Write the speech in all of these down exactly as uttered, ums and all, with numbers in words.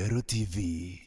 Meru T V.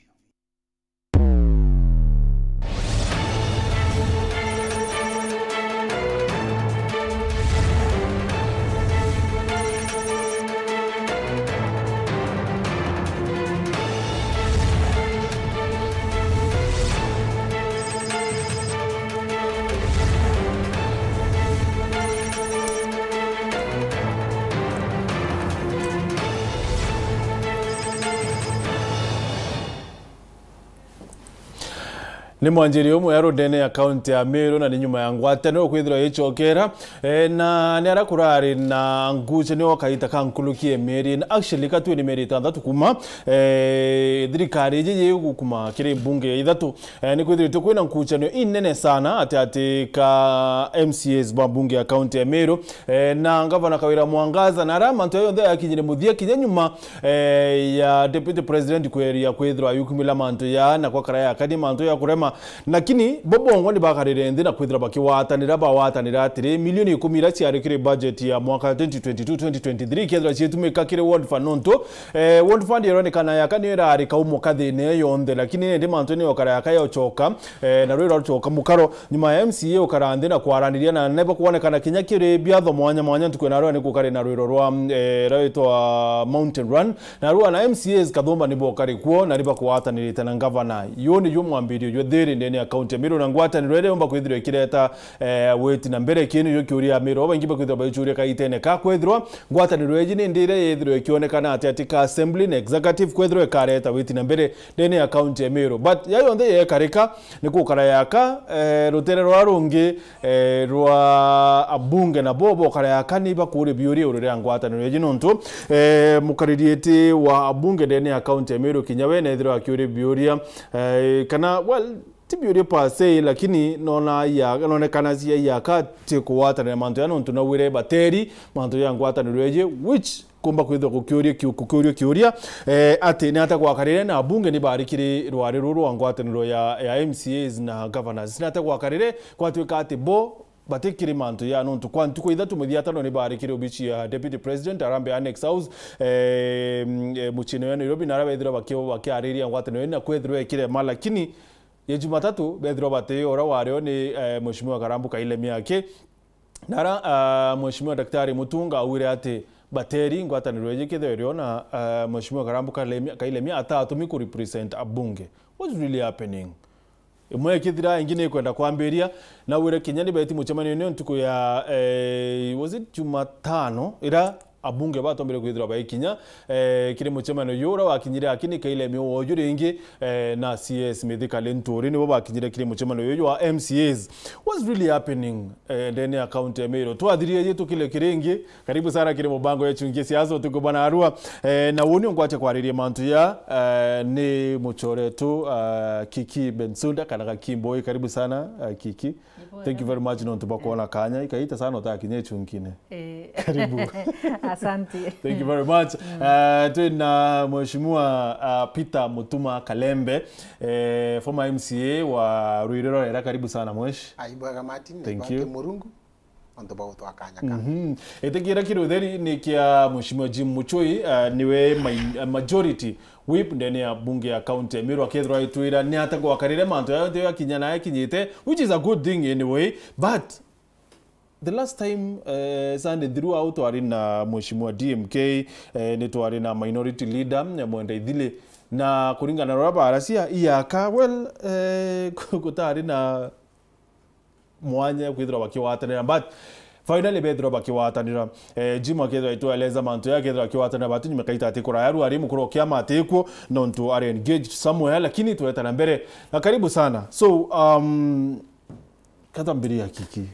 Ni mwanjiri umwe ya rundene ya kaunti ya Meru, na ni nyuma ya ngwataniro kwithirwa icokera. E, na ni ara kurari na ngucanio kaita ka nkuruki ya mieri, na actually ka twi ni mieri itantatu kuma, e, thirikari iji yigukuma kiri mbunge ya ithatu. E, ni kwithiritwe kwina ngucanio inene sana ati ati ka M C As ba mbunge ya kaunti ya Meru, e, na ngavana Kawira Mwangaza, na ara mantu yonthe yakinyire muthia kinya nyuma, e, ya deputy president kweria kwithirwa yukumila mantu ya na kwa karaya kani mantu ya kurema. Lakini bo bongwa ni bakarire nthi na kwithira bakiwatanira, bawatanira atiri, milioni ikumi iria ciari kiri budget ya mwaka twenty twenty-two twenty twenty-three ikethirwa cietumika kiri World Fund nontu, e, World Fund ironekana yaka niyo irari kaumo kathine yonthe, lakini indi mantu ni okara yaka yocoka, e, na rwira rucoka mukaro. Nyuma ya M C A ukara nthi na kwaraniria na neba kwonekana kinya kiri biatho mwanya mwanya ntuku ya narua ni gukari na rwiro rwa, e, rwitwa Mountain Run. Narua na M C As kathumba ni bokari kuo na ni bakwatanirite na ngavana. Yu ni yu mwambirio jwa thiri ndene ya kaunti ya Meru, na ngwataniro iria yomba kwithirwa ikireta, e, witi na mbere. Kii ni yu kiuria ya Meru baingi bakwithirwa baichuria kaitene ka kwithirwa ngwataniro iji ni ndi iria yithirwa ikionekana ati ati ka assembly na executive kwithirwa ikareta witi na mbere ndene ya kaunti ya Meru. But ya yonthe yekarika, ni gukara yaka, e, rutere rwa rungi, e, rwa abunge na bo bokara yaka ni bakuria biuria iguru ria ngwataniro iji nontu, e, mukariri iti wa abunge ndene ya kaunti ya Meru kinya we nethirwa akiuria biuria, e, kana, well, ti biuria per se, lakini nona ya, nonekana cia yaka ti kuwatanira mantu ya nontu nawire bateri mantu ya ngwataniro iji, which kumba kwithirwa gukiuria kiu-, gukiuria kiuria, eh, ati ni ata gwakarire na abunge ni bari kiri rwari ruru rwa ngwataniro ya, ya M C As na governors. Ni ata gwakarire gwatuika ati bo batikiri mantu ya nontu kwa ntuku ithatu muthia atano ni bari kiri obici ya Deputy President, Harambee Annex House, eh, mm, eh, muciini ya Nairobi, na aria bethirwa baki-, bakiariria ngwataniro ii na kwethirwa ikirema, lakini ya Jumatatu bethirwa bati ura wario ni, eh, Mheshimiwa Karambu Kaile Miaki. Nara, ah, Mheshimiwa Daktari Mutunga augire ati bateri ngwataniro iji kethirwa irio na, ah, Mheshimiwa Karambu Kalemia, Kailemia atatumi ku represent abunge. What's really happening? Imwe ikithira, ingi ni ikwenda kwambiria, na wire kinya ni beti mucemanio ni ntuku ya, eh, was it Jumatano, ira abunge batombire kwithirwa baikinya, eh, kiri mucemanio uyu ura wakinyire akini Kailemia woju ringi, eh, na C S Mithika Linturi nibo bakinyire kiri mucemanio uyu wa M C As. What's really happening, eh, ndene ya county ya Meru? Twathirie ji tukile kiringi. Karibu sana kiri mubango ya Chungi Siasa utuku bwana Arua. Eh, na woni ongwache kwariria mantu ya, eh, ni muchoretu, eh, Kiki Bensouda kana Gaki Mboi. Karibu sana, eh, Kiki. Thank you very much nontu bakwona kanya. Ikaita sana utakinya ichunkine. Eh. Karibu. Asante. Thank you very much. Mm. Uh, twina Mheshimiwa, uh, Peter Mutuma Kalembe, eh, former M C A wa Ruirero Rera. Karibu sana, Mwesh. Aibwega Martin, thank you. Murungu, antu bagutwa kanya ka. Mhm. Itikira kiri utheri ni kia Mheshimiwa Jim Muchui, uh, niwe mai-, uh, majority whip ndene ya bunge ya county ya Meru, akethirwa aitwira ni ata gwakarire mantu ya yonthe yakinya na yakinyite, which is a good thing anyway, but the last time, eh, Sunday throughout twari na Mheshimiwa D M K, eh, ni twari na minority leader, eh, Mwenda Ithili, na kuringana na uria baracia iaka, well, eh, gutari na mwanya kwithirwa bakiwatanira, but finally bethirwa bakiwatanira. Eh, Jim akethirwa aitueleza mantu ya akethirwa akiwatanira, but nyuma kaita ati kuraya ru ari mukuru wa kiama atikuo, nontu ari engaged somewhere, lakini tweta na mbere. Na karibu sana. So, um, Katwambiria Kiki.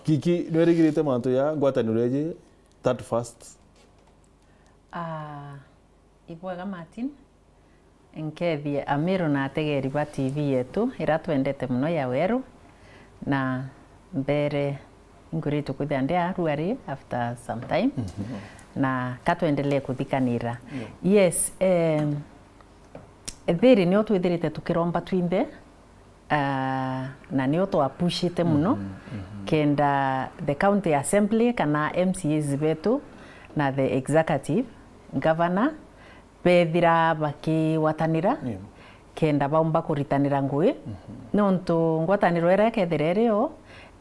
Kiki, nwerigirite mantu ya ngwataniro iji that first? Ah, ibwega Martin. Nkethie Amiru na ategeri ba T V yetu ira twendete muno ya Weru, na mbere inkuritwe kwithia ndi aruari after some time. Mhm. Na katwendelee kuthikanira. Yeah. Yes, em, thiri nio twithirite tukiromba twinthe, ah, na nio twapushite muno, mhm, mhm, kenda the county assembly kana M C As betu na the executive, governor, bethira bakigwatanira, yeah, kenda baumba kuritanira ngugi, mhm, nontu ngwataniro iria ikethira irio,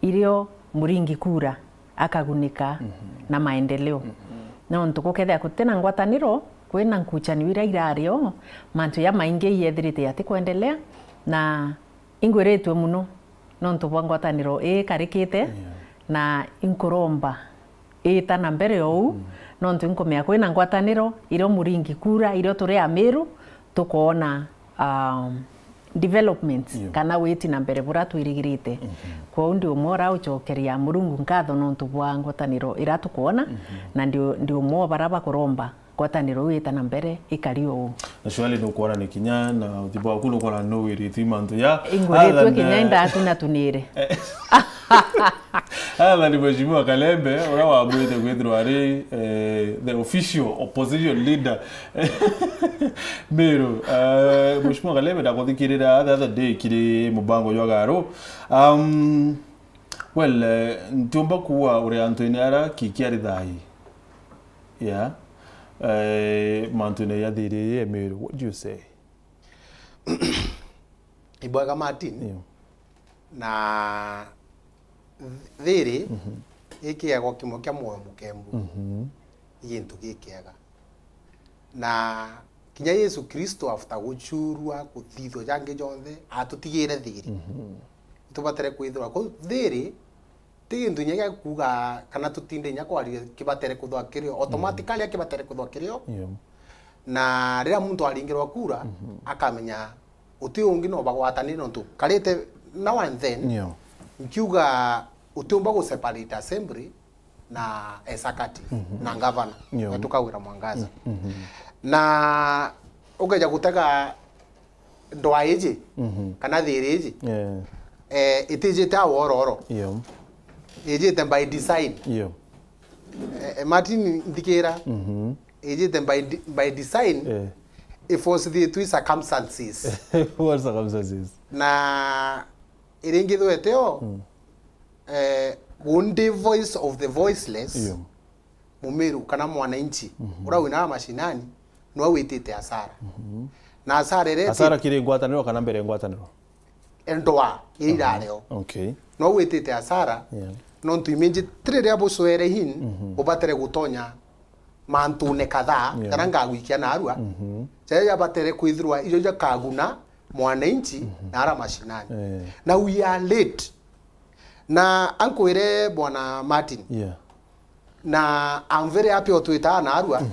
irio Muringi Kura akagunika, mhm, na maendeleo. Mhm. Nontu gukethira gutina ngwataniro, kwina nkuchanio iria irario, mantu jamaingi iyethirite yati kwendelea, na ingwiritue muno nontu bwa ngwataniro ii ikarikite, yeah, na inkuromba iita na mbere o uu, mm, nontu inkumenya kwina ngwataniro irio Muringi Kura, irio turi Amiru tukoona, um, developments, yeah, kana witi na mbere buria twirigirite. Mhm. Kwou ndi umwe uria ucokeria Murungu nkatho nontu bwa ngwataniro iria tukoona, mhm, na ndi, ndi umwe wa baria bakuromba ngwataniro iu iita na mbere ikari o uu. Na surely nukwona ni kinya na uthi bwaku nukwona nuwirite mantu ya ingwiritue kinya indatunatuniire. Athani Mheshimiwa Kalembe, uria wamwite kwithirwa ari, eh, the official opposition leader Meru. Eh, Mheshimiwa Kalembe, ndakuthikirira the other day kiri mubango jwa Garu. Um, well, eh, ntiumba kuuga uri antu-ini ara ki-, kiari thaai. Yeah. Eh, mantu-ini ya thiri ya Meru, what do you say? Ibwega Martin. Yeah. Na th-, thiri, mhm, ikiegwa kimwe kia mwoyo mukembu. Mhm. Ni gintu gikiega. Na kinya Yesu Kristo, after guchurua, kuthithua jangi jonthe, atutigire thiri. Mhm. Itubatere kwithirwa kuu thiri, ti gintu kinya gia kuuga kana tutinde kinya kwaria kibatere kuthwa kirio. Automatically kibatere kuthwa kirio. Yeah. Na riria muntu aringirwa kura, mhm, akamenya uti ungi no bagwatanire nontu karite now and then, yeah, nkiuga utiumba gu separate assembly na executive, mhm, na governor, yeah, wetu Kawira Mwangaza. Mhm. Na ukeja gutega ndwa iji, mhm, kana thiri iji, yeah, eh, itijite au ororo. Yeah. Ijite by design. Yeah. Eh, eh, Martin, nthikira. Mhm. Ijite by de-, by design. Yeah. Iforcithitue circumstances. What circumstances? Na iringithwete o, mm, eh, gundi voice of the voiceless, yeah, Mumiru kana mwananchi, mhm, uria wina mashinani, nwe witite hasara. Mhm. Na hasara iria hasara iti- kiri ngwataniro kana mbere ya ngwataniro? Ndwa iria, aha, irareo. Okay. Nwe witite hasara, yeah, nontu iminji ti riria bucwere hin, mhm, ubatere gutonya mantune kadhaa, yeah, jaria ngagwikia narua, mhm, jaria jabatere kwithirwa ijo jakaguna mwananchi, mhm, na ara mashinani. Eh. Na we are late. Na ankwire Bwana Martin, yeah, na I'm very happy otwitaa narua, mhm,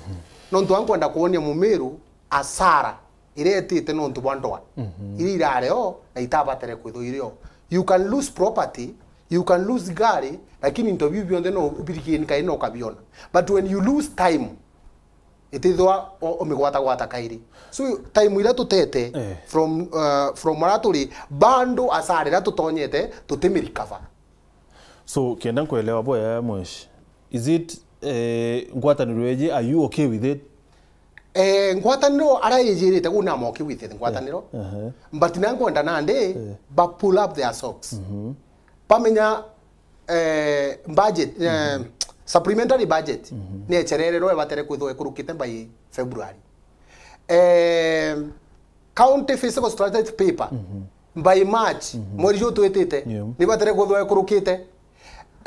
nontu ankwenda kwonia Mumiru asara iria etite nontu bwa ndwa, mhm, iria irareo na itabatere kwithwa irio. You can lose property, you can lose gari, lakini into biu bionthe no ubirigie nkai no ukabiona. But when you lose time, itithwa o-, umigwatagwata kairi. So time iria tutete, eh, from, uh, from aria turi, bando asara iria tutonyete, tutimirecover. So, kenda nkwelewa bwega, Mweshi, is it, eh, ngwataniro iji, are you okay with it? Eh, ngwataniro aria ijirite, gu I'm okay with it, ngwataniro. Eh, aha. But na nkwenda nandi, eh, ba pull up their socks. Mhm. Bamenya, eh, budget, eh, mhm, supplementary budget, mhm, ni echerererwe, ibatere kwithwa ikurukite by February. Eh, county fiscal strategy paper, mhm, by March, mhm, mweri juju twitite, yeah, ni batere kuthwa ikurukite.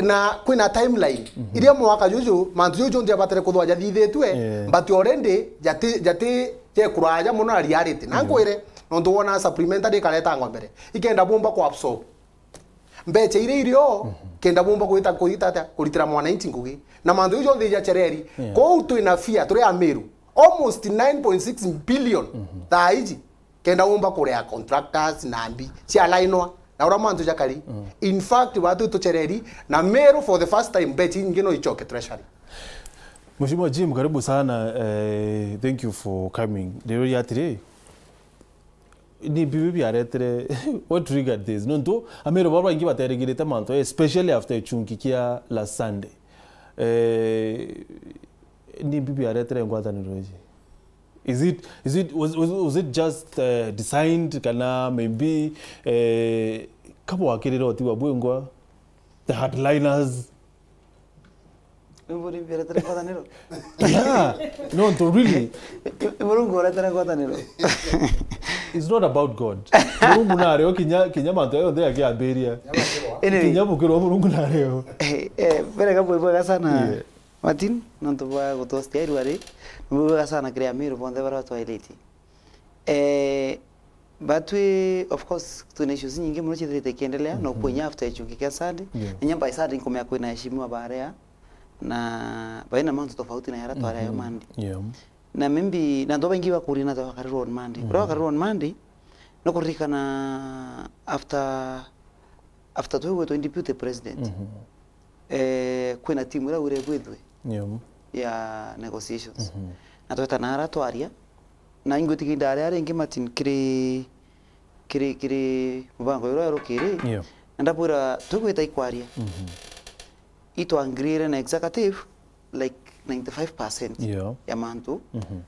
Na kwina timeline, mhm, iria mwaka juju, mantu juju jonthe abatere kuthwa jathithitue, yeah, but already jati, jati jekuraja muno na reality. Na, yeah, nkwire, nontu wona supplementary ikaretangwa mbere, ikenda bumba ku absorb mbecha iria irio, mhm, kenda bumba kwita, kwita atia, kuritira mwananchi ngugi. Na mantu juju jonthe ijachereri. Yeah. Kou twina fear, turi Amiru. Almost nine point six billion, mhm, thaa iji. Kenda umba kuria contractors na mbi cia lainwa, na uria mantu jakari. Mm. In fact, batu tuchereri, na Meru for the first time, mbecha inyingi no ichoke treasury. Mheshimiwa Jim, karibu sana. Eh, thank you for coming. Leo ri atiri, ni bibi biaretire, what triggered this? Nontu Amiru baria baingi baterigirite mantu, especially after ichunki kia last Sunday. Eh, ni bibi biaretire ngwataniro iji? Is it, is it, was, was, was it just, uh, designed, kana maybe, eh, kabwakirira utigwa bwingwa, the hardliners? Mburi mbere tena ngwataniro. Yeah. No, to really. Murungu ore tena ngwataniro. It's not about God. Murungu nario kinya kinya mantu yonthe akiambiria. Anyway, kinya bukirwa Murungu nario. Eh, eh, bere kabwe bwega sana. Yeah. Martin, nontu bwa gutwastia irua ri, ni bwega sana kiri Amiru bonthe baria batwairitie. Eh, batwi, of course, twina issues nyingi mono ciithirite ikiendelea, mm -hmm. No kwinya after ichungi kia Sunday. Yeah. Na nya by Sunday nkumea kwina heshimiwa baria, na baina mantu tofauti na yara twari ayo Monday. Yeah. Na maybe, na antu baingi bakuria na twakarirwa on Monday. Mm -hmm. Kuria wakarirwa on Monday, no kuririkana after, after twigwetwe deputy president. Mm -hmm. Eh, kwina timu iria wire bwithwe. Yeah. Ya negotiations. Mm -hmm. Na tweta nara twaria, na ingwitikia indaria ringi Martin kiri, kiri, kiri mubango uria urukiri. Yeah. Na ndabwira, tugwita ikwaria. Mm -hmm. Itwangirire na executive, like, ninety-five percent. Yeah. Ya mantu. Mm -hmm.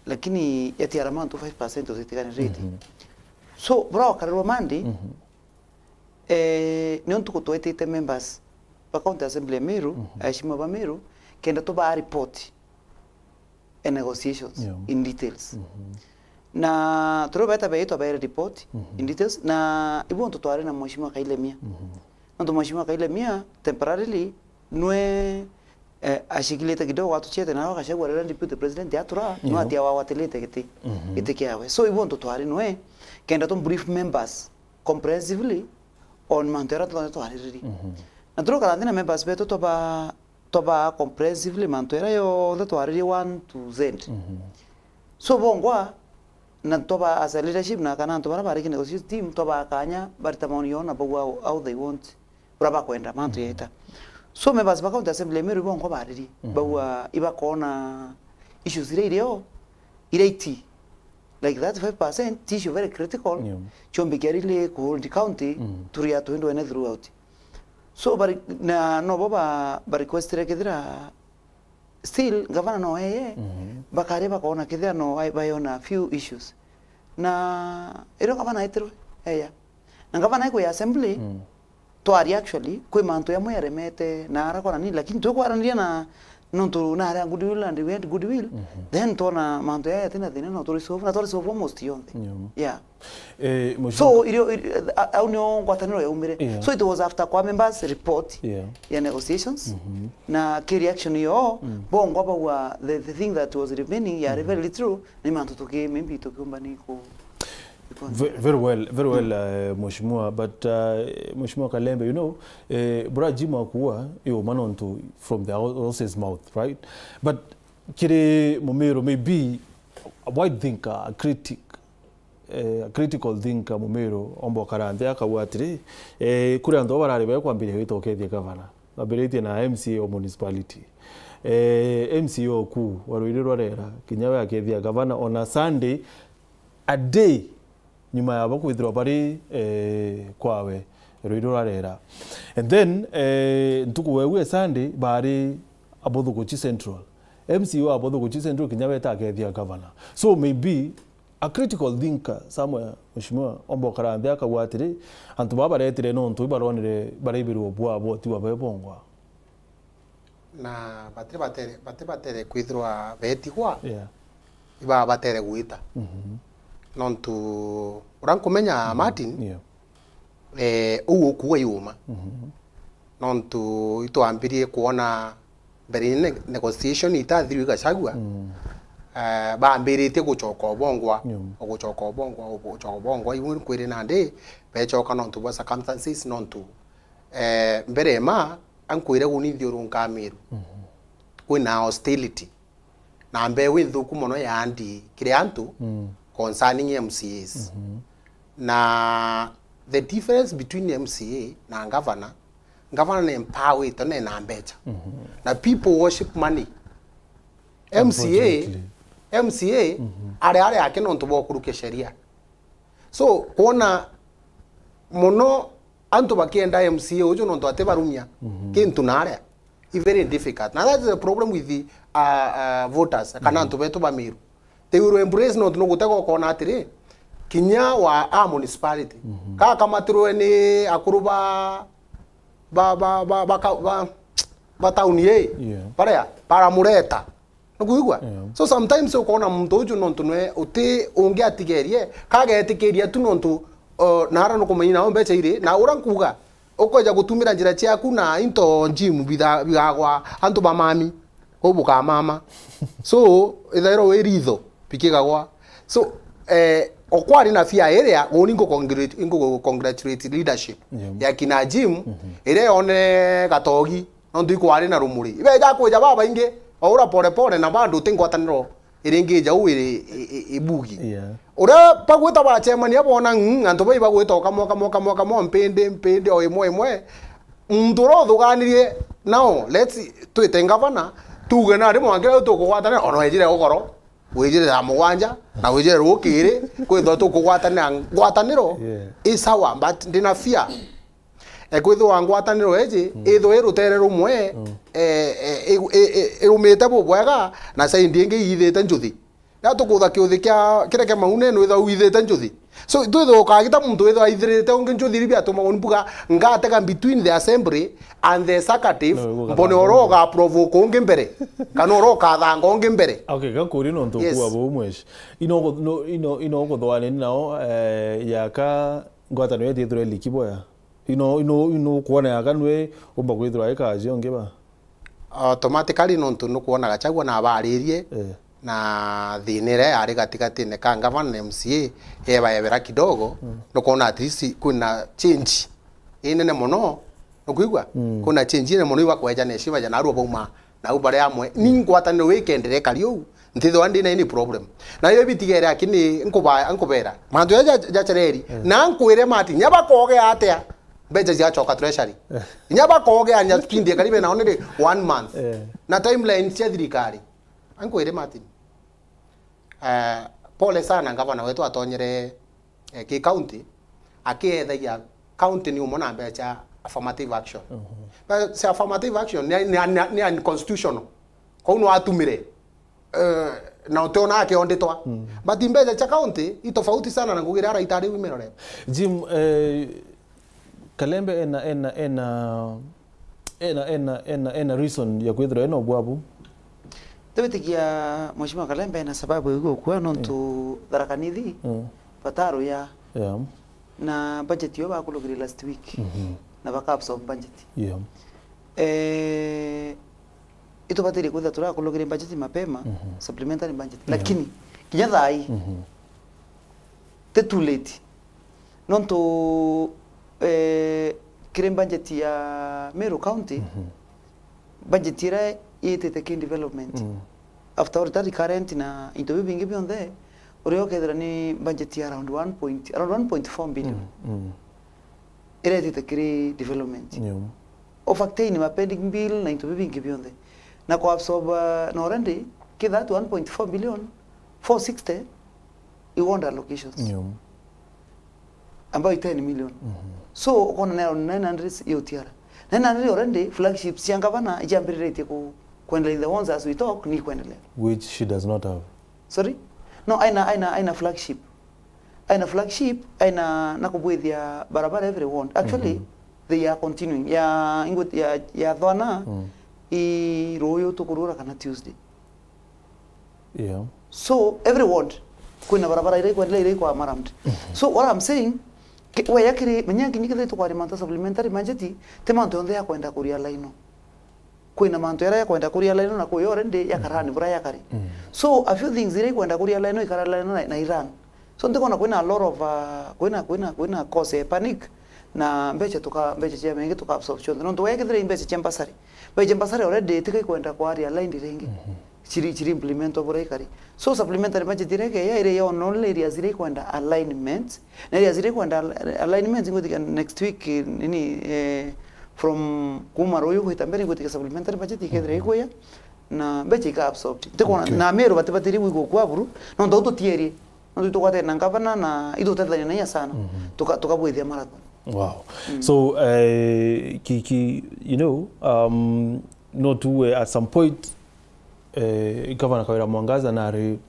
Lakini yatiara mantu five percent utitiganirite. Mm -hmm. So, bura wakarirwa Monday, mm -hmm. Eh, nio ntuku twetite members ba County Assembly ya Meru, mm -hmm. Aheshimiwa ba Meru, kenda tubaa report a negotiations, yeah, in details. Mm -hmm. Na turia beta beitwa baere report, mm -hmm. In details, na ibu ntu twari na Mheshimiwa Kailemia. Mm -hmm. Nontu Mheshimiwa Kailemia temporarily nwe, eh, ashikilite kidogo atuchete na Gachagua riria deputy president atura, yeah, nwe atia wagwatilite giti, mm -hmm. Giti kiawe. So ibu ntu twari nwe kenda tu brief members comprehensively on mantu jaria twathire twariririe. Mhm. Na turokara nthi na members betu twaba, twaba comprehensively mantu jaria jonthe twariririe one to Z. Mhm. So bongwa, na twaba as a leadership na kana antu baria bari ki negotiation team, twaba kanya barita maoni yao na bauga how, how they want, uria bakwenda mantu, mhm, jaita. So members ba County Assembly ya Meru bongwa baririe, mhm, bauga ibakoona issues iria irio, iria iti like thirty-five percent ti issue very critical, yeah, ciombikia really ku hold county, mm, turi atwendwene throughout. So bari, na nobo ba, ba requestire kethira still gavana no eye, mhm, bakari bakona kethira no ai-, bayona few issues. Na irio gavana etirwe eya. Na gavana ekwi assembly, mm, twari actually, kwi mantu jamwe jaremete na arakora nini, lakini twikwaraniria na nontu nari a goodwill and we had goodwill, mhm, then twona mantu jaja jatina thina no turi solve, na twari solve almost yonthe. Yeah. Yeah. Eh, Mheshimiwa So, irio, irio, a-, au nio ngwataniro yaumire. Yeah. So it was after kwa members report, yeah, ya negotiations, mhm, na ki reaction yo, mm, bongwa bauga the, the thing that was remaining yari, mhm, very little, ni mantu tuki, maybe tukiumba ni ku Ve-, very well, very well, uh, Mheshimiwa, but, uh, Mheshimiwa Kalembe, you know, eh, bura Jim akuwa, yo manontu from the hor-, horse's mouth, right? But kiri Mumiru, maybe a wide thinker, a critic, eh, a critical thinker Mumiru, omba ukara nthi akauga atiri, eh, kuri antu barari bekwambiria gwita ukethia gavana. Bambiritie na M C A o municipality. Eh, M C A oku, wa Ruiri rwa Rera, kinya we akethia gavana on a Sunday, a day nyuma yabo kwithirwa bari, eh, kwawe, Ruiru rwa Rera. And then, eh, ntuku weu e Sunday, bari Abothuguchi Central. M C A wa Abothuguchi Central kinya weta akethia gavana. So maybe a critical thinker somewhere, Mheshimiwa, omba ukara nthi akauga atiri, antu baba baretire nontu ibaronire baraibirwo bwabo tiwa bebongwa. Na bati batere, bati batere kwithirwa betigwa, yeah, iba batere gwita. Mhm. Nontu uria nkumenya, mhm, Martin, yeah, eh, uu ukuga i uma. Mhm. Nontu itwambirie kwona mbere ne-, negotiation itathirwe Gachagua, mm, eh, bambiritie gucoka obongwa, yeah, gucoka obongwa, gucoka obongwa, ibu nkwire nandi becoka nontu bwa circumstances, nontu, eh, mbere ma ankwire guni nthiurunka Meru. Mhm. Kwina hostility na mbeu inthuku mono ya andi kiri antu, mm, concerning M C As. Mhm. Na the difference between M C A na governor, governor ni empowered na ena mbecha. Mhm. Na people worship money. M C A, unfortunately. M C A, mhm, ari ari ake nontu bwa kurukia sheria. So, kwona mono antu bakienda M C A uju nontu atibarumia, mhm, kintu naria, i very difficult. Na that is a problem with the, uh, uh, voters, kana, mhm, antu betu ba Meru. They will embrace nontu nugutega ukona atiri, kinya wa a municipality, mhm, kakamatirwe ni akuru ba, ba, ba, ba, ba, ka-, ba, ba town ii, yeah, baria baramureta. Nukuigua? Yeah. So sometimes ukona muntu uju nontu nwe uti ungi atigerie, kagetikiria tu nontu, uh, nara nukumenya nao mbeca iri, na ura nkuga, ukweja gutumira njira ciaku na into gym bitha-, bigagwa antu ba mami, kuu bukamama. So, ithairwa wi ritho, bikigagwa. So, eh, okwari na fear iria, uni ngu congratulate, ngu congratulate leadership, yeah, ya kina gym, mhm, iria yone gatogi, nontu ikwari na rumuri. Ibeja kwija babaingi, o ura pole pole, na bado uti ngwataniro iringi jau iri, i-, i-, ibugi. Yeah. Uria bagwita bacemania bona, mm, antu bai bagwita o kamwe, kamwe, kamwe, kamwe, mpindi, mpindi, o imwe, imwe. Muntu uria uthuganirie nao, let's, twite ngavana, tuge nari mwanka riu tukugwatanira, ona wejire gukoro, wijire thaa mugwanja, na wijire rukiri, kwithwa tukugwatanira ngwataniro, yeah, i sawa, but ndina fear. E, kwithirwa ngwataniro eji, mm, ithwe i rutere rumwe, mm, e, e, i-, i-, i-, irumite bubwega, na side ingi iithite njuthi. Riria tukutha kiuthi kia, kiria kia maune, nwithwa withite njuthi. So, twithwa ukagita muntu withwa aithirite ungi njuthi, iria biatumagwa ni mbuga, ngatega between the assembly and the executive, no, mbone ura ugaprovoke ungi mbere, kana ura ukathanga ungi mbere. Okay, gakuri nontu, yes, ukua buu mweshi. Ino ugu-, no, ino, ino uguthwanini nao, eh, yaka ngwataniro yetu ithirwe liki boya. Ino, ino, ino kwona yaka nwe umba kwithirwa ikaji ungi ba? Automatically, nontu nukwona Gachagua nabaririe, eh, na thina iria yari gatigatine ka ngavana na M C A, ebaebera kidogo, mm, nukwona at least kwina change inene mono, nukwigua? Mm. Kwina change inene mono, ibakweja na heshima ja narua bauma nau bari amwe. Ni ngwataniro ikenderea ikari uu, ntithwa ndina any problem. Na iyo bitigere, lakini nkuba-, nkubera. Mantu jaja ja-, jacereri. Eh. Na nkwire Martin, nya bakogea atia, mbeca cigacoka treasury. Eh. Nya bakogea nya spindi karibe nao ni one month. Eh. Na timeline cia thirikari. Nkwire Martin. Eh, pole sana, ngavana wetu atonyere, eh, ki county, akiethagia county ni umwe na mbeca affirmative action. Mhm. Mbeca cia affirmative action ni, ni, ni, ni unconstitutional. Kou no atumire, eh, na utiona akionditwa. Mm. But mbeca cia county i tofauti sana na ngugi iria araita ari wimerore. Jim, eh, Kalembe ena, ena, ena, ena, ena, ena, ena reason ya kwithirwa ena ubwabu? Twitikia Mheshimiwa Kalembe ena sababu ya gukua nontu, mm, Tharaka Nithi, mm, bataruya. Yeah. Na budget yo bakulugire last week. Mhm. Na baka absorb budget. Yeah. Eh, itubatirie kwithirwa turakulugire budget mapema, mhm, supplementary budget. Yeah. Lakini, kinya thaa ii, mhm, ti too late. Nontu, eh, kiri budget ya Meru County, mhm, budget iria yitite ki development. Mm. After all, ta recurrent na into bibingi bionthe, uria ukethira ni budget ya around one point, around one point four billion. Mm, mm. Iria itite kiri development. Yeah. Ofacteini ma pending bill na into bibingi bionthe. Na ku absorb, uh, na already, ki that one point four billion, four sixty i ward allocations. Yeah. Ambayo i ten million. Mhm. So, ukona ni around nine hundred i O T R. Nine hundred already, flagships cia ngavana ijiambiriritie ku-, kuendelea in the ones as we talk, ni kuendelea. Which she does not have. Sorry? No, aina, aina, aina flagship. Aina flagship, aina na kubwithia barabara every ward. Actually, mhm, they are continuing. Ya, ingo-, ya, ya Thwana, mm, i ruyu tukurura kana Tuesday. Yeah. So, every ward, kwina barabara iria ikwendelea, iria ikwa marammed. Mhm. So, what I'm saying, ki-, we yakiri, menya nginya kethira tukwaria mantu supplementary budget, ti mantu yonthe ya kwenda kuria line. Kwina mantu jaria jakwenda kuria line na kwi already yakara ni bura jakari. Mm. So, a few things iria ikwenda kuria line, ikara line na, na iran. So, ntikona kwina a lot of, uh, kwina, kwina, kwina cause ya panic, na mbeca tuka, mbeca cia mengi tuka absorb cionthe. Nontu wekethira i mbeca cia mbasari. Mbeca cia mbasari already tika ikwenda kwaria line ringi. Mhm. Ciri, ciri implement o buria ikari. So, supplementary budget iria ikeja, iria ya only areas iria ikwenda alignment, na areas iria ikwenda al-, alignment, ngwitikia next week, nini, eh, from kuma ruyu gwita mbere, ngwitikia supplementary budget ikethira, mhm, ikuya, na mbeca ika absorbed. Ntikona, okay, na Meru batibatiri gwikwa kwa buru, nontu au tutierie. Nontu itugwatene na ngavana na itutethania na inya sana. Mhm. Tuka-, tukabwithia marathon. Wow. Mm. So, eh, ki, ki, you know, um, no tu, eh, at some point, eh, Governor Kawira Mwangaza nari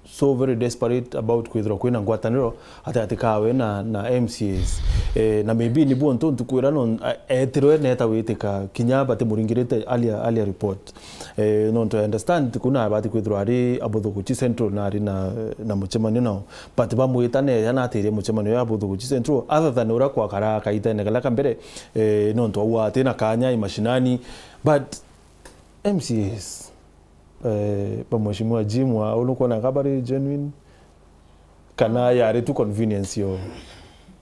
so very desperate about kwithirwa kwina ngwataniro gatagatĩ kawe na, na M C As. Eh, na maybe nibuo ntu ntukwira no, a-, etirwe neta witika kinya batimuringirite alia, alia report. Eh, nontu I understand kuna abati kwithirwa ari Abuthuguchi Central na ari na, na mucemanio nao. But bamwita neya natirie mucemanio ya Abuthuguchi Central, other than uria kwakara kaitene karia ka mbere, eh, nontu au atina kanya i mashinani. But M C As, eh, ba Mheshimiwa Jim wa, unukwona ka bari genuine? Kana yari tu convenience yo?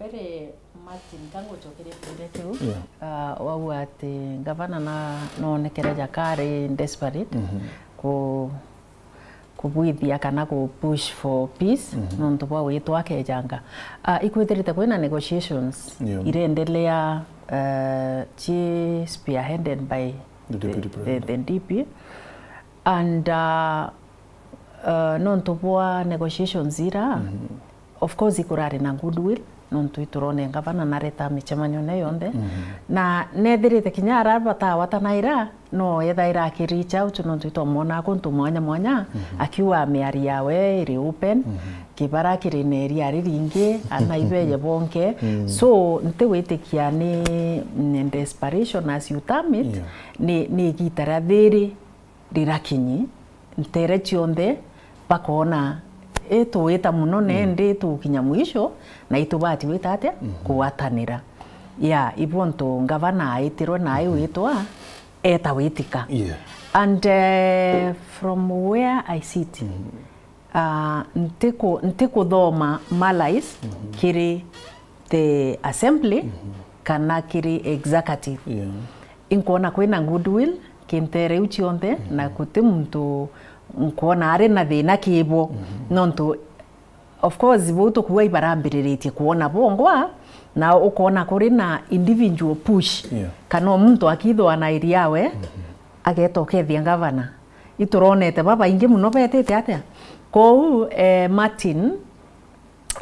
Mbere, Martin, ka ngucokerie kiuria kiu, yeah, ah, wauga ati ngavana na, noonekere jakari desperate, mhm, ku-, kubwithia kana ku push for peace, mhm, nontu bwa witwa akejanga. Ah, ikwithirite kwina negotiations, yeah, irendelea, eh, ci spearheaded by the deputy president, the, the D P. And, uh, uh, nontu bwa negotiations ira, mhm, of course ikurari na goodwill, nontu iturone ngavana nareta micemanione yonthe. Mhm. Na nethirite kinya ara batawatanaira, no ethaira aki reach out, nontu itwamwona kuntu mwanya mwanya, mhm, akiuga miario yawe iri open, mhm, kibara kiri na iria riringi, ana ibeye bonke. Mm. So, ntiwitikia ni, ni desperation as you term it, yeah, ni, ni igita ria thiri rirakinyi, ntere cionthe bakoona, ituwita mono, mm, nendi tukinya mwisho, na itubati wita atia? Mhm. Kugwatanira. Ya, ibuo ntu ngavana aitirwe na aiwitwa, eta witika. Yeah. And, eh, from where I sit, mhm, ah, ntiku-, ntikuthoma malice, mhm, kiri the assembly, mhm, kana kiri executive. Yeah. Inkwona kwina goodwill kintere iu cionthe, mhm, na guti muntu nkwona ari na thina kibo. Mhm. Nontu, of course, bau tukuuga ibarambiriritie kwona bongwa, na ukona kuri na individual push. Yeah. Kana o muntu akithwa na area yawe, mhm, ageta ukethia ngavana. Ituronete babaingi mono betite atia? Kou, eh, Martin,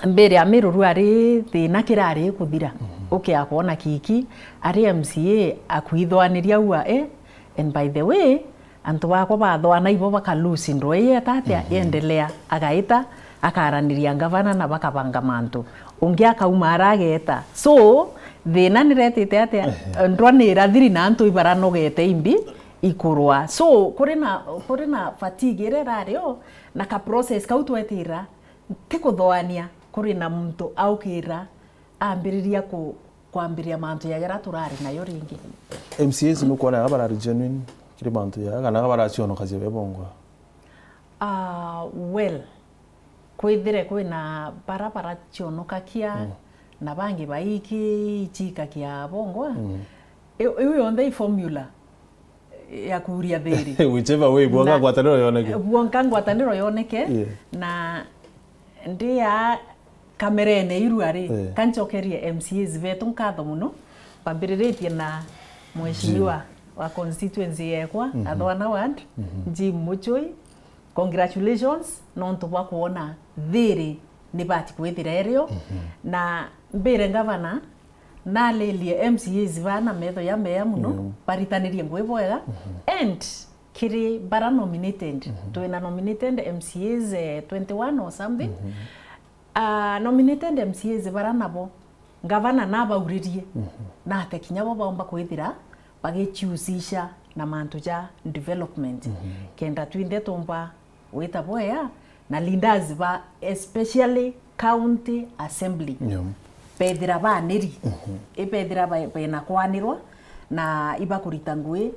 mbere ya Miruru ari thina kirari kuthira. Mhm. Ukia kwona Kiki ari M C A akwithwaniria ua, eh? And by the way, antu bakwa bathwana ibo baka lose ndwei eta atia, mhm, yendelea, agaita, akaraniria ngavana na bakabanga mantu. Ungi akauma ara ageta. So, thina niretite atia? Ehe. Ndwanira thiri na antu ibaranogete imbi ikurwa. So, kuri na, kuri na fatigue iria irari o, na ka process kau twetira, ntikuthoania kuri na muntu aukira ambiriria ku-, kwambiria mantu ya jaria turari nayo ringi. M C As nukwona barari genuine kiri mantu ya, kana baracionokagia be bongwa? Ah, well, kwithire kwina bara baracionokagia, mm, na bangi baiki ichikagia bongwa. Mm. Iu, iu yonthe i formula ya kuuria thiri. Whichever way, bwonka na ngwataniro yoneke. Bwonka ngwataniro yoneke, yeah, na ndia kamerene iru ari, eh, kancokerie M C As betu nkatho mono, mbambiriritie na mheshimiwa, Jim, wa constituency yekwa, mhm, Athwana Ward, mhm, Jim Muchui. Congratulations, nontu bwa kwona thiri nibati kwithira irio, mhm, na mbire ngavana, nalilie M C As baa na metho ya meya mono, mm, baritanirie ngui bwega. Mhm. And kiri bara nominated, mhm, twina nominated M C As, eh, twenty-one or something. Mhm. Ah, nominated M C As bara nabo, ngavana nabauririe, mhm, nate kinya bo baumba kwithira bagiciusisha na mantu ja development. Mhm. Kenda twinthe tumba gwita bwea, na leaders ba especially county assembly, yeah, bethira baniri, mhm, ibethira ba-, bena kwanirwa na ibakurita ngui,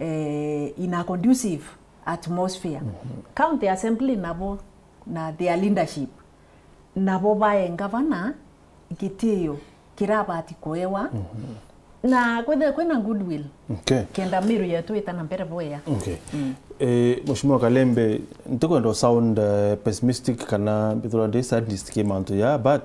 eh, in a conducive atmosphere. Mhm. County assembly nabo na their leadership, nabo bae ngavana gitio kirabati kuewa, mhm, na kwithire kwina goodwill, okay, kenda Meru yetu ita na mbere bwea. Okay. Mm. Eh, Mheshimiwa Kalembe, ntikwenda sound, eh, pessimistic kana mbithirwa ndi sadist ki mantu ya, but,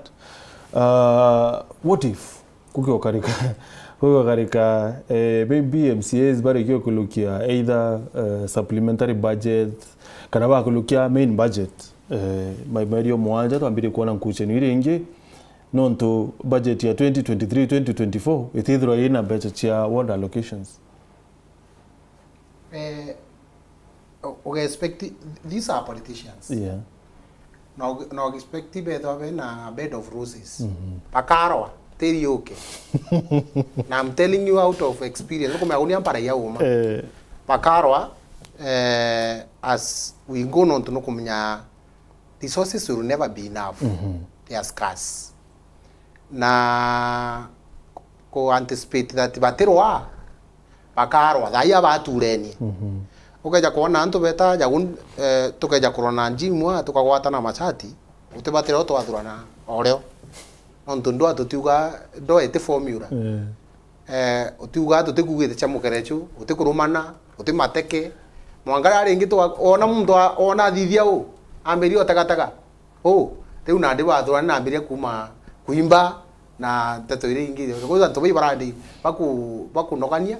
uh, what if kuki ukarika, kuki ukarika, eh, maybe M C As barikia kulukia either, eh, supplementary budget, kana bakulukia main budget, eh, mai-, meri o mwanja twambirie kuona nkuchenu iri ingi, nontu budget ya twenty twenty-three, twenty twenty-four itithirwa ina mbeca cia ward allocations. Eh, u-, uge expect, these are politicians. Yeah. No, no expect bethwa be na bed of roses. Mhm. Bakarwa, tiri yuke. Na I'm telling you out of experience, nukumenya uni ampara ya uma. Eh. Bakarwa, eh, as we go, nontu nukumenya resources will never be enough. Mhm. They are scarce. Na ku anticipate that batirwa, bakarwa, thaa ii abaturenie. Mhm. Ukeja kwona antu beta jagu, eh, tukeja kurwa na gym aa, tukagwatana machati, utibatire utwathurana o rio. Nontu ndwa tutiuga, ndwa iti formula. Eh. Eh, utiuga tutikugite cia mukerechu, utikurumana, utimateke. Mwanka riria ringi twa-, ona muntu a-, ona athithia u, ambiria utegatega. U, riu nandi bathurana nambiria kuuma kuimba na nteto iria ingi. Kwa antu bai barandi baku-, bakunogania,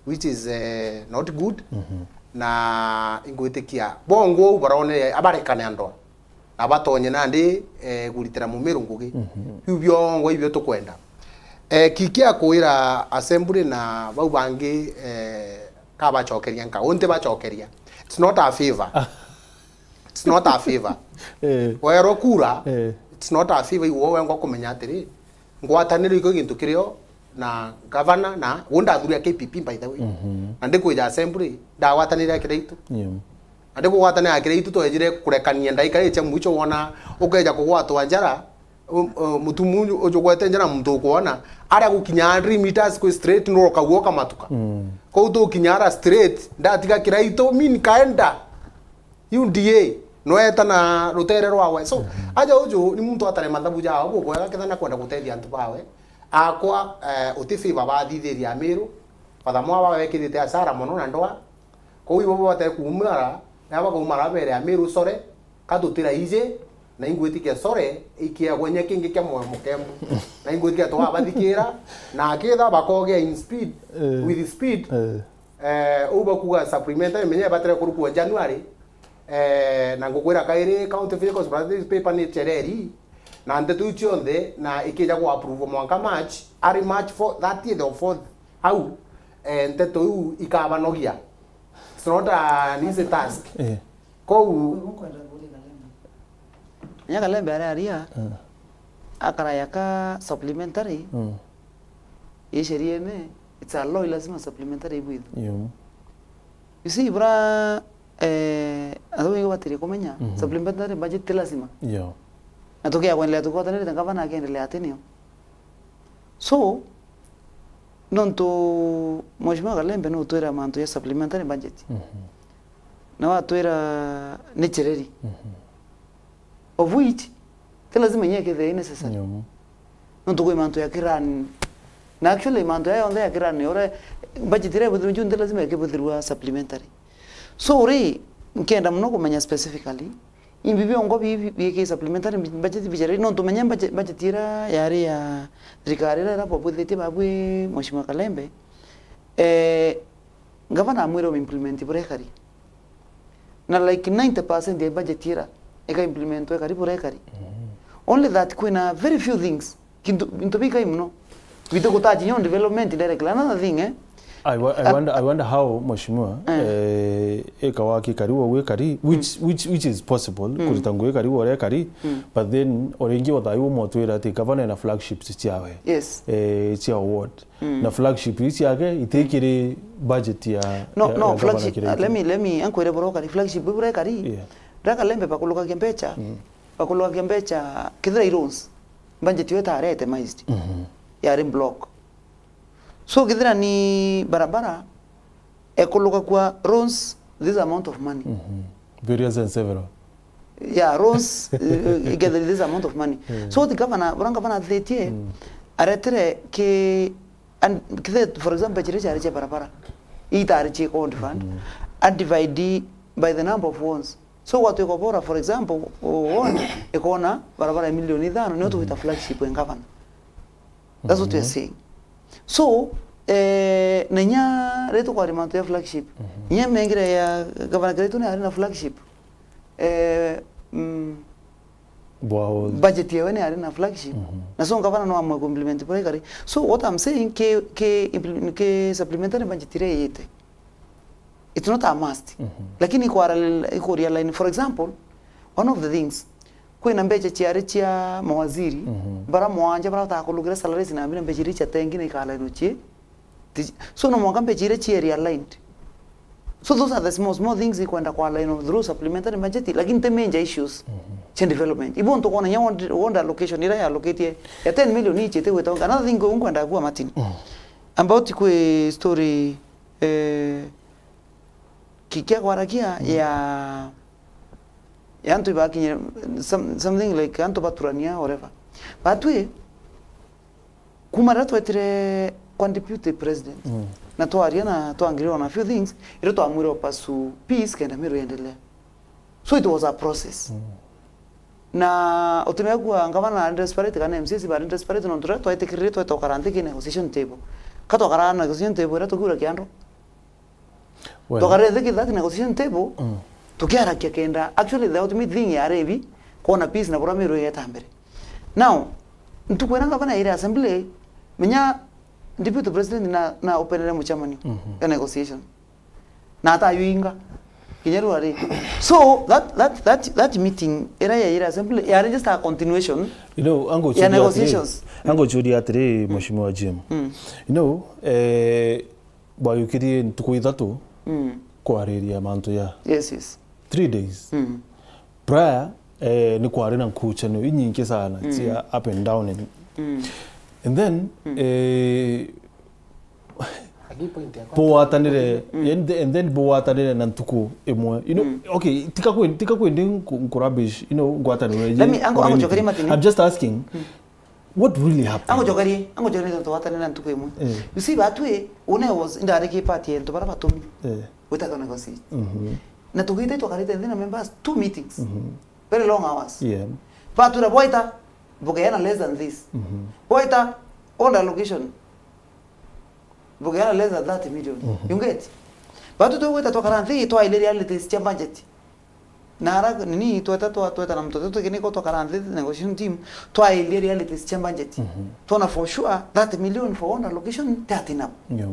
which is, eh, not good. Mhm. Na ingwitikia, bongo u baronere abarekane andoa. Na batonye nandi, eh, kuritira mumiru ngugi. Mhm. Biu biongo ibio tukwenda. Eh, ki kia kwira assembly na bau bangi, eh, kabacokeria nka, unti bacokeria. It's not a favor. It's not a favor. Eh. Werwo kura, eh, it's not a favor, iwe wengwa kumenya atiri, ngwataniro iko gintu kirio na gavana, na u ndathuri ya K P P, by the way. Mhm. Na ndikwija assembly, ndagwatanire ya Kiraitu. Yeah. Na ndikugwatanira ya Kiraitu, twejire kurekania ndaika iria cia mwicho, wona ukeja kugwatwa njara, u-, u-, mutumu uju ujugwete njara, muntu ukwona, aria gukinya hundred meters kwi straight, nurokagua ukamatuka. Mm. Kou tukinya ara straight, ndatiga Kiraitu, mi nkaenda. U D A, nweta na rutere rwawe. So, mhm, aja uju ni muntu atare mathabu jao bubwega, ketha nakwenda gutethia antu bawe. Akwa, eh, uti favor bathithiria Amiru. Father Mwaba wekirite asara mono na ndoa. Kou ibo bote kuumara, na bakaumara bere Amiru, sore, ka tutira ije, na ingwitikia sore, ikiagwa inya kingi kia moyo mukemu. Na ingwitikia twabathikira, na akitha bakogea in speed, eh, with speed. Eh. Eh, uu bakuga supplementary, menya ibatire kurukua January, eh, na ngukwira kairi, County Vehicles Priorities Paper ni chereri, na nteto iu cionthe, na ikija ku approve mwanka March, ari March four, thirtieth or fourth, au, eh, nteto iu ikabanogia. It's not an easy task. Eh. Kou Nya Kalembe aria aria, mm, akaraya ka supplementary, mm, i sheriene, it's a law, lazima supplementary ibwithwe. Yo. You see, bura, eh, antu baingi batirie kumenya, mhm, supplementary budget ti lazima. Yo. Na tukia kwendelea tukwatanirite, ngavana akiendelea atinio. So, nontu Mheshimiwa Kalembe nutwira mantu ya supplementary budget. Mhm. Na watwira ni chereri. Mhm. Of which, ti lazima inya ikethire i necessary. Nontu kwi mantu ya kirani. Na actually, mantu ya yonthe ya kirani, ore budget iria ibuthirwe ju, nti lazima ikibuthirwa supplementary. So, ri, nkenda muno kumenya specifically, imbi biongo bi, bi, bi ki supplementary budget bichereri, nontu menya budget, budget iria yari ya thirikari iria irabobwithitie babwi Mheshimiwa Kalembe, eh, Ngavana amwire uimplement buria ikari. Na, like, ninety percent ya budget ira ika implementwa ikari buria ikari. Mm. Only that kwina very few things. Kintu, into bikai muno. Bitu gutaji nyo development directly. Another thing, eh? I wa-, I wonder, I wonder how, Mheshimiwa, eh, eh, ikawa kikari wo gwikari, which, mm, which, which is possible, mm, kurita ngugi ikari wo uria ikari, mm, but then, oringi o thayu umotwira ati gavana ena flagships ciawe. Yes. Eh, cia award. Mm. Na flagship ii ciake itikiri budget ya, no, ya, no, ya flagship, governor Kiraitu. Uh, let me, let me, ankwire bura ukari, flagship bura ikari. Yeah. Raka lembe bakulukagia mbecha, mm, bakulukagia mbecha, kithira i roads, budget yo itare itemized. Mhm. Yari block. So, kithira ni barabara, ekuluka kwa roads, this amount of money. Mhm. Various and several. Yeah, roads, uh, get this amount of money. Mm. So, the governor, bura governor athitie, mm, aretire ki, and, kithe, for example, chiri chari cha barabara, itari chi code fund, mm, and divide by the number of ones. So, watu ikobora, for example, one ikona barabara ya milioni ithano, nio, mm, tugwita flagship ya governor. That's what we are, mhm, saying. So, eh, na inya riria tukwaria mantu ya flagship, mhm, inya mengire ya Gavana Kiraitu ni ari na flagship. Eh, mm, budget yawe ni ari na flagship. Mhm. Na so gavana no amwe ku implement buria ikari. So what I'm saying, ki, ki implement, ki supplementary budget iria iyite, it's not a must. Mhm. Lakini ikwara-, ikuria line. For example, one of the things, Kwina mbecha ciari cia mawaziri, Mhm. bara mwanja bara batakulukira salaries na mbina mbecha iria cia tengi na ikalainwa cie. Ti-, so no mwanka mbecha iria cie realigned. So those are the small, small things ikwenda kwa line of through supplementary budget, lakini ti major issues Mhm. cia development. Ibo ntukona nya ward, ward allocation ira ya allocated ya ten million ichite gwita. Another thing nkwenda kuwa Martin. Mm. About kwi story, eh, ki-, kia kwarakia Mm. ya, ya antu ibakinyire, some-, something like antu baturania, whatever. Batwi, kuma riria twetire kwa deputy president, Mm. na twaria na twangirira on a few things, irio twamwire opasu peace kenda Meru yendelea. So it was a process. Mm. Na utimenya kuwa ngavana ari desperate kana M C As bari desperate, nontu riria twaitikirire tweta ukara nthi ki negotiation table. Ka twakara negotiation table iria tukiura kiando. Well. Tukarire nthi ki that negotiation table, Mm. tukiarakia kenda. Actually, the ultimate thing yari ibi, kwona peace na bura Meru igeta mbere. Now, ntuku iria ngavana yaire assembly, menya deputy president na, na openere mucemanio Mhm. ya negotiation. Na atayuinga. Kinya riu ari. So, that, that, that, that meeting iria yaire assembly, yari just a continuation You know, ango ya churia atiri, negotiations. Ango churia atiri, Mheshimiwa Jim. Mm. You know, eh, bwayukirie ntuku ithatu Mm. kwariria mantu ya Yes, yes. three days. Mm. Prior, eh, ni kwari na nkuchanio inyingi sana Mm. cia up and down and, Mm. and then, Mm. eh, Agi point yakwa. bugwatanire, Mm. and, and then bugwatanire na ntuku imwe. You know, Mm. okay, tika kwe-, tika kwendi nku-, nkurubbish, you know, ngwataniro iji Let me, ango, ango already. Chokeria Martin. I'm just asking, Mm. what really happened? Ango chokerie, ango chokerie tontu twatanire na ntuku imwe. Eh. You see, batwi, une was, indariki part ya antu bara batumi. Eh. Gwita twa negotiate. Mhm. Na tugite twakarite nthi na members two meetings. Mhm. Very long hours. Yeah. Batwira bwaita, bugeana less than this. Mhm. Bwaita, on the allocation. Bugeana less than thirty million. Mhm. You get? Batu tugwita twakara nthi, twaile realities cia budget. Na ara, nini, tweta twa, tweta na mtoto tukiniko twakara nthi, negotiation team, twaile realities cia budget. Mhm. Twona for sure, thirty million for on allocation, thirty now. Yeah.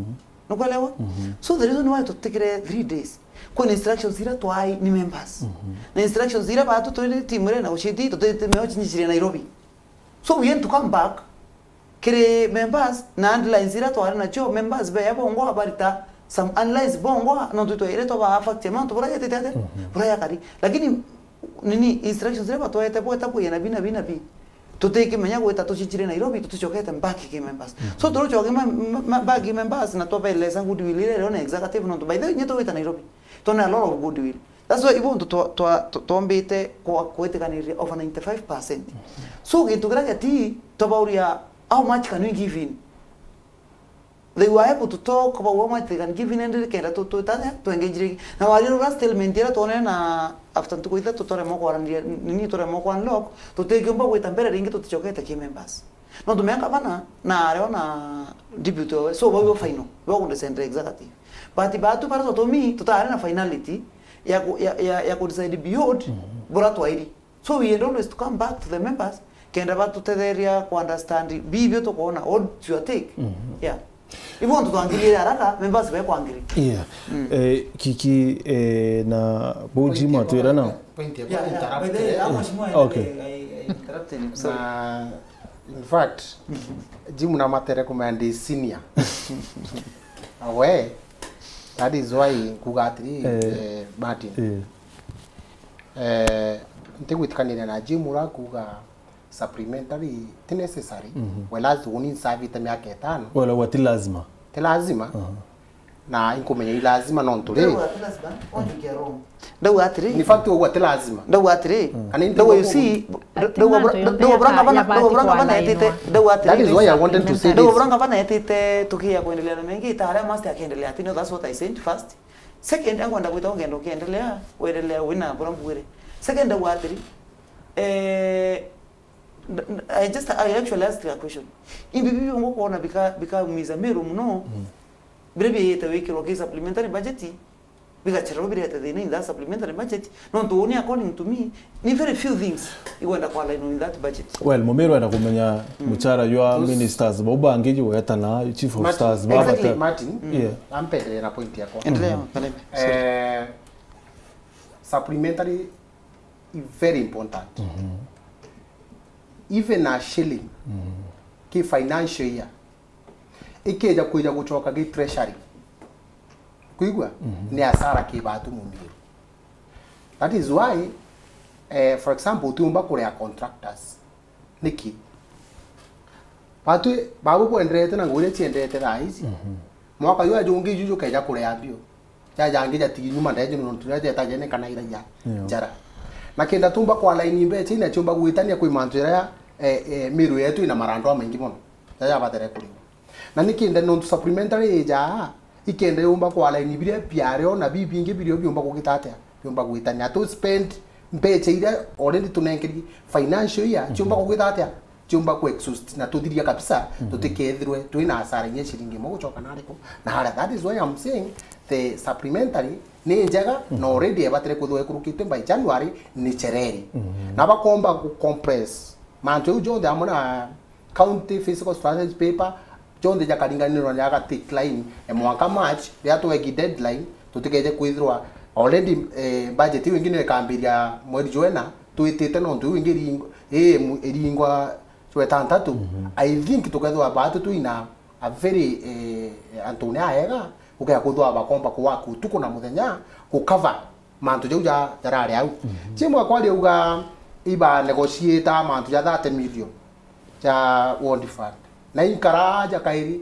Nukwelewa? Mhm. So the reason why tutikire three days, kwina instructions ira twai ni members. Mhm. Na instructions ira batu twiri team ira na ushiti, tutimeo chinyichire Nairobi. So we want to come back kiri members na underlines ira twari nacio, members beya bongwa barita some underlines bongwa, nontu twire twaba fact ya mantu bura yatete ate, Mhm. bura yakari. Lakini, nini, instructions ira batwete bweta bwina bina bina bi. Tutikimenya gwita tuchichire Nairobi, tuticokete back ki members. Mhm. So, turucoke ma-, ma-, ma-, back ki members na twabeleza goodwill ira iri on executive nontu by the way, nye tugwita Nairobi. Twona a lot of goodwill. That's why ibo ntu twa-, twa-, twa-, twombite kwa-, kwitikaniria over ninety-five percent. Mhm. So, gintu kiria geti, twabauria, how much can we give in? They were able to talk about how much they can give in and kenda tu, tu, tanya, twengejire. Na wari rura statement ira twonere na after ntuku ithatu turemwa kwaraniria, nini turemwa kwa unlock, tutikiumba gwita mbere ringi tuticokete ki members. No tumenga bana, na areo na deputy owe. So, bau final, bau kundecendre executive. But batu bara tutumi, tutari na finality ya ku, ya, ya, ya ku decide beyond, Mhm. bura twairi. So we had always to come back to the members, kenda batutetheria ku understand bibio tukwona, what's your take? Mhm. Yeah. Ibo ntu twangiririe haraka, members be kwangiri. Yeah. Mm. Eh, kiki, eh, na bo Point Jim ya atwira na. Point ya Yeah, yeah. Interrupt, By the way, eh. Hapo mheshimiwa Okay. I, I, I interrupted. Sorry. Na, in fact, Jim na matere kumenya ndi senior. Awe, that is why nkuga atiri, Eh. eh, Martin. Eh. Eh, ntigwitikaniria na Jim ura kuga supplementary ti necessary, Mhm. whereas uni nsavite miaka itano. Wala wa ti lazima. Ti lazima. Aha. Na inkumenya i lazima nontu ri. Ndauga ati lazima, wanjukia wrong. Ndauga atiri. In fact, ugwa ti lazima. Ndauga atiri. Mm. Kana indi Ndauga, you see, ndauga bura-, ndauga bura ngavana, ndauga bura ngavana etite, ndauga atiri. That is why I wanted to say this. Ndauga bura ngavana etite tukia kuendelea na mengi, ta aria must akiendelea ati, no, that's what I said first. Second, ankwenda gwita ugenda ukiendelea, wendelea wina bura mbugire. Second, ndauga atiri, eh, n-, n-, I just, I actually asked a question. Imbi bibi ngukwona bika-, bikaumiza Meru muno, Mm. biria biite wikirwa ki supplementary budget, bigachererwa birete thina in that supplementary budget. Nontu uni, according to me, ni very few things igwenda kwa line in that budget. Well, Mumiru enda kumenya Mm. muchara jwa Those ministers bau bangi jugwetana, chief of Martin, stars, exactly, babata. Martin, Mm. Yeah. Ampendelee na point yakwa. Endelea, Mm. Kalebe. Sorry. Eh, supplementary is very important. Mhm. Even a shilling ki financial year ikeja kwija gucoka gi treasury, kwigua, ni asara ki batu mumiru. That is why, eh, for example, utiumba kuria contractors. Niki? Batu babu bwenderete na ngugi iria ciendete thaa ici. Mwaka uyu ajungi iju jukeja kuria mbio. Jajangi jatigi nyuma ndeje nontu riria jetajene kana iraia njara. Na kenda tumba kwa line mbeca ina ciumba gwitania kwi mantu jaria, eh, eh, miru yetu ina marandu amaingi mono. Jaja batere kuriwa. Na nikenda nontu supplementary ijaa, ikenda yumba kwa line biria biario na bibingi birio biumba kugita atia? Biumba gwitania. To spend mbeca iria already tunenkeri financial year, ciumba kugita atia? Ciumba ku exhaust na tuthiria kabisa, tutikethirwe twina asara inya ciringi imwe gucoka nariku. Na haria, that is why I'm saying the supplementary ni njega, na already ebatire kwithirwa ikurukitwe by January, ni chereri. Na bakomba ku compress mantu jau jonthe amwe na county fiscal strategy paper, jonthe jakaringanirwa na jaga take line, e, mwanka March, riria twegi deadline, tutikeje kwithirwa already, e, budget iu ingi niyo ikambiria mweri jwena, twitite nontu iu ingi iring-, ii, mu-, iringwa jwetantatu. I think tukethirwa baatu twina a very, e, antune aega, ukea kwithirwa bakomba kuwaka utuku na muthenya, ku cover mantu jau ja-, jarari au. Chimwe kwari auga iba negotiate mantu ja thirty million ja ward fund. Na inkara aja kairi,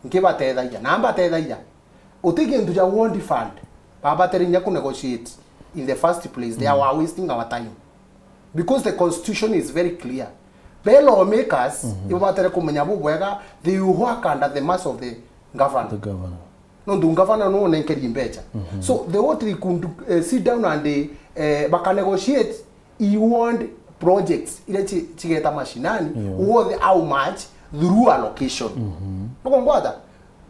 nkibatethagia. Na mbatethagia. Uti kintu ja ward fund, babatere inya ku negotiate in the first place. They are wasting our time. Because the constitution is very clear. Be lawmakers, ibo batere kumenya bubwega, they work under the mercy of the governor. The governor. Nontu ngavana no nenkeri mbeca. So the what they could, eh, sit down and, eh, baka negotiate, i ward projects iria ci-, cigeta mashinani, worth how much through allocation. Nukungwata?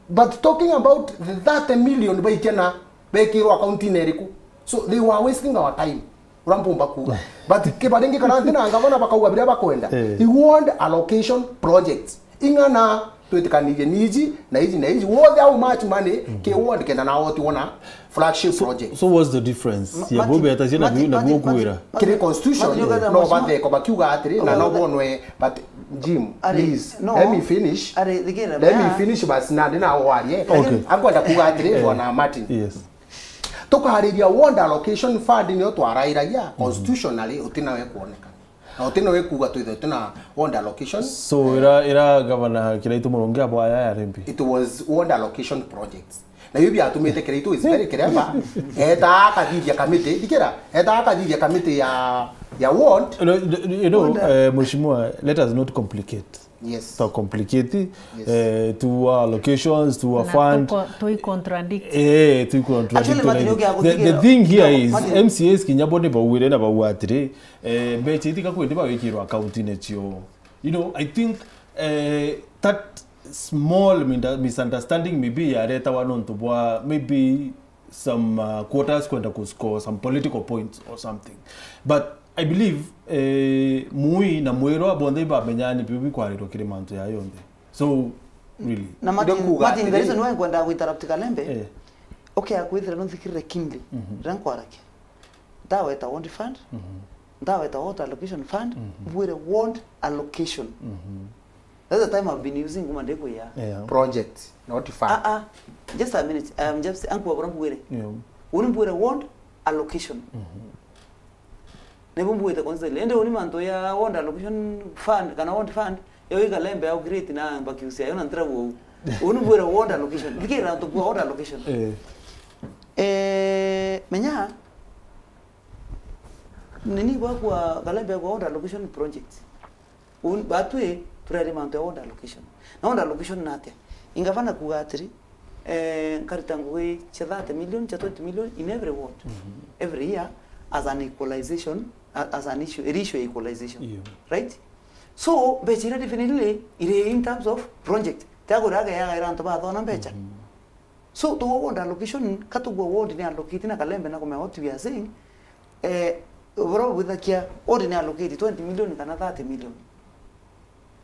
But talking about the thirty million baikena bekirwo account-ini iriku? So they were wasting our time. Uria mpumba kuuga. But kibaringi kana nthi na ngavana bakauga biria bakwenda. Eh. I ward allocation projects. Ing'ana twitikanirie ni iji, na iji, na iji. Wothe how much money, ki ward kenda na oti wona flagship project. So what's the difference? Ma-, ya Martin, bobe atacia na Martin, biu, na Martin, buo kwira. Martin, kiri constitution, Martin, no batheko bakiuga atiri, na no bonwe, but Jim, please, let me finish. Let me finish, basi na ndina warie. Okay. Akwenda kuuga atiri, Bwana Martin. Yes. Tukariria ward allocation fund niyo twarairagia constitutionally, utina we kuoneka. Na utina we kuuga twithe utina ward allocation. So, ira, ira governor Kiraitu Murungi abwaya ya rimbi? It was ward allocation projects. Na iu biatumite Kiraitu is very clever. Eta akathithia committee, thikira, eta akathithia committee ya, ya ward. No, you know, eh, Mheshimiwa, let us not complicate. Yes. To complicate, eh, to our allocations, to our fund. Tui contradict. Eh, tui contradict. Actually, Martin, the, the thing here is, M C As kinya bo ni bauire na bauga atiri, eh, mbeca itika kwendi bawikirwa account-ini cio. You know, I think, eh, that small minda-, misunderstanding maybe yaretawa nontu bwa maybe some, uh, quarters kwenda ku score some political points or something. But I believe, eh, Mui na Mwirwa bonthe ibamenyaa ni biu bikwarirwa kiri mantu ya yonthe. So, really. Na Martin, Martin, the reason why nkwenda ku interrupt Kalembe, eh, okay, akwithira nunthikirire keenly, riria nkwarakia. Ndaweta ward fund, ndaweta ward allocation fund, mbwire ward allocation. That's the time I've been using kuma ndikwia. Yeah. Project, not fund. Ah, ah. Just a minute. I am just, ankwa bora mbwire. Yeah. Uni mbwire ward allocation. Nibu mbwite constantly. Ende uni mantu ya ward allocation fund, kana ward fund, yo i Kalembe au create na mbakiusia, yo na ntira wou. Uni mbwire ward allocation. Thikira antu bwa ward allocation. Eh. Eh, menya, nini bwa kwa Kalembe kwa ward allocation project. Un-, batwi tureri mantu ya ward allocation. Na ward allocation ni atia? Ingavana kuuga atiri, eh, nkarita ngugi cia thirty million, cia twenty million in every ward, every year as an equalization, a-, as an issue, iri issue ya equalization. Iyo. Right? So, mbeca iria definitely iri in terms of project. Tia kuria ageaga ira antu bathona mbeca. So, tugwa ward allocation, ka tugwa ward ni allocate na Kalembe na kumenya what we are saying, eh, bora bwithakia ward ni allocate twenty million kana thirty million.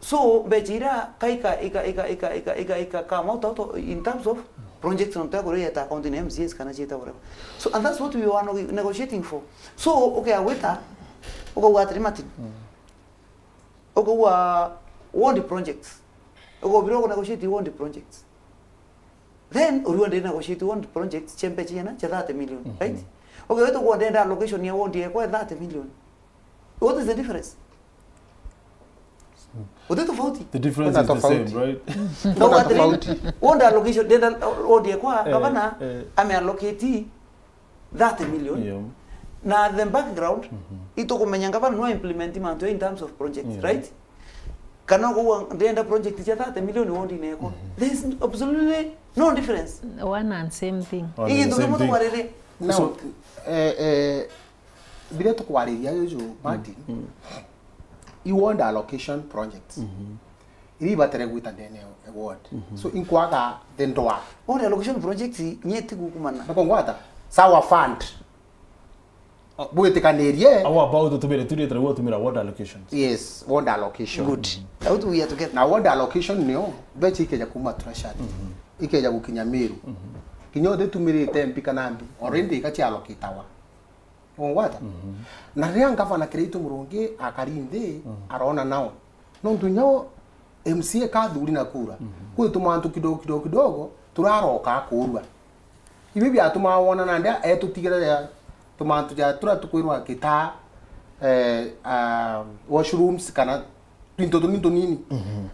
So, mbeca iria ka ika, ika, ika come out, out in terms of projects, no twa kuria account in M C As kana ciita whatever. So, and that's what we were nego-, negotiating for. So, okay, agwita, ukauga atiri, Martin, Ukauga ward projects. Ukauga biro negotiate ward projects. Then urua ndi negotiate ward projects cia mbeca ciana cia thirty million, right? Okay, wetu kwa ndenda allocation ya ward yekwa ya thirty million. What is the difference? Uti tofauti. The difference Kuna is the same, tofauti. Right? Kuna Ngauga atiri, tofauti. Ward allocation, ndenda ward yekwa, Eh, gavana eh. Ame allocate thirty million. Yeah. Na the background, itukumenya gavana no implement mantu in terms of projects, Yeah. right? Kana kuwa ndenda project cia thirty million ward inekwa. There is absolutely no difference. One and same thing. One Ii and the same muntu thing. Wariri. Now, So, eh, eh, biria tukwariria juju, Martin, i ward allocation projects. Iria ibatere gwita ndene ya ward. So, inkwaga the ndwa. Ward allocation projects nyeti gukumana. Nakongwata? Sawa fund. Bwitikanirie. How about utumire tu rita rwa utumira ward allocations? Yes, ward allocation. Good. How do we are together? Na ward allocation nio, mbeca ikeja kuma treasury. Ikeja gukinya Meru. Kinya uthitumirite mbi kana mbi, already ikaciallocatawa. Ungwata? Na riria ngavana Kiraitu Murungi akari nthi, arona nao. Nontu inya o M C A kathuri na kura. Kwi tumantu kidogo, kidogo, kidogo, turaroka kurua. Ibi biatumaa wona nandi etutigira tumantu ja turia tukwirwa gitaa, eh, ah, washrooms kana twinto tunini tunini.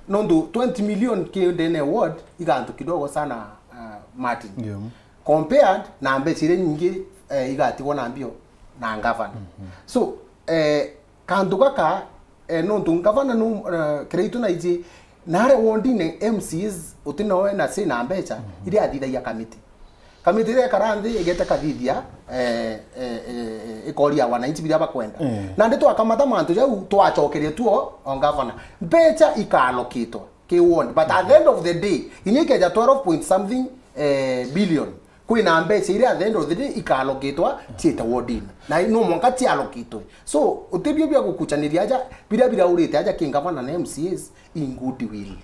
Nontu twenty million ki ndene ward igantu kidogo sana, ah, Martin. Yeah. Compared na mbeca iria nyingi, eh, igatigwo na mbio na ngavana. So, eh, kantu gaka, eh, nontu ngavana nu, eh, Kiraitu naiji, nare wondine M C As uti nawe na si na mbeca, iria athithagia kamiti. Kamiti iria ikara nthi igete kathithia, eh, eh, eh, eh, ikoria wananchi biria bakwenda. Eh. Nandi twakamata mantu jau, twacokeria tuo o ngavana. Mbeca ikaalokitwa ki ward. But at the end of the day, inya ikeja twelve point something, eh, billion, kwina mbeca iria at the end of the day ikaalokitwa ciite wardini. Na no mwanka cialokitwe. So, utibio bia gukuchaniria aja, biria biraurite aja ki ngavana na M C As in goodwill.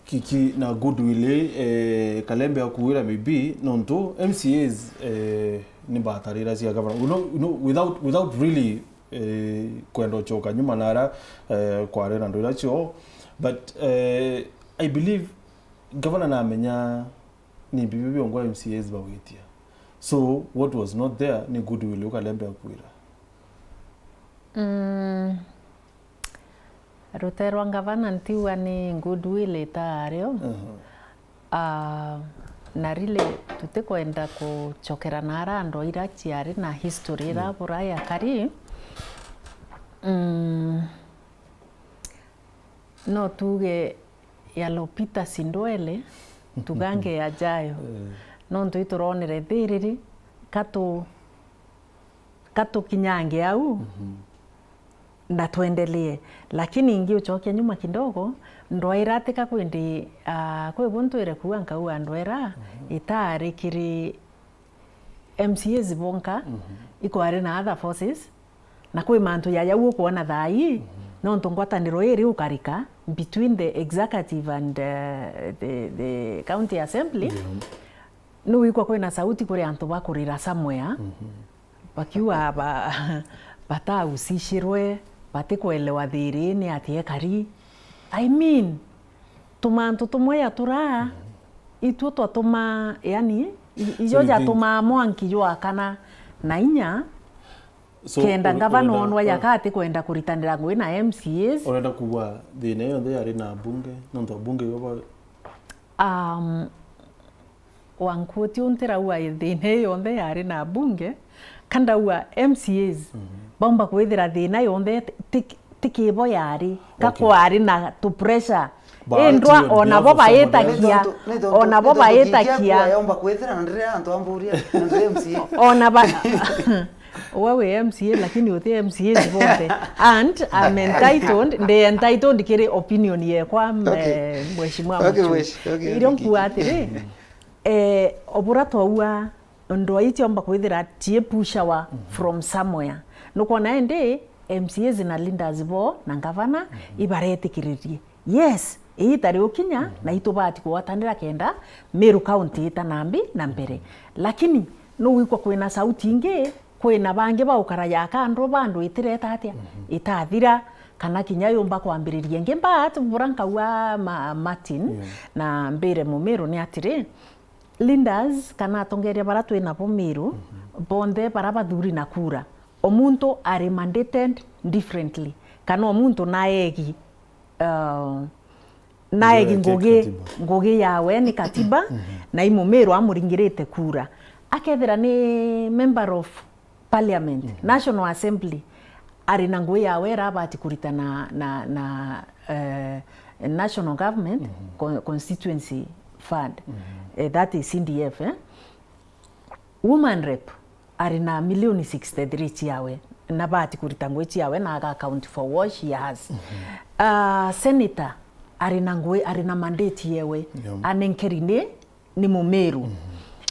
Kiki na goodwill, eh, Kalembe akuwira maybe, nontu M C As, eh, ni batarira cia gavana. You know, you know, without, without really, eh, kwenda uchoka nyuma nara, eh, kware na ndwira cio. But, eh, I believe gavana namenya ni bibi biongwa M C As bawitia. So, what was not there ni goodwill ukalembe akwira. Mm. Rute rwa ngavana ntiuga ni goodwill itaario. Ah, na really tutikwenda kuchokera na ara andu aira ciari na history ira bura ya kari. Mm. No tuge yalopita si ndwele, tugange yajayo. Eh. Nontu ituronere thiriri, katu-, katukinyange au, na twendelee. Lakini ingi uchokia nyuma kidogo, ndwaira atika kwindi, ah, kwi bu ntwire kuuga nkauga ndwera, itaari kiri M C As bonka, ikwari na other forces, na kwi mantu jaja u ukwona thaa ii, nontu ngwataniro iri ukarika between the executive and, uh, the, the county assembly. Ni wikwa kwina sauti kuri antu bakurira somewhere, bakiuga ba-, batahusishirwe, batikwelewa thiri ni atia ekari. I mean, tumantu tumwe ya turaa, itwo twatuma, yani, i-, ijo jatumaa mwanki jwakana na inya, so, kenda ngavana onwa jaka atikwenda kuritanira ngui na M C As. Urenda kuuga thina iyo yonthe yari na abunge, nontu abunge ibo ba- Um, Wankuti untirauga thina ii yonthe yari na abunge, ka ndauga M C As baumba kwithira thina yonthe ti, ti, ti kibo yari, ka kwari na tu pressure. Indwa ona bo baitakia, ona bo baitakia. Yomba kwithira na ndire antu amburia, na ndire M C A. Ona ba Uwe wi M C A, lakini uti M C As bonthe. And I'm entitled, ndi entitled kiri opinion yekwa, eh, Mheshimiwa Muchungi. Irio nkuuga atiri, eh, obura twaua ndwai ciomba kwithira ciipushawa from somewhere. Nukwona indi M C As na leaders bo na ngavana ibaretikiririe. Yes, iita riukinya na itubati kugwatanira kenda Meru County ita na mbi na mbere. Lakini nuwikwa kwina sauti ingi, kwina bangi baukara jaka andu bandu itireta atia? Itathira. kana kinya yumba kwambiriria ingi. But bura nkauga ma, Martin, yeah, na mbire Mumiru ni atiri, leaders kana atongeria bara twi nabo Miru, mhm, bonthe bara bathuri na kura, o muntu ari mandated differently, kana o muntu naegi, uh, naegi ngugi, katiba, ngugi yawe ni katiba, mhm, na i Mumiru amuringirite kura. Akethira ni member of parliament, mhm, National Assembly, ari na ngugi yawe irabati kurita na, na, na, eh, national government, mhm, con-, constituency fund, mhm, eh, that is C D F, eh? Woman rep ari na milioni sixty-three ciawe, na bati kurita ngugi ciawe na aga account for what she has. Mhm. Ah, senator ari na ngugi, ari na mandate yewe, yeah, anenkeri ni, ni Mumiru. Mhm.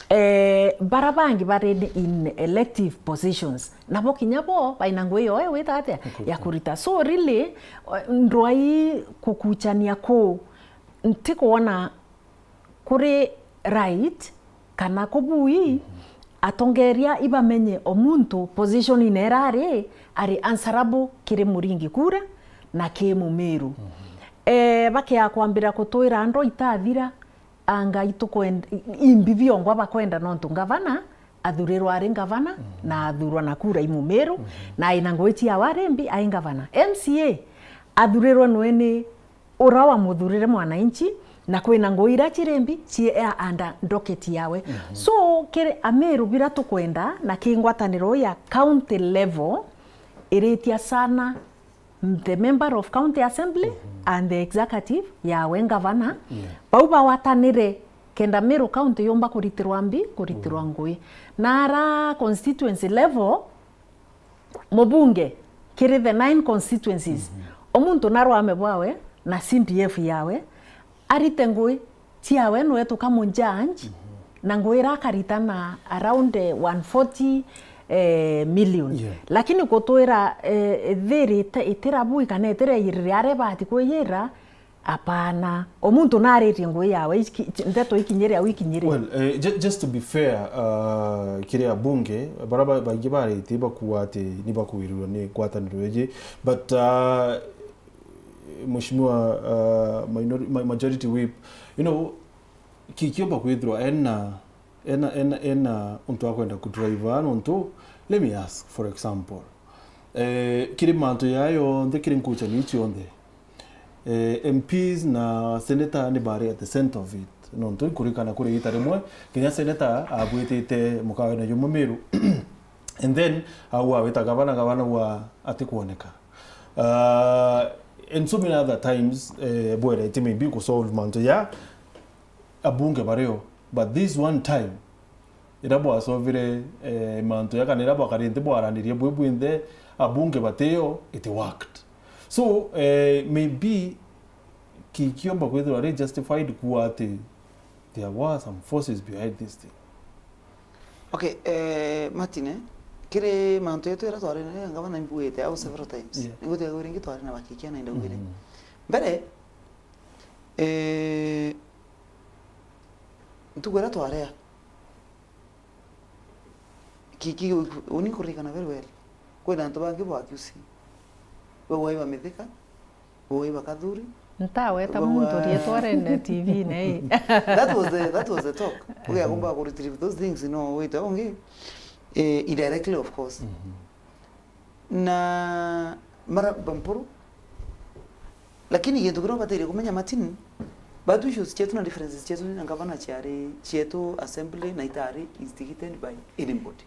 Eh, bara bangi bari in elective positions, nabo kinya bo baina ngugi yo wita atia ya kurita. So really, eh, ndwai kukuchania kuu, ntikwona kuri right kana kubui atongeria ibamenye o muntu position ine irari ari answerable kiri muringi kura na ki Mumiru. Eh, bakia kwambira kutwira andu itathira, anga itukwenda, imbi biongwa bakwenda nontu ngavana athurirwa ari ngavana, mhm, na athurwa na kura i Mumiru, mhm, na aina ngugi ciawe ari mbi ai ngavana. M C A athurirwe nwe ni ura wamuthurire mwananchi, na kwina ngugi iria ciri mbi cii under docket yawe. Mhm. So, kiri Amiru bira tukwenda na ki ngwataniro ya county level, iritia sana the member of county assembly, mhm, and the executive yawe ngavana, yeah, bau bawatanire kenda Miru county yumba kuritirwa mbi, kuritirwa, mhm, ngugi. Na ara constituency level, mubunge kiri the nine constituencies, mhm, o muntu na rwame bwawe na C D F yawe, arite ngugi ciawe, nwe tukamu judge, mhm, na ngugi ira akarita na around, eh, one forty, eh, million. Yeah. Lakini kutwira, eh, thiri ite-, itira bui kana itira yirire aria ibati kwiyira, apana. O muntu naritie ngugi yawe, iki-, ndeto ikinyire au ikinyire. Well, eh, ju-, just to be fair, uh, kiri abunge, bara ba-, baingi baritie bakuga ati ni bakuwirirwa ni ngwataniro iji, but, uh, Mheshimiwa, uh, minor-, ma-, Majority Whip, you know, ki-, kiumba kwithirwa ena, ena, ena, ena untu akwenda kudrive nontu, let me ask, for example, eh, kiri mantu jaa yonthe, kiri nkuchani ii cionthe, eh, M Ps na senator ni bari at the center of it, nontu nkurikana kuri ita rimwe, kinya senator abwitite mukawene jumwe Miru, and then au awita gavana, gavana wa atikwoneka. Uh, and so many other times, eh, bwerete maybe ku solve mantu ya abunge bario, but this one time, ira bwasovire, eh, mantu ya kana ira bwakari nthi bwaranirie bwi bwinthe, abunge batio, it worked. So, eh, maybe ki-, kiomba kwithirwa ari justified kuwa ati there were some forces behind this thing. Okay, eh, Martin, eh, kiri mantu yetu ira twari na ngavana imbugite au several times. Yeah. Nigutiga kwi ringi twari na bakikia na indaugire. Mm. Mbere, eh, ntuku ira twarea, ki-, ki-, uni nkuririkana very well. Kwina antu bangi bwa accuse. Bau ai ba Mithika, bau ai ba Kathuri. Ntaweta muntu rietwa rene T V-ine ii. That was the, that was the talk. Ugiakumba ku retrieve those things, no, wite ungi, eh, indirectly, of course. Mhm. Na mara bampuru. Lakini gintu kiria ubataire kumenya, Martin, batu issues cietu na differences cietu na ngavana ciari cietu assembly na itari instigated by anybody.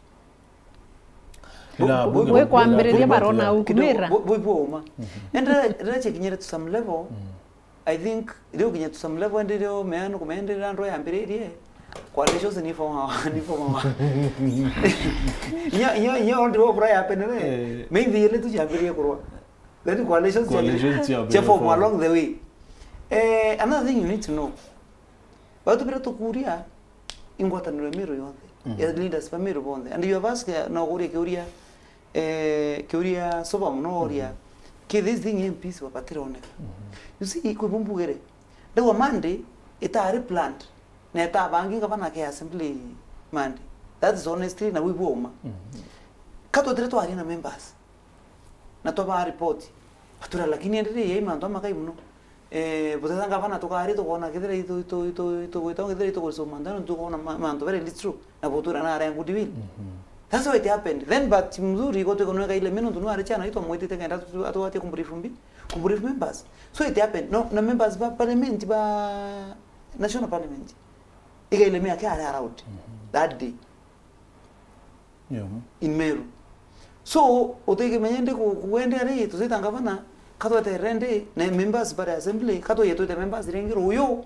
Ila Bu-, bu-, bunge Gwe kwambiriria barona ukumira. Kidogo, bu-, bu-, bwa uma. Mhm. And rira, rira cikinyire to some level, mm, I think, riu kinya to some level, ndi rio meana kumenderera andu yambiririe, coalitions ni form, ni form. Nyo, nyo, nyo, ndi wo bura yapenere. Eh. Maybe ile tu ciambiririe kurwa. Then coalitions cia, coalitions cia cia form form along the way. Eh, another thing you need to know. Batu bira tukuria ingwataniro ya Miru yonthe. Mhm. Ya leaders ba Miru bonthe. And you have asked, eh, no kuria kiuria, eh, kiuria soba muno uria. Mhm. Ki this thing M Ps babatironeka. Mhm. You see, kwi bumbugere. Ndauga Monday itari planned. Na itabangi gavana ke assembly Monday. That is honestly na wibwa uma. Mhm. Katwetire twaria na members. Na twabaa report. Batura, lakini endere yai mantu amakai muno. Eh, buteta ngavana tukari tukona kethira itu-, itu-, itu-, itugwita kethira itugurisoma mantu, nontu tukona ma-, mantu very little, na butura na are good will. That's how it happened. Then but mzuri, igo tukunweka ile mino ntu nwari chana itwa mwitite kenda tu-, atwatie kumbrief mbi, kumbrief members. So it happened. No, na members ba parliament ba national parliament. Iga ile miaka are around that day. Yeah. In Meru. So, utikimenya ndi ku-, kuendea ri, tusita ngavana, katweterere ndi, na members bare assembly, katwije twite members ringi ruyu,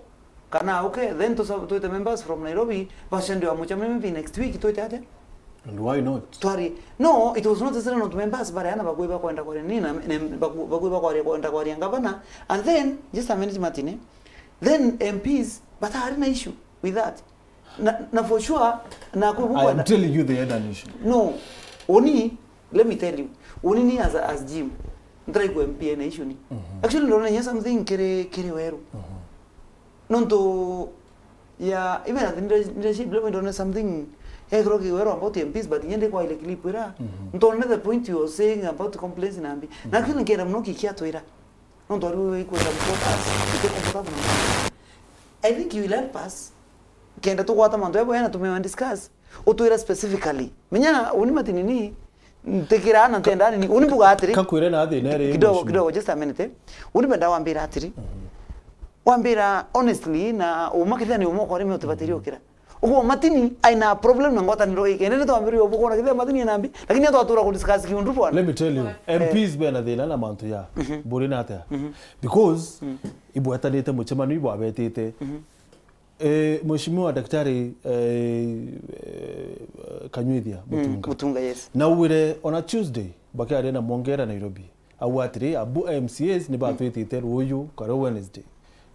kana okay, then tusa-, twite members from Nairobi, bacende wa mucemanio maybe next week, twite atia? And why not? Twari, no, it was not necessary not members bare ana bakui bakwenda kwaria nini, na, na baku-, bakui bakwaria, kwenda kwaria ngavana, and then, just a minute, Martin, eh? Then M Ps, batari na issue with that. Na, na for sure, na ku-, I am telling you they had an issue. No, uni, let me tell you, uni ni as, as Jim, ntrai ku M P ena issue ni. Actually, ndona nya something kiri, kiri weru. Nontu ya, even at the leadership level, ndona something, ya kiro ki weru about M Ps, but nyende kwa ile clip ira. Ntona the point you are saying about complaints na mbi. Na kile nkienda muno kikia twira. Nontu ari we ikwenda mkotas, ite comfortable na mkotas. I think you will help us. Kenda tugwata mantu yabo yana tumewa discuss. Utwira specifically. Menya uni Martin ni, ntikira na ntenda ni, uni mbuga atiri. Kakwire na thina iri kidogo, mheshimiwa. Kidogo, just a minute, eh. Uni benda wambira atiri. Wambira honestly na uma kithia ni uma kwa rimi utibatirio kira. Uguo Martin aina problem na ngwataniro ii. Kenda ni twambiririe ubukona kithia Martin ena mbi, lakini atwatura ku discuss kiundu bwana. Let me tell you, M Ps bena thina na mantu ya. Buri na atia? Because ibwetanite mucemanio ibwabetite. Eh, Mheshimiwa Daktari, eh, eh, Kanyuithia Mutunga. Mutunga, yes. Na uwire on a Tuesday, bakiaria na Mwongera Nairobi. Au atiri, abu M C As ni batwitite ruyu, kare Wednesday,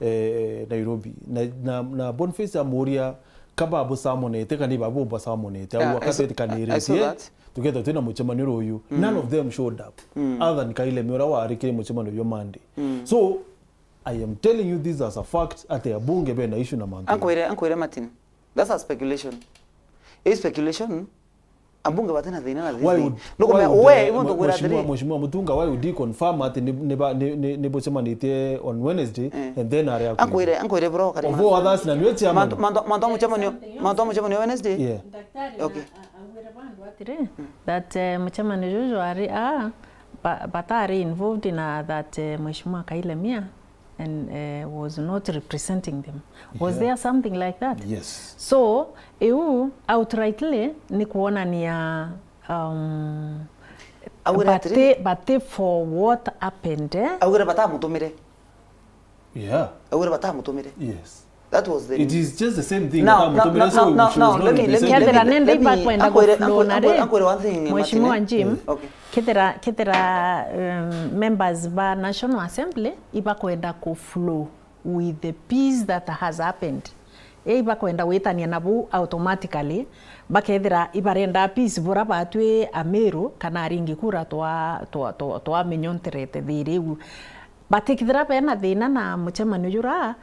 eh, Nairobi. Na, na, na Boniface amuria kaba abusamonete, kana ibabu basamonete. Au akatwitikaniritie, tukethwa twina mucemanio ruyu. None of them showed up. Other than Kailemi uria wari kiri mucemanio uyu Monday. So, I am telling you this as a fact, ati abunge bena issue na mantu. Ankwire, ankwire Martin. That's a speculation. A speculation, abunge batina thina na this thing. Why would, why would, we, eh, ibo ntukwira atiri. Mheshimiwa, Mheshimiwa Mutunga, why would he confirm ati ni, ni ba, ni, ni, ni bucemanitie on Wednesday, and then are ankwire, ankwire bro, kari of all others, na niwe chairman. Mantu, mantu, mantu a mucemanio, mantu a mucemanio Wednesday? Yeah. Okay. Augire bandu atiri, that, eh, mucemanio juju ari, ah, ba-, batari involved na that, eh, Mheshimiwa Kailemia and, eh, was not representing them. Was there something like that? Yes. So, iu outrightly ni kuonania, um, augire atiri, bati, bati for what happened, eh? Augire batamutumire. Yeah. Augire batamutumire. Yes. That was the... It is just the same thing. Now, now, now, now, now, let me, let me, let me, let me, kethira nende ibakwenda kuflow na ri, ankwire one thing, Mheshimiwa Martin, eh? Jim, okay. Kethira, kethira, um, members ba National Assembly ibakwenda kuflow with the peace that has happened. Ibakwenda gwitania nabu automatically, bakethira ibarenda peace bura batwi Amiru kana aringi kura twa, twa, twa, twamenyonterete thiri iu. Batikithira bena thina na mucemanio jura,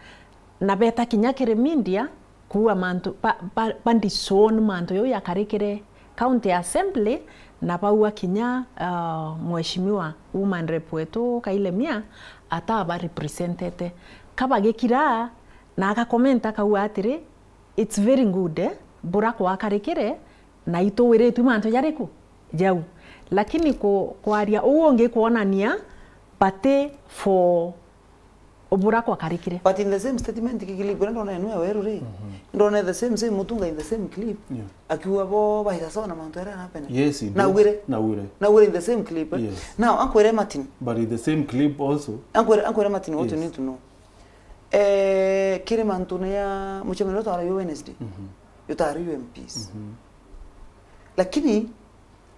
na beta kinya kiri media, kuua mantu, ba, ba, ba disown mantu jau jakarikire County Assembly, na baua kinya, ah, Mheshimiwa Woman Rep wetu Kailemia ataba representete. Kabagikira na agakomenta akauga atiri, "It's very good, eh, bura kwakarikire, na ituwiritue mantu jariku? Jau." Lakini ku-, kwaria uu ungi kwonania bati for ubura kwakarikire. But in the same statement, ki clip iria ndona enu ya weru ri, ndona the same, same Mutunga in the same clip, yeah, akiuga bo baita sawa na mantu aria arapene. Yes, he did. Naugire. Naugire. Naugire in the same clip, eh? Yes. Now, ankwire Martin. But in the same clip also. Ankwire, ankwire Martin, what you need to know. Eh, kiri mantune ya mucemanio uria twaraio Wednesday, utaraiwe M Ps. Lakini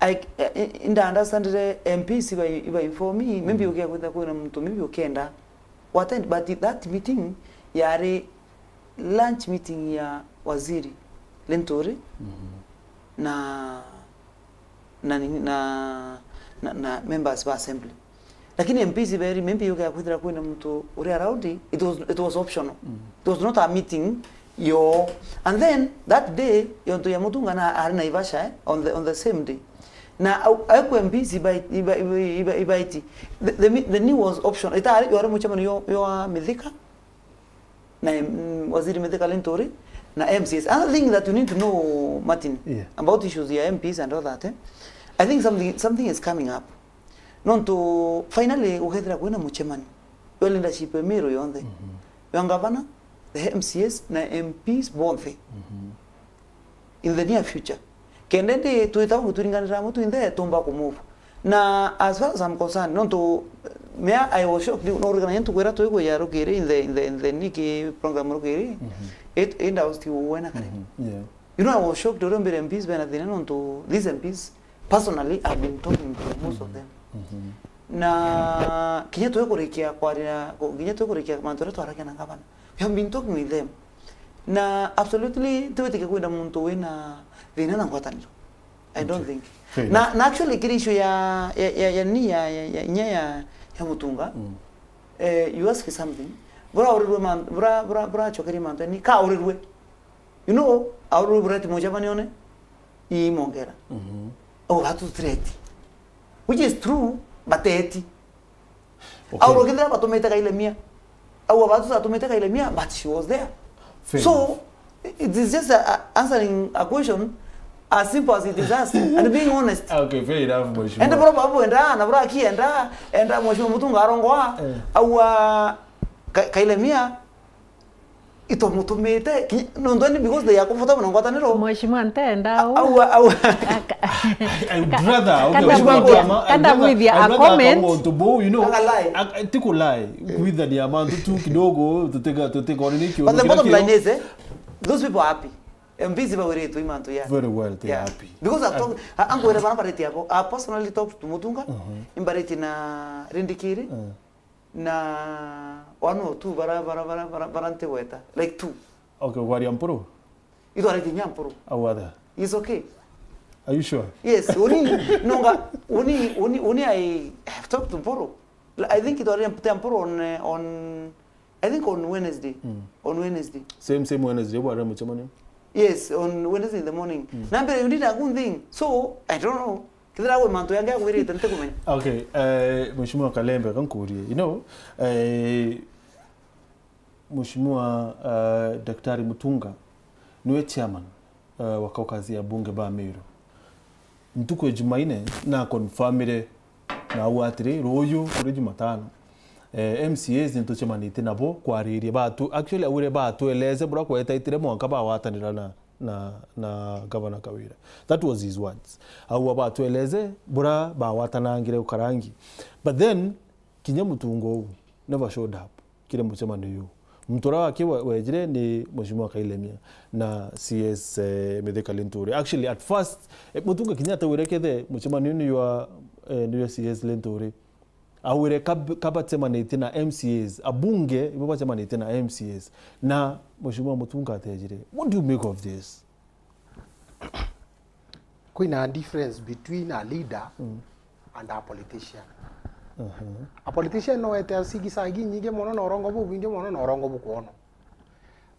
I, I, I, nda understandire M Ps iba, iba inform me, maybe ukia kwitha kwina muntu maybe ukienda u attend, but that meeting yari lunch meeting ya waziri Linturi na, na, na, na, na members ba assembly. Lakini M Ps beri, maybe ukia kwithira kwina muntu uri around, it was, it was optional. It was not a meeting yo. And then that day, yontu ya Mutunga na ari Naivasha, eh, on the, on the same day. Na au, au kwa M Ps ibai-, ibai-, ibai-, ibai-, ibaiti. The, the, the new was option. Ita ari, wari mucemanio yo, yo wa Mithika, na, mm, Waziri Mithika Linturi, na M C As. Another thing that you need to know, Martin, Yeah. about issues ya M Ps and all that, eh? I think something, something is coming up. Nontu, finally, ukethira kwina mucemanio. Yo leadership ya Meru yonthe. Mhm. Yo ngavana, the M C As, na M Ps bonthe. Mhm. In the near future. Kenda ndi twita uguo turinganira mutu inthe tumba ku move. Na as far as I'm concerned, nontu mea I was shocked, no urikana ntuku iria twigwija rukiri in the, in the, in the niki program rukiri, Mhm. it, it was still wena kare. Mhm. Yeah. You know, I was shocked uria mbere M Ps bena thina nontu these M Ps, personally, I've been talking to most of them. Mhm. Na kinya twekurikia kwaria, kinya twekurikia mantu aria twaragia na gavana. We have been talking with them. Na absolutely, tiwitike kwina muntu wina thina na ngwataniro. I don't Okay. think. Fair Na, enough. na actually, kiri issue ya, ya, ya, ya ni ya, ya, ya, inya ya, ya Mutunga, Mm. eh, you ask something. Bura urirwe man-, bura, bura, bura chokerie mantu, ni ka urirwe. You know, aurwe bura ti mucemanione, imongera. Mhm. Au batu threat. Which is true, but eti. Okay. Au rokithira batumite Kailemia. Au batu batumite Kailemia, but she was there. Fair So, enough. it is just a, a answering a question as simple as it is asked and being honest. Okay, fair enough, mheshimiwa. Ende bora babu enda, na bora akienda, enda mheshimiwa Mutunga arongoa, Eh. au a Ka-, Kailemia, itumutumite, ki-, nontu ni because they are comfortable na ngwataniro. Mheshimiwa ntenda u. Au, au. Aka-, I would rather, okay, kanda Mheshimiwa gwithia, Kama, I'd kanda rather, gwithia I'd a rather comment. Akauntu buu, you know, Aka lie. Ak-, ti ku lie, kwithania mantu tu kidogo, tutega, tutega, ni kio. But the bottom line is, eh, those people are happy. M Ps bawiritwe i mantu ya. Very well, they are Yeah. happy. Because I've And talked, a-, angwira bara bareti abo. I personally talked to Mutunga, Mhm. imbareti na Rindikiri. Mm. Na one or two bara, bara, bara, bara, bara ntigweta. Like two. Okay, ugwaria Mpuru? Itwarite inya Mpuru. Au other? It's okay. Are you sure? Yes, uni, nonga, uni, uni, uni I have talked to Mpuru. I think itwarite Mpuru on, eh, on, I think on Wednesday. Mm. On Wednesday. Same, same Wednesday, bwari mucemanio? Yes, on Wednesday in the morning. Mm. Na mbere, you need a good thing. So, I don't know. Kethira gwi mantu yangi agwirite, ntikumenya. Okay, eh, Mheshimiwa Kalembe, kankurie. You know, eh, Mheshimiwa, eh, Daktari Mutunga, niwe chairman, eh, wa caucus ya bunge ba Meru. Ntuku ya Jumaine, na confirmire na au atiri, ruuju kuri Jumatano, eh, M C As nitucemanitie nabo kwariria batu, actually, augire batueleze bura kwetaitire mwanka bawatanira na na, na Governor Kawira. That was his words. Au abatueleze bura bawatanangire ukarangi. But then, kinya Mutunga uu never showed up kiri mucemanio uu. Muntu uria waki we-, wejire ni Mheshimiwa Kailemia na C S, eh, Mithika Linturi. Actually, at first, eh, Mutunga kinya atawire kethe mucemanio ni ywa, eh, ni ywa C S Linturi. Augire kab-, kabacemanitie na M C As, abunge ibo bacemanitie na M C As. Na Mheshimiwa Mutunga atejire. What do you make of this? Kwina difference between a leader Mm. and a politician. Uh-huh. A politician no ete asigisa ingi nyingi mono na urongo bubwingi mono na urongo bukwonwa.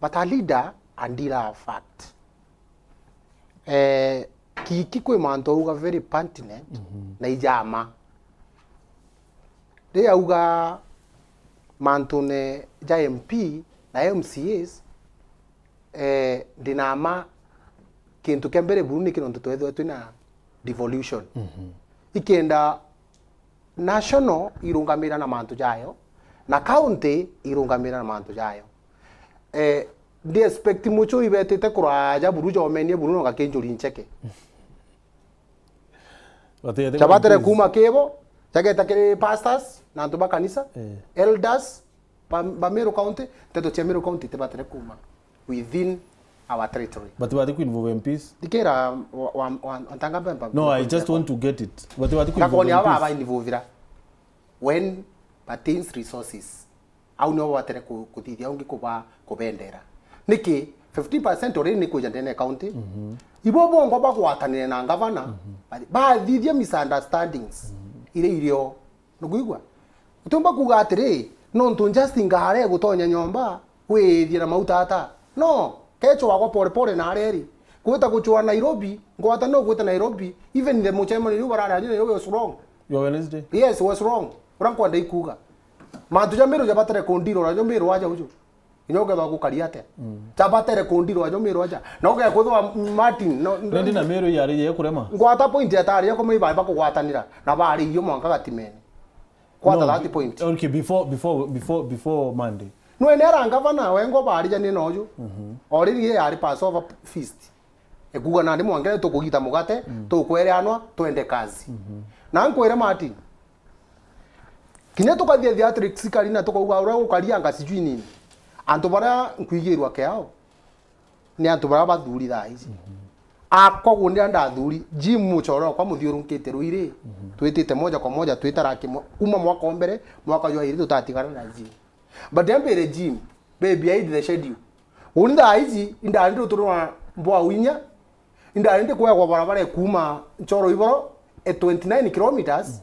But a leader a dealer of fact. Eh, Kiki kwi mantu auga very pertinent Mhm. na ijama. Ri auga mantune ja M P na M C As, eh, ndinama kintu kia mbere buru niki nontu twethirwa twina devolution. Mhm. Ikenda national irungamira na mantu jayo, na county irungamira na mantu jayo. Eh, ndi expect mucui betite kuraja buru jomenie buru no gakinjuri ncheke. Batete Chabatere kuintroduce. Kuma kibo, jageta kiri pastors, na antu ba kanisa, Eh. elders, ba, ba Meru County, nteto cia Meru County tibatere kuma within our territory. But batete kuinvolve M Ps? Ndikira wa, wa, wa, wa ntanga bemba. No, I just want to get it. But batete kuinvolve Ngakoni aba M Ps. Aba involvira when pertains resources. Au nio batere ku-, kuthithia ungi kuba-, kubendera. Niki? Fifteen percent already ni kuja ndene ya county. Mhm. Ibo bongo bagwatanire na ngavana, Mhm. ba-, bathithia misunderstandings Mhm. iria irio. Nukwigua? Utiumba kuga atiri, nontu Justin Ngare gutonya nyomba, withie na mauta ata? No, kecho wagwa pole pole na areri. Gwita gucua Nairobi, ngwataniro gwita Nairobi, even the mucemanio riu barari ajo Nairobi was wrong. Your Wednesday? Yes, was wrong. Uria nkwenda ikuga. Mantu ja Meru jabatare kundirwa najo Meru aja uju. Inya ukethwa gukaria atia. Jabatare kundirwa najo Meru aja. Na ugekwithwa Martin, no, no. Rendi na Meru yari ye kurema. Ngwata point ya tari ya kumenya bari bakugwatanira. Na bari iyo mwanka gatimene. Ngwata No, that point. Okay, before, before, before, before Monday. Nwene ara ngavana, wengo barijanie noju. Already ye yari Passover feast. Ekuga nandi mwanka tukugita mugate, tukwere anwa, twende kazi. Na nkwire Martin. Kinya tukathia theatrics kari na tukauga uria gukarianga sijui nini. Antu baria nkwigirwa kiao, ni antu baria bathuri thaa ici. Akwa gundi ndathuri, Jim muchoro kwa muthiurunkite ruiri, twitite moja kwa moja, twitara kimwe. Kuma mwaka wa mbere, mwaka jwa iri tutatigana na Jim. But ambire Jim, be behind the schedule. Uni thaa ici, indarindi uturwa mbwa uinya, indarindi kwegwa barabara kuma Nchoro Iboro, e twenty-nine kilometers,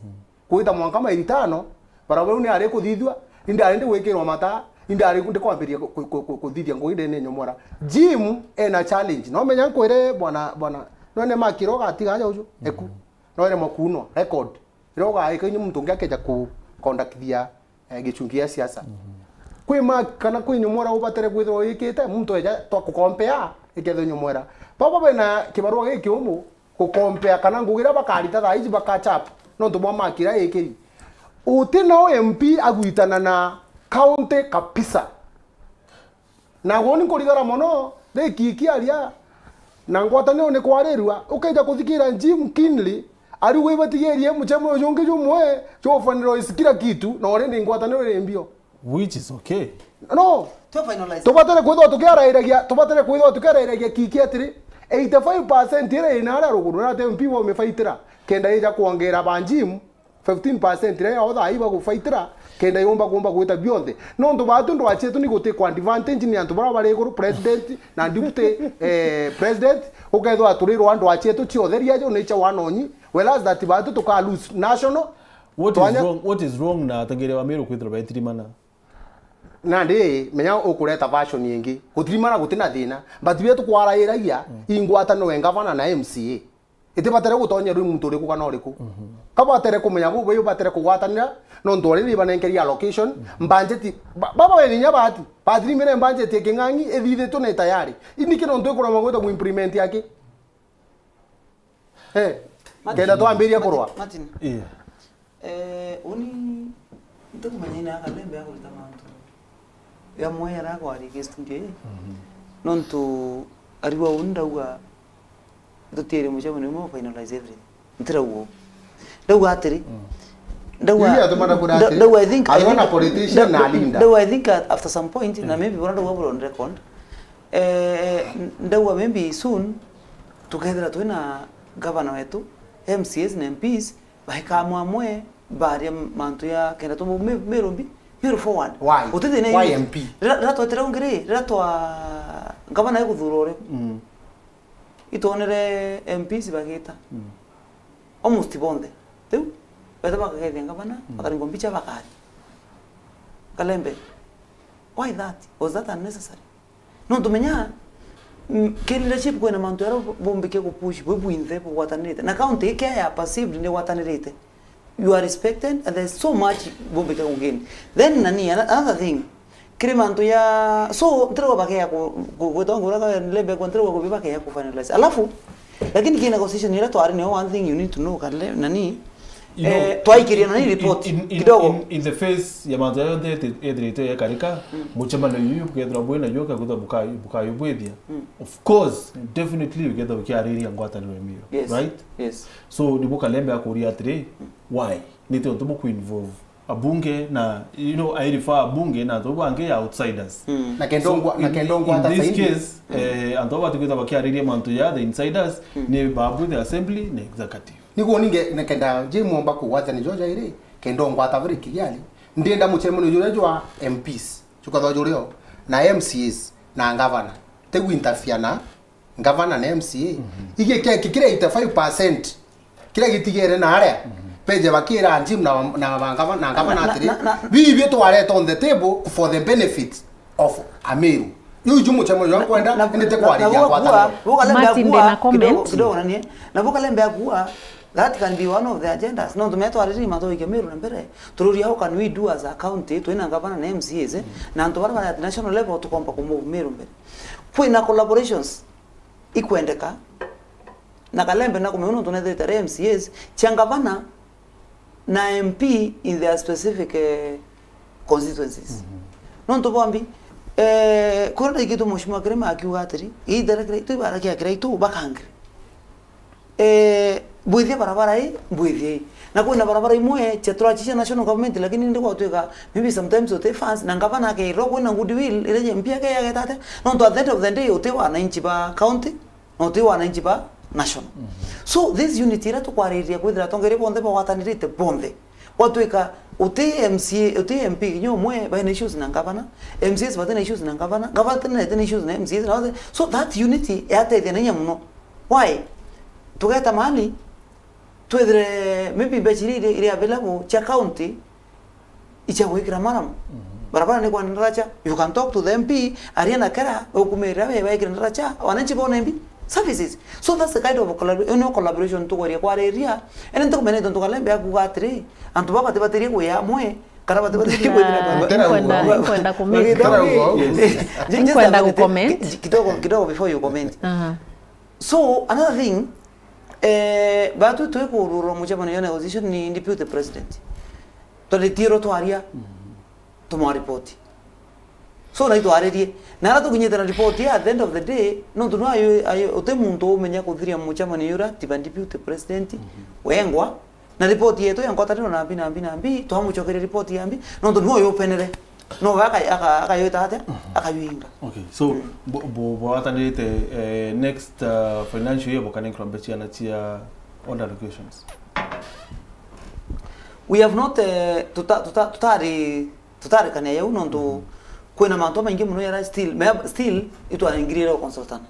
kwita mwanka maili tano, barabara ni ari kuthithua, indarindi gwikirwa mata, indari ndi kwambiria ku-, ku-, ku-, kuthithia ngugi ndene nyomora. Jim ena challenge. No menya nkwire bwana, bwana, no ne makiro gatiga aja uju, eku. No ere makuno, record. Ira ugaika inyu muntu ungi akeja ku conductithia, eh, gichungi gia siasa. Kwi ma kana kwi nyomora ubatere kwithirwa wikite, muntu eja twa kukompea, ikethe nyomora. Baba bena kibarua giki umu, gukompea kana ngugi iria bakarita thaa iji bakachap, nontu bwa makira ikiri. Uti no M P agwitana na county kabisa. Na gwoni nkurigara mono, ri kiki aria, na ngwataniro ni kwarirua, ukeja kuthikira Jim Kinley, ari ugwe ibatigerie muchemo uyu ungi jumwe, jofaniro is kila kitu, na uri ni ngwataniro iri mbio. Which is okay. No, To finalize. Tubatere kwithwa tukiarairagia, tubatere kwithwa tukiarairagia kiki atiri, eighty-five percent ire ina aria ruguru na te M P wa umifaitira, kenda ija kuongera ba Jim, fifteen percent iria yao thaa ii bagufaitira, kenda yumba kumba gwita bionthe. Nontu batu ndwa cietu ni gutikwa advantage ni antu baria bari iguru, president na deputy, eh, president, ukethwa aturirwa ndwa cietu cia utheria jo ni cia wanonyi, whereas that batu tuka lose national. What is Twanya- wrong, what is wrong na atongeria ba Meru kwithirwa baitirimana? Nandi menya ukureta version ingi. Gutirimana gutina thina, but bia tukwarairagia, ingwata no engavana na M C A. Itibatere gutonya riu muntu uriku kana uriku. Kabatere kumenya bu, bu batere kugwatanira, nontu already banenkeria allocation, budget, ba-, baba wene inya bati, batirimire budget ya king'ang'i, ithithitwe na tayari. Iniki nontu ikurema gwita mu implement yake? Eh, Martin, kenda twambiria Martin, kurwa. Martin, Yeah. eh, uni ntikumenya ina akalembe akurita mantu. Ya mwe ara kwari ke studio ii. Nontu ariwa uni ndauga tutiere mucemanio umwe finalize everything. Ntirauga uu. Ndauga atiri. Ndauga Iria atuma ndakura nda- atiri, ndauga I think I ariwa think na politician nda- na leader. Ndauga I think at, after some point na maybe bora ndauga bro on record. Eh, ndauga maybe soon tukethira twina governor wetu, M C As na M Ps baika amwe amwe baria mantu ya kenda tu Meru mbi, Meru forward. Why? Gutithina Why iri- M P? Rira rira twetire ungiri, rira twa governor iguthura uri. Itwonere M Ps bagita. Almost bonthe. Riu, betha bakagethia ngavana, bakaringwa mbicha bakari. Kalembe, why that? Was that unnecessary? Nontu menya, mm, ki leadership kwina mantu jaria bumbike gupush, bwi bwinthe bugwatanirite. Na county ikia ya perceived ni gwatanirite. You are respected and there's so much bumbike kugain. Then nani, ano- another thing, kiri mantu ya, so, ntirigwa bakeya ku, ku, gwitwa ngura ka lembe kwa ntirigwa kubi bakeya ku finalize. Alafu, lakini ki negotiation ira twari niyo one thing you need to know, kale, nani, You know, eh, twaikiria nani in- report, in- in- kidogo. In, in the face ya mantu ya yonthe eti- ethirite yakarika, mucemanio yuyu bukethirwa bwina yo kakwithwa bukayo, bukayo bwithia. Of course, definitely bukethirwa bukiariria ngwataniro ya Meru, Yes. Right? Yes. So, nibu Kalembe akuria atiri, why? Niti untu buku involve abunge na, you know, I refer abunge na antu bangi ya outsiders. Na kenda ungwa-, na in, kenda ungwata in this saini. Case, eh, antu aba batikwithirwa bakiariria mantu ya the insiders, ni babu the assembly na executive. Niguo ninge nekenda Jim omba kugwatania jo jairi, kenda ongwata very clearly. Ndienda mucemanio juria jwa M Ps, jukethwa jurio, na M C As, na ngavana. Tigwinterfere na ngavana na M C A. Igi keki kiria eighty-five percent, kiria gitigere na aria, peje bakira Jim na, na, na ngavana, na ngavana Na- na- atiri, na- na- bibi twareta on the table for the benefit of Ameru. Iu ju mucemo jwa nkwenda, indi ti kwariria ngwataniro. Martin, ndina comment. Kidogo, kidogo nanie. Na bukalembe akua, that can be one of the agendas. No tume twariri mathoike Meru na mbere. Tururia, how can we do as a county, twina ngavana na M C As, eh? Na antu bara bari at national level tukomba kumove Meru mbere. Kwina collaborations ikwendeka. Na kalembe na kumenya nontu nethirite ari M C As, cia ngavana na M P in their specific, eh, constituencies. Nontu bombi, eh, kuria ndaikitu Mheshimiwa Kirima akiuga atiri, iithere Kiraitu, ibara kia Kiraitu, bakangire. Eh, bwithie barabara ii, bwithie ii. Na kwina barabara imwe cia turachicia national government, lakini ndi gwatwika, maybe sometimes uti fans, na ngavana akeirwo kwina goodwill, iria M P akeyageta atia. Nontu at the end of the day, uti wananchi ba county, na uti wananchi ba national. So this unity iria tukwariria kwithira atongeria bonthe bagwatanirite bonthe, gwatwika uti M C A, uti M P kinya umwe baina issues na ngavana, M C As batina issues na ngavana, ngavana tina issues na M C As na bathe. So that unity yatethia na inya muno. Why? Tugeta mahali twithire maybe mbeca iria iri, iri available cia county icha gwikira maramu. Barabara ni kwenda ndaracha, you can talk to the M P, aria na kera, ukumirira we, wekire ndaracha, wananchi bone mbi services. So that's the kind of collabor-, ino collaboration tukweria kwariria. Ene ntukumenya tontu kalembe akuga atiri, antu baba batibatirie kuya amwe, kana batibatirie kwithira baba. Nkwenda, nkwenda kumenya. Just, just a minute, kidogo, kidogo before you comment. So, another thing, eh, batu twikururwa mucemanio ya negotiation ni deputy president. Twaritie ro twaria, tumwa report. So, na itwaririe. Na ara tukinyite na report ya, at the end of the day, nontu no ayo, ayo, uti muntu umenya kuthiria mucemanio yura, tiba deputy president, wengwa, na report yetu ya ngwataniro na mbi, na mbi, na mbi, twamucokeria report ya mbi, nontu niwe upenere. No we aka-, aka-, akayita atia? Akayuinga. Okay, so, bu-, bu-, bwatanirite, eh, next, uh, financial year bukanenkirwa mbeca ciana cia old allocations? We have not, eh, tuta-, tuta-, tutari, tutarikania yau nontu kwina mantu maingi muno yara still, me-, still itwarengirire consultant.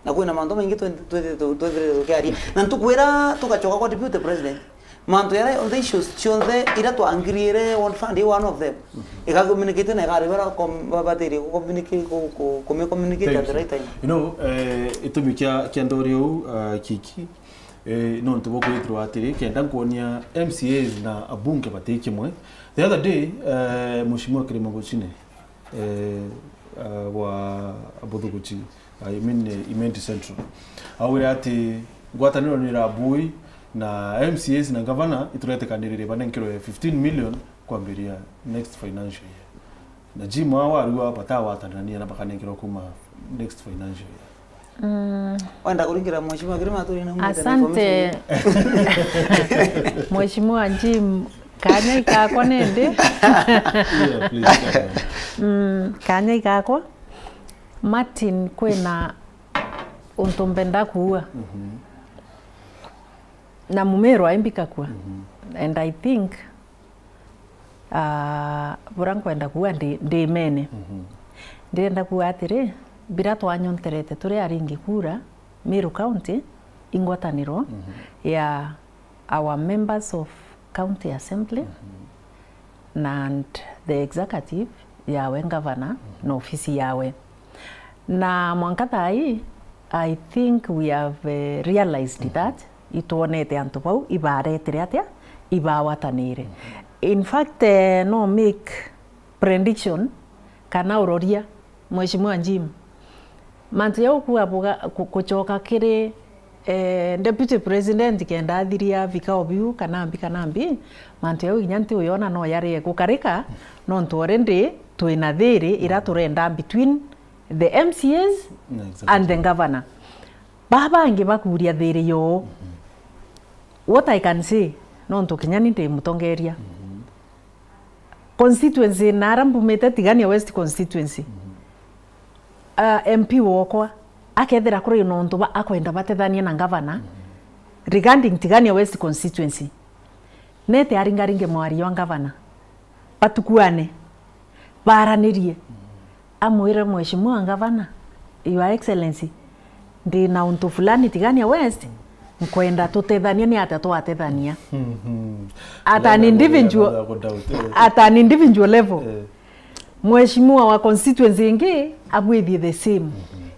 Na kwina mantu maingi twe-, twe-, twe-, twethirite tukiaria. Na ntukwira tugacoka kwa deputy president. Mantu yara onthe issues cionthe ira twangiriire one fund i one of them. Ika communicate na ikari bara com-, ba-, batiri ku communicate, ku, ku, kume communicate at the right time. You know, eh, itumi kia, kia ndori uu, uh, kiki, eh, nontu bwa kwithirwa atiri, kenda nkwonia M C As na abunge bati kimwe. The other day, eh, Mheshimiwa Kirima Guchine, eh, uh, wa Abuthuguchi, I mean, eh, Imenti Central. Augire ati ngwataniro ni irabui na M C As na ngavana ituretekanirire banenkerwe fifteen million kwambiria next financial year. Na Jim awa arua batawatanania na bakanenkerwa kuma next financial year. Mm. Wenda kuringira Mheshimiwa Kirima turi na mwite na asante. Information. Mheshimiwa Jim, kanya ikakwa nende. Yeah, please, go on. Mm, kanya ikakwa. Martin, kwina untu mbenda kuuga. Na mumirwa imbikakua. And I think, ah, bura nkwenda kuuga ndi, ndi mene. Ndirenda kuuga atiri, bira twanyonterete turi aringi kura, Meru County, ingwataniro ya our members of County Assembly na and the executive yawe ngavana na ofisi yawe. Na mwanka thaa ii, I think we have, eh, realized that itwonete antu bau ibaretire atia, ibawatanire. In fact, eh, no make prediction kana uroria Mheshimiwa Jim. Mantu jau kuga buga-, ku-, kucoka kiri, eh, Deputy President kenda athiria vikao biu kana mbi kana mbi, mantu jau kinya nti uyona no yarie gukarika, nontu already twina thiri ira turenda between the M C As and the governor. Baa bangi bakuria thiri yoo. What I can say, nontu kinya ni ndi mutongeria. Constituency na ara mbumite, Tigania West constituency. Ah, M P wokwa akethira kuri na untu ba akwenda batethania na ngavana regarding Tigania West constituency, nete aringaringe mwario wa ngavana, batukuane, baranirie. Amwire, "Mheshimiwa Ngavana, Your Excellency, ndi na untu fulani Tigania West, nkwenda tutethania, ni atia twatethania?" Mhm. At an individual, at an individual level. Eh. Mheshimiwa wa constituency ingi abwithie the same.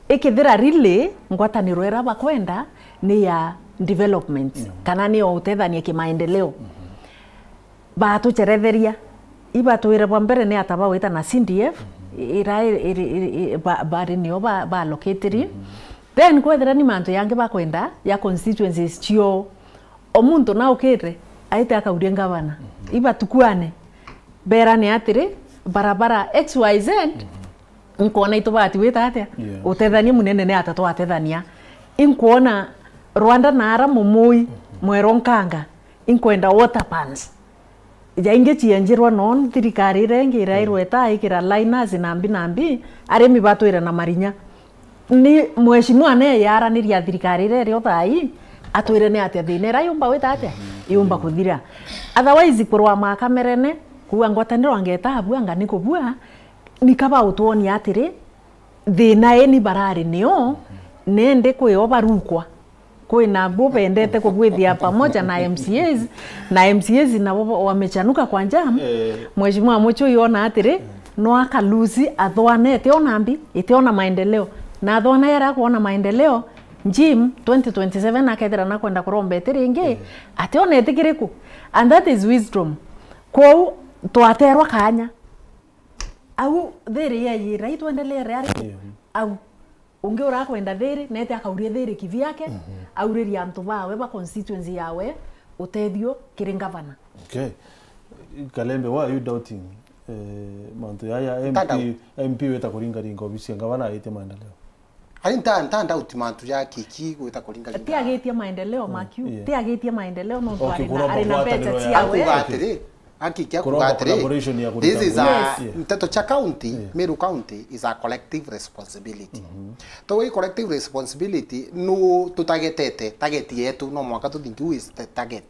Ikithira really ngwataniro ira bakwenda ni ya development, kana ni ya utethania kimaendeleo. Batucheretheria. Ibatwire bwa mbere ni ata bawita na C D F, ira iri, iri, iri, ba, bari nio ba, ba allocatory. Then kwethira ni mantu yangi bakwenda ya constituencies cio. O muntu naukite, aite akauria ngavana. Ibatukwane, berane atiri, barabara X Y Z, inkwona itubati wita atia? Yeah. Utethania munene ni ata twatethania? Inkwona Rwanda na ara mumui, mwero nkanga, inkwenda water pans. Jaingi cienjirwa no thirikari iria ingi irairwe ita ikira liners na mbi na mbi, arimi batwire na marinya. Ni mheshimiwa ne yaraniria thirikari iria irio thai, atwire ni atia thina ira yumba wita atia? Yumba kuthira. Otherwise, kurwa makamerene, kuuga ngwataniro angeta abua, anga ni kubua, ni kaba utwonia atiri, thina ii ni barari nio, nende kwio barukwa. Kwina bo bendete kubwithia pamoja na M C As, na M C As nabo bo-, wamechanuka kwa jam. Eh. Mheshimiwa Muchui ona atiri, no akalusi athwana itiona mbi, itiona maendeleo. Na athwana yara kuona maendeleo, Jim twenty twenty-seven akethira na kwenda kuromba iti ringi, ationa itikiriku. And that is wisdom. Kwou twaterwa kanya. Au thiri yeyira, itwendelee ari au. Ungi urakwenda thiri, nete akaurie thiri kivyake, auririe antu bawe ba constituency yawe utethio kiri ngavana. Okay. Kalembe, why are you doubting, eh, mantu yaya? M P, M P wita kuringaringa obisi ya ngavana aitie maendeleo? Ari nta, nta doubt mantu ja Kiki gwita kuringaringa. Ti agitie maendeleo, Makiu. Yeah. Ti agitie maendeleo, nontu ari na, ari na mbeca ciawe. Akuga atiri, Akikia kuga atiri, collaboration ya this is a, nteto cha county, Meru County is a collective responsibility. So we collective responsibility, no tutagetete, target yetu, no mwaka tuthingi who is the target,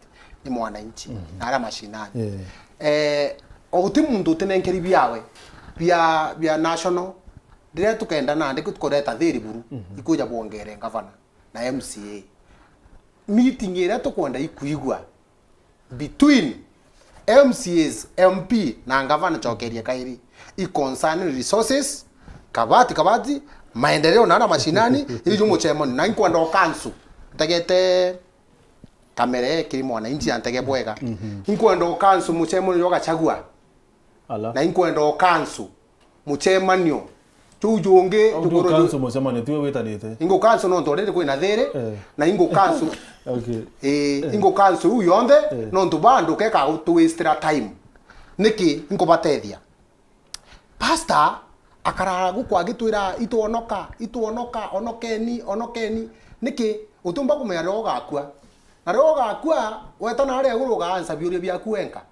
ni mwananchi, na ara mashinani. Eh, o guti muntu utinenkeri biawe, bia, bia national, riria tukenda nandi kureta thiri buru, ikuja bwongere ngavana na M C A. Meeting iria tukwenda ikuigua, between M C As, M P na ngavana, cokerie kairi, i concern resources, kabati, kabati, maendeleo na ara mashinani, iju muchemani, na inkwenda ukansu, ntegete kamere kiri mwananchi antege bwega. Inkwenda ukansu muchemani jwa Gachagua. Na inkwenda ukansu muchemanio juu jungi. Au juguru ju- council mucemanio tiwe witanite? Ingu council nontu already kwina thiri, eh, na ingu council. Okay. Eh, ingu council u yonthe, eh, nontu bandu keka tu waste time. Niki inkubatethia? Pastor akaraara guku agitwira, "Itwonoka, itwonoka, onokeni, onokeni." Niki? Utiumba kumenya riria ugakua. Na riria ugakua, weta na aria iguru ugaansa biuria biaku wenka.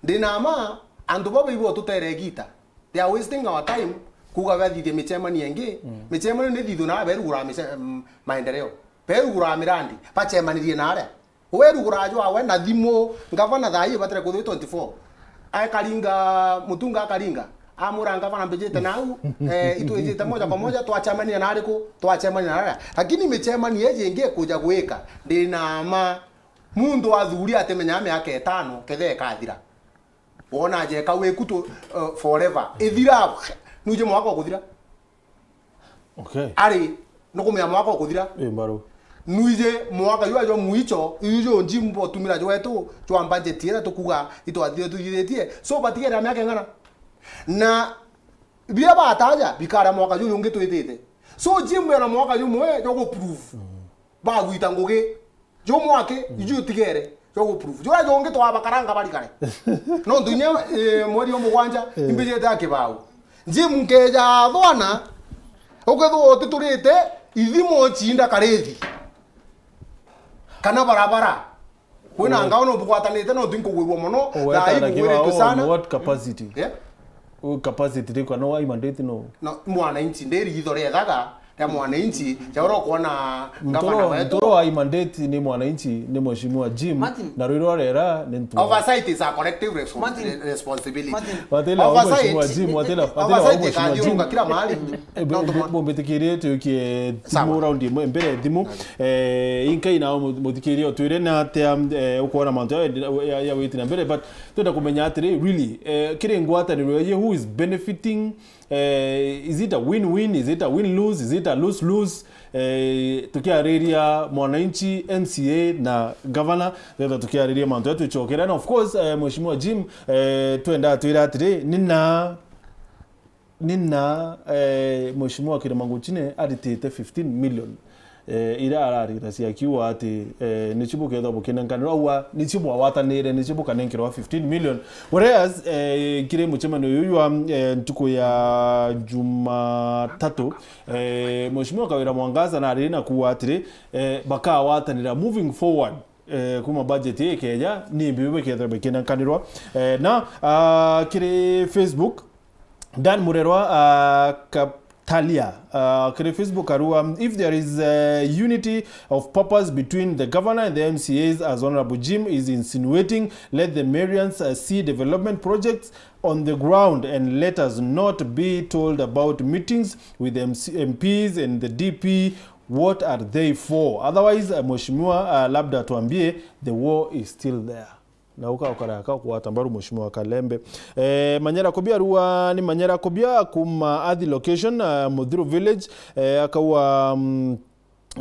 Ndi na mma, antu baba ibo tutere igita. They are wasting our time, kuuga bathithie michemanio ingi. Michemanio ni thithio na berugura miche-, mm, maendeleo. Berugura mirandi, bachemanirie na aria. Werugura jwawe na thimu, ngavana thaa ii batire kuthwi twenty-four. Akaringa, Mutunga akaringa. Amura ngavana mbijite nau, eh, itwijite moja kwa moja, twachemania na ariku, twachemania na aria. Lakini michemanio iji ingi ikuja gwika, ndi na mma, muntu athuri atimenya miaka itano kethe ikathira. Wona jeka wiku tu, uh, forever. Ithira, nuije mwaka ukuthira. Okay. Ari, nukumenya mwaka ukuthira. Ii mbaru. Nuije mwaka jwa jwa mwicho, iju jwa Jim botumira jwetu, jwa budget ira tukuga itwathire tuthithitie. So, batigere miaka ing'ana. Na biria bataja, bikara mwaka juju ungi twitite. So, Jim ena mwaka jumwe jwa gu prove. Bagwita ngugi. Jumwe aki, iju utigere, jwa gu prove. Juria jungi twabakaranga barikare. Nontu inya, eh, mweri o mugwanja, imbijite a kibau. Jim nkeja thwana, ukethwa utiturite, ithimo chinda karithi. Kana barabara. Kwina ngao no bugwatanite, nontu inkugwirwa mono, thaa ii bugwiritwe sana. What capacity? Yeah? U capacity riku, no wa mandate no? No, mwananchi, ndi ritho riethaga, ya mwananchi, ya uria ukuona Ntoro, gavana wetu. Ntoro wa mandate ni mwananchi, ni Mheshimiwa Jim, Martin. Na rwiro rera ni ntu. Oversight is a collective respons- Martin. Responsibility. Watela wa Oversight. Mheshimiwa Jim, watela, watela wa Oversight Mheshimiwa Jim. ikathiurunga kila mahali. Eh, bu- bu- bumbitikirie tukie Sawa. thimu round imwe mbere thimu. Right. Eh, inkai na mu- muthikirie utwire na atia, eh, ukuona mantu ya, ya, ya witi na mbere, but twenda kumenya atiri, really, eh, kiri ngwataniro ye, who is benefiting? Eh, is it a win-win? Is it a win-lose? Is it a lose-lose? Eh, tukiariria mwananchi, M C A na governor, twenda tukiariria mantu ya tuchokera. And of course, eh, Mheshimiwa Jim, eh, twenda twira atiri, nina nina, eh, Mheshimiwa Kirima Nguchine aritite fifteen million, eh, iria ararira cia kiuga ati, eh, nicio bukethwa bukinenkanirwa, aua nicio bwawatanire, nicio bukanenkerwa fifteen million. Whereas, eh, kiri mucemanio uyu jwa, eh, ntuku ya Jumatatu, eh, Mheshimiwa Kawira Mwangaza nariri na kuuga atiri, eh, bakawatanira moving forward, eh, kuma budget ii ikeja, ni mbiu bikethwa bikinenkanirwa. Eh, na, ah, kiri Facebook, Dan Murerwa, uh, Kaptalia, uh, kiri Facebook arua, if there is, uh, unity of purpose between the governor and the M C As, as Honorable Jim is insinuating, let the Marians, uh, see development projects on the ground and let us not be told about meetings with M C, M Ps and the D P. What are they for? Otherwise, uh, Mheshimiwa, uh, labda tuambie, the war is still there. Na uka ukara ka kuata mbaru Mheshimiwa Kalembe. Eh, Manyera Kobia arua ni Manyera Kobia kuma Athi location, eh, Muthiru village, eh, akaua, mm,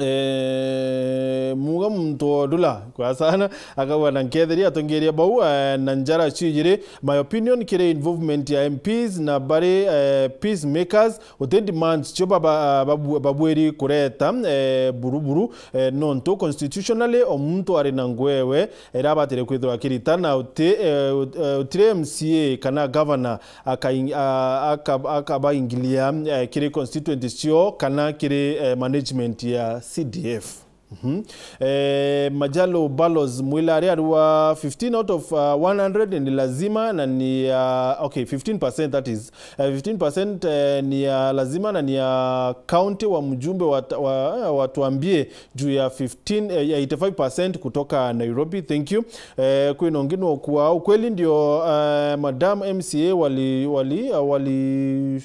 eh, muga muntu odula kwa sana, akaua na nketheria atongeria bau, eh, na njara cijiri. My opinion kiri involvement ya M Ps na bari, eh, peacemakers, uti demands cio baba, babu-, babwiri kureta, eh, buruburu, eh, nontu constitutionally o muntu ari na ngwewe, ira abatire kwithirwa akirita na uti, eh, ut-, eh, utire M C A kana governor akaing-, a-, aka-, akabaingilia, eh, kiri constituencies cio kana kiri, eh, management ya C D F. Mhm. Eh, Majalo Balos Mwilari arua fifteen out of, uh, one hundred ni lazima na ni, uh, okay, fifteen percent that is, uh, fifteen percent, eh, ni ya lazima na ni ya county wa mjumbe wa, wa, wa Tuambie juu ya fifteen, eh, ya eighty-five percent kutoka Nairobi. Thank you. Eh, kwina ungi nokua ukweli ndio, eh, madam M C A wali, wali, uh, wali,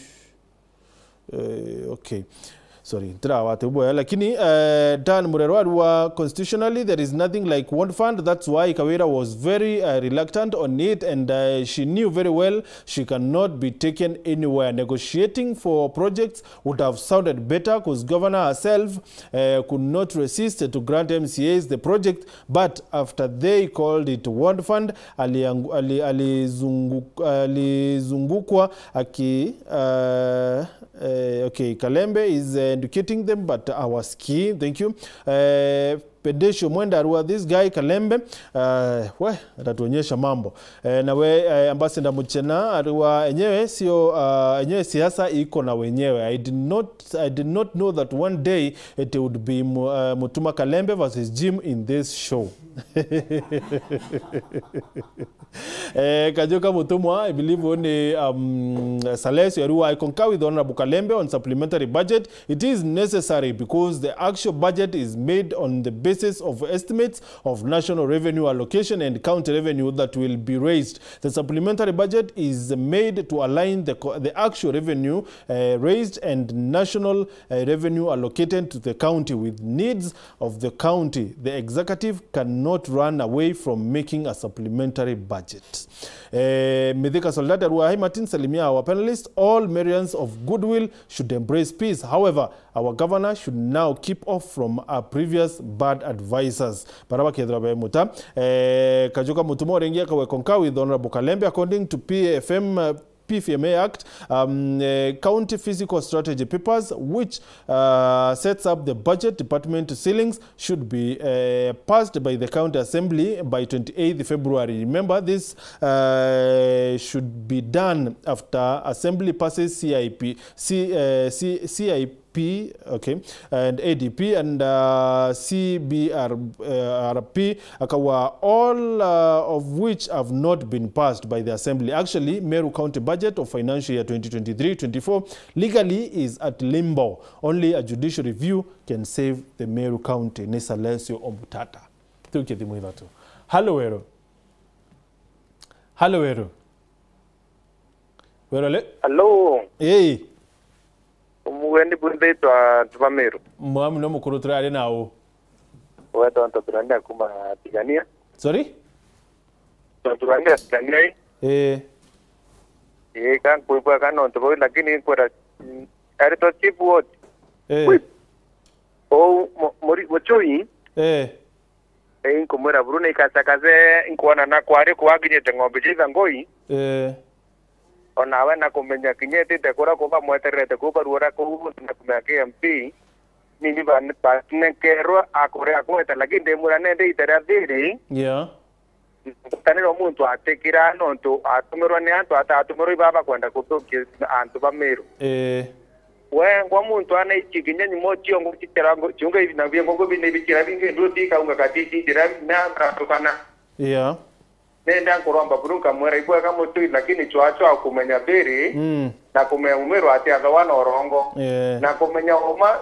eh, okay. Sorry, ntirawate boya, lakini, eh, Dan Murerwa arua constitutionally there is nothing like want fund, that's why Kawira was very, uh, reluctant on it and, uh, she knew very well she cannot be taken anywhere. Negotiating for projects would have sounded better 'cause governor herself, eh, could not resist to grant M C As the project, but after they called it want fund, aliangu-, ali-, alizungu-, alizungukwa aki-, uh, eh, okay, Kalembe is, eh, educating them, but our ski, thank you. Eh, Pedesho Mwenda arua, this guy Kalembe, uh, we, atatuonyesha mambo. Eh, nawe, eh, Ambassador Muchena arua, enyewe sio, uh, enyewe siasa iko na wenyewe. I did not, I did not know that one day it would be Mu-, uh, Mutuma Kalembe versus Jim in this show. Eh, Kajuka Mutumwa, I believe only, um, Salesio arua, I concur with Honorable Kalembe on supplementary budget. It is necessary because the actual budget is made on the basis of estimates of national revenue allocation and county revenue that will be raised. The supplementary budget is made to align the co-, the actual revenue, uh, raised and national, uh, revenue allocated to the county with needs of the county. The executive cannot run away from making a supplementary budget. Eh, Mithika Soldate arua, hi Martin, salimia our panelists. All Marians of goodwill should embrace peace. However, our governor should now keep off from our previous bad advisors. Bara bakethirwa be muta. Eh, Kajuka Mutumwa urengia kawe concur with Honorable Kalembe, according to P F M, uh, P F M A Act, um, uh, County Fiscal Strategy Papers, which, uh, sets up the budget department ceilings, should be, uh, passed by the County Assembly by twenty-eighth February. Remember, this, uh, should be done after Assembly passes C I P, C, uh, C, C I P, P, okay, and A D P and, uh, C B R, uh, R P, akawa, all, uh, of which have not been passed by the Assembly. Actually, Meru County budget of financial year twenty twenty-three twenty-four legally is at limbo. Only a judicial review can save the Meru County. Ni Silencio Omtata. Tukie thimu ithatu. Halo, Weru. Halo, Weru. Weru, ale? Halo. Ii. Umugeni bwithitwa Tubamiru. Mwamu no mukuru turari nau. Wetwa Ntoturania kuma Tigania. Sorry? Ntoturania Tigania ii. Ii. Ii, ka nkwigua kana untu bau, lakini nkwira, mm, aritwa chief wote. Ii. Whip. Ou mu-, muri-, Muchui. Ii. Ii, nkumwira buru ni ikacakace, nkwona na kwari kwakinyite ng'ombe cia ithangui. Ii. O nawe na kumenya kinya itite kuria kuba mwetererete kuu baruora kuu, na kumenya ki M P, nini ba-, banenkerwa akuria agweta, lakini ndimwira nende ita ria thiri, Yeah. ngwataniro muntu atikira nontu atumirwa ni antu, atatumirwa ibaba kwenda kuthukia antu ba Miru. Ii. Wengwa muntu anaichi kinya nyumo ciongo citera ngo-, ciunga ibi na biengo ngo bine bikira bingi ndu ti kaunga katiti njira na atukana. Yeah. Nenda nkuromba buru nkamwira ibwega Muchui, lakini chwacho akumenya biri, Mm. na kumenya umiro ati athawa na urongo. Yeah. Na kumenya uma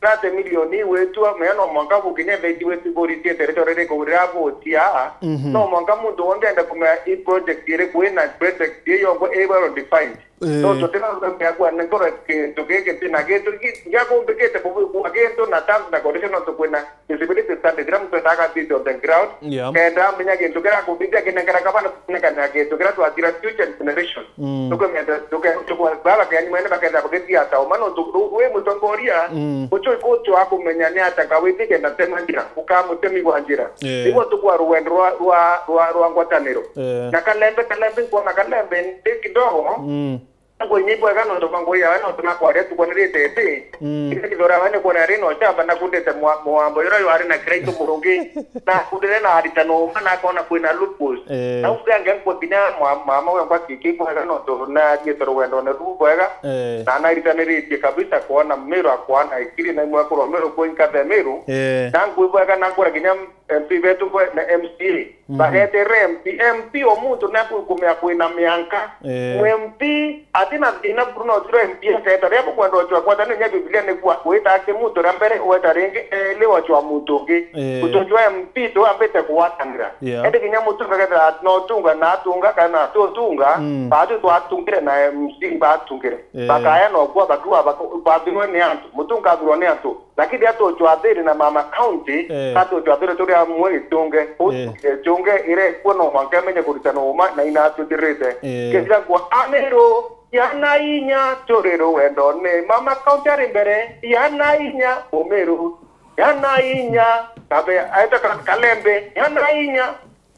thirty million iwitwa, mea no mwanka gukinya theti weti boritie territory riko rira botia. Mhm. No mwanka muntu wonthe ende kumenya i project iriku ina project iyo yongo i well defined. Eh. No tutina mea kwa nengoro kintu giki ntina gitu gi-, giakumbikite kubikwa kintu na terms na condition no tukwina feasibility study, kila muntu endaga thiti on the ground. Yeah. Kenda amenya kintu kira kuthithia kinengera kabana kunengana kintu kira twathira future generation. Mm. Tukwenda, tuke-, tukwa-, baba kenya mwene bakenda bagetia ta uma no tu-, wi mutongoria, Mm. ucho iko cho akumenya ni ata kawiti kenda tema njira, ukamutemi kwa njira. Eh. Niguo tukwa rwendo rwa, rwa, rwa, rwa ngwataniro. Eh. Na Kalembe, Kalembe, nkwona Kalembe ndi kidogo. Mm. Ngwinyi bwega nontu bwa ngui yawe, nontu nakwaria tukwanirite iti. Mm. Kithora we nikwona ari no chamba nakundite mwa-, mwambo yura yo ari na kiraitu murungi. Nakundire na aritano uma nakona kwina loopholes. Eh. Na ugange nkwa kinya mwa-, mama we ngwa kiki bwega nontu nariite rugendo ne ru bwega. Eh. Na naritaniritie kabisa kwona Miru akwana ikiri na imwe kurwa Miru kwinkathe Miru. Eh. Na ngui bwega na nkura kinya M P betu bwe na M C A. Mhm. Bageterere M P. M P o muntu nakukumia kwina mianka. Eh. Mu M P atina thina buru no tiro M P aketa. Ria bukwenda ochwa kwata ni nya Biblia ni kwa wita ake muntu ria mbere weta ringi eli ochwa muntu ungi. Eh. Utojwa M P tu ambite kuwatanira. Yeah. Ende kinya mutu aketa no tunga na tunga kana tu tunga. Mm. Batu twatungire na M C batungire. Eh. Bakaya no kwa bakua bako-, bathirwe ni antu. Mutu ngathirwa ni antu. Lakini atuchwathiri na mama county, Eh. atuchwathiri turi amwe itunge. U-, Eh. itunge ire kuo no mwanka imenye kuritana uma na ina atuthirite. Eh. Kethira ngwa Amiru, yana inya turi ruwendone. Mama county ari mbere, yana inya Umiru, yana inya. Kabe, aita ka-, Kalembe, yana inya.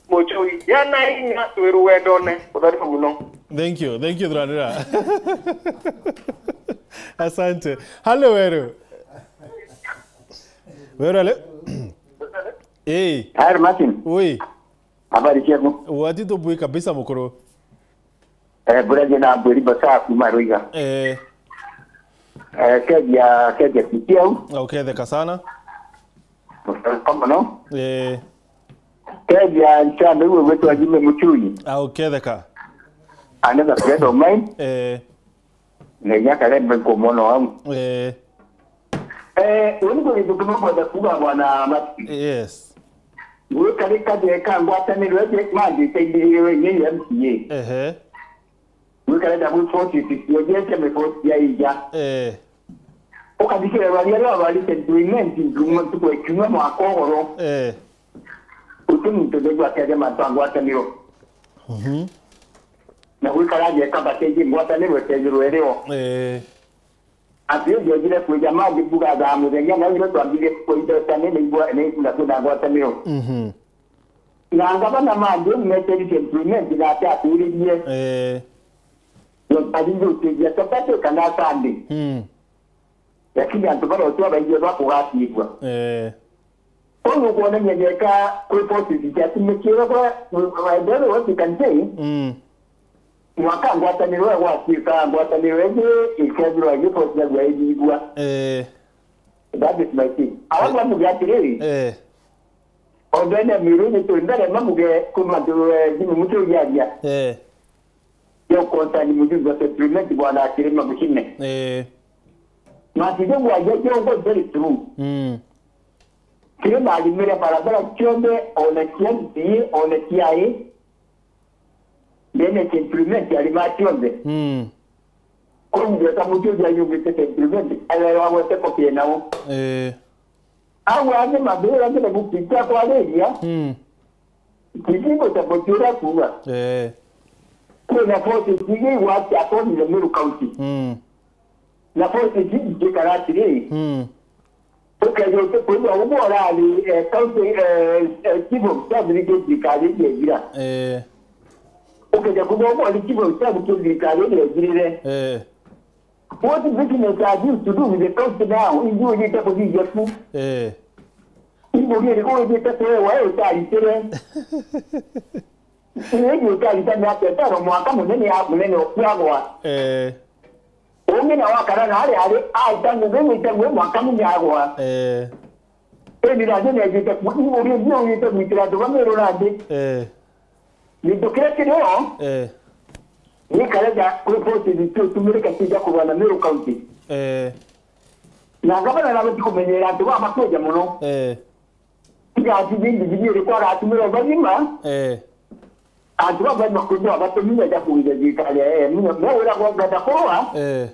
Muchui, yana inya, twi ruwendone. Kutharima muno. Thank you, thank you, Thuranira. Asante. Halo, Weru. Weru, ale? Eh. Hi, Martin. Oi. Habari ciaku? Wati tubui kabisa, mukuru. Eh, buraje na mbwiri basa kuma Ruiga. Eh. Eh, keja, keja kitiau. Uketheka sana. Kama no? Eh. Keja nchana iwe wetu ajime Muchui. Au ketheka. Another friend of mine. Eh. Na inya Kalembe nkumwona wangu. Eh. Eh, uni kwa kitu kama kwa kuga bwana Mati. Yes. Wewe kale kaje ka ngwataniro je maji tendiriwe ni M C A. Ehe. Gwikara na mwibosi, tisiojete mibosi ya ija. Eh. Ukathikira rwaria rwa rwarite ndwinenti nduma ntuku ya kiumia mwaka ugoro. Eh. Uti muntu ndigwa akeja mantu a ngwataniro. Mhm. Na gwikara aje kamba keje ngwataniro etejirwe rio. Eh. Ati ndiojire kwija mangi mbuga thaa muthenya, na iro twambirie kuiteta ni nigwa ni na kwina ngwataniro. Mhm. Na ngavana mangi meterie implement na ati atwiririe. Eh. Yo tari njukiria Saturday kana Sunday. Mm. Lakini antu baria utua baigua bakugatigwa. Eh. Koguo kuonania jeka kwi positive ati mikire kwa, by the way, what you can say, Mm. Mwaka ngwataniro ya gwatuika ngwataniro ingi ikethirwa igifociragua ithithua. Eh. That is my thing. Awa bamuge atiriri, eh, onthene miru ni twi mbere mamuge kwi mantu, eh, Jimmy Mutugi aria. Eh. Yo concern mujumbe wa settlement bwana Kirima Mucine. Eh. Matijo ngwaja jongo very true. Mm. Kirima arimire barabara cionthe, ona cia M C A, ona cia I. Then settlement arima cionthe. Mm. Kuu ngeta Mutugi ayugite settlement, ayo wagwete kopie nao. Eh. Au angi mathira ngire gukita kwariria. Mm. Kitingo cha kuchura kuuga. Eh. Kwina forces nyingi igwati akoni the Meru County. Mm. Na forces nyingi ikara atiri. Mm. Ukeja uti kwigua umwe urari, eh, county, eh, eh, chief of staff ni thirikari iria ithira. Eh. Ukeja kwigua umwe urari chief of staff ki thirikari iria ithirire. Eh. What business have you to do with the county now? Ingi ujite kuthithia ku. Eh. Ingi ujite kuewa utaritire. Ingi utarita miaka itano mwaka munene ya munene okwagwa. Eh. Ungi na wakara na ari ari aita ngugi wite ngugi mwaka munene agwa. Eh. Indi nandi nejite ku-, ingi ujite gwitira antu bamwe rurandi. Eh. Gintu kiria kirio, eh, ni kareja kwi forces itumirika kija kurwana Meru County. Eh. Na ngavana nabati kumenyera antu baba kweja muno. Eh. Tiga ati bindi bibiri kwa aratumira bagima. Eh. Antu baba bakwigua batumire ja kuwija thirikari ya A N U. Me wira kwa ngenda kurwa. Eh.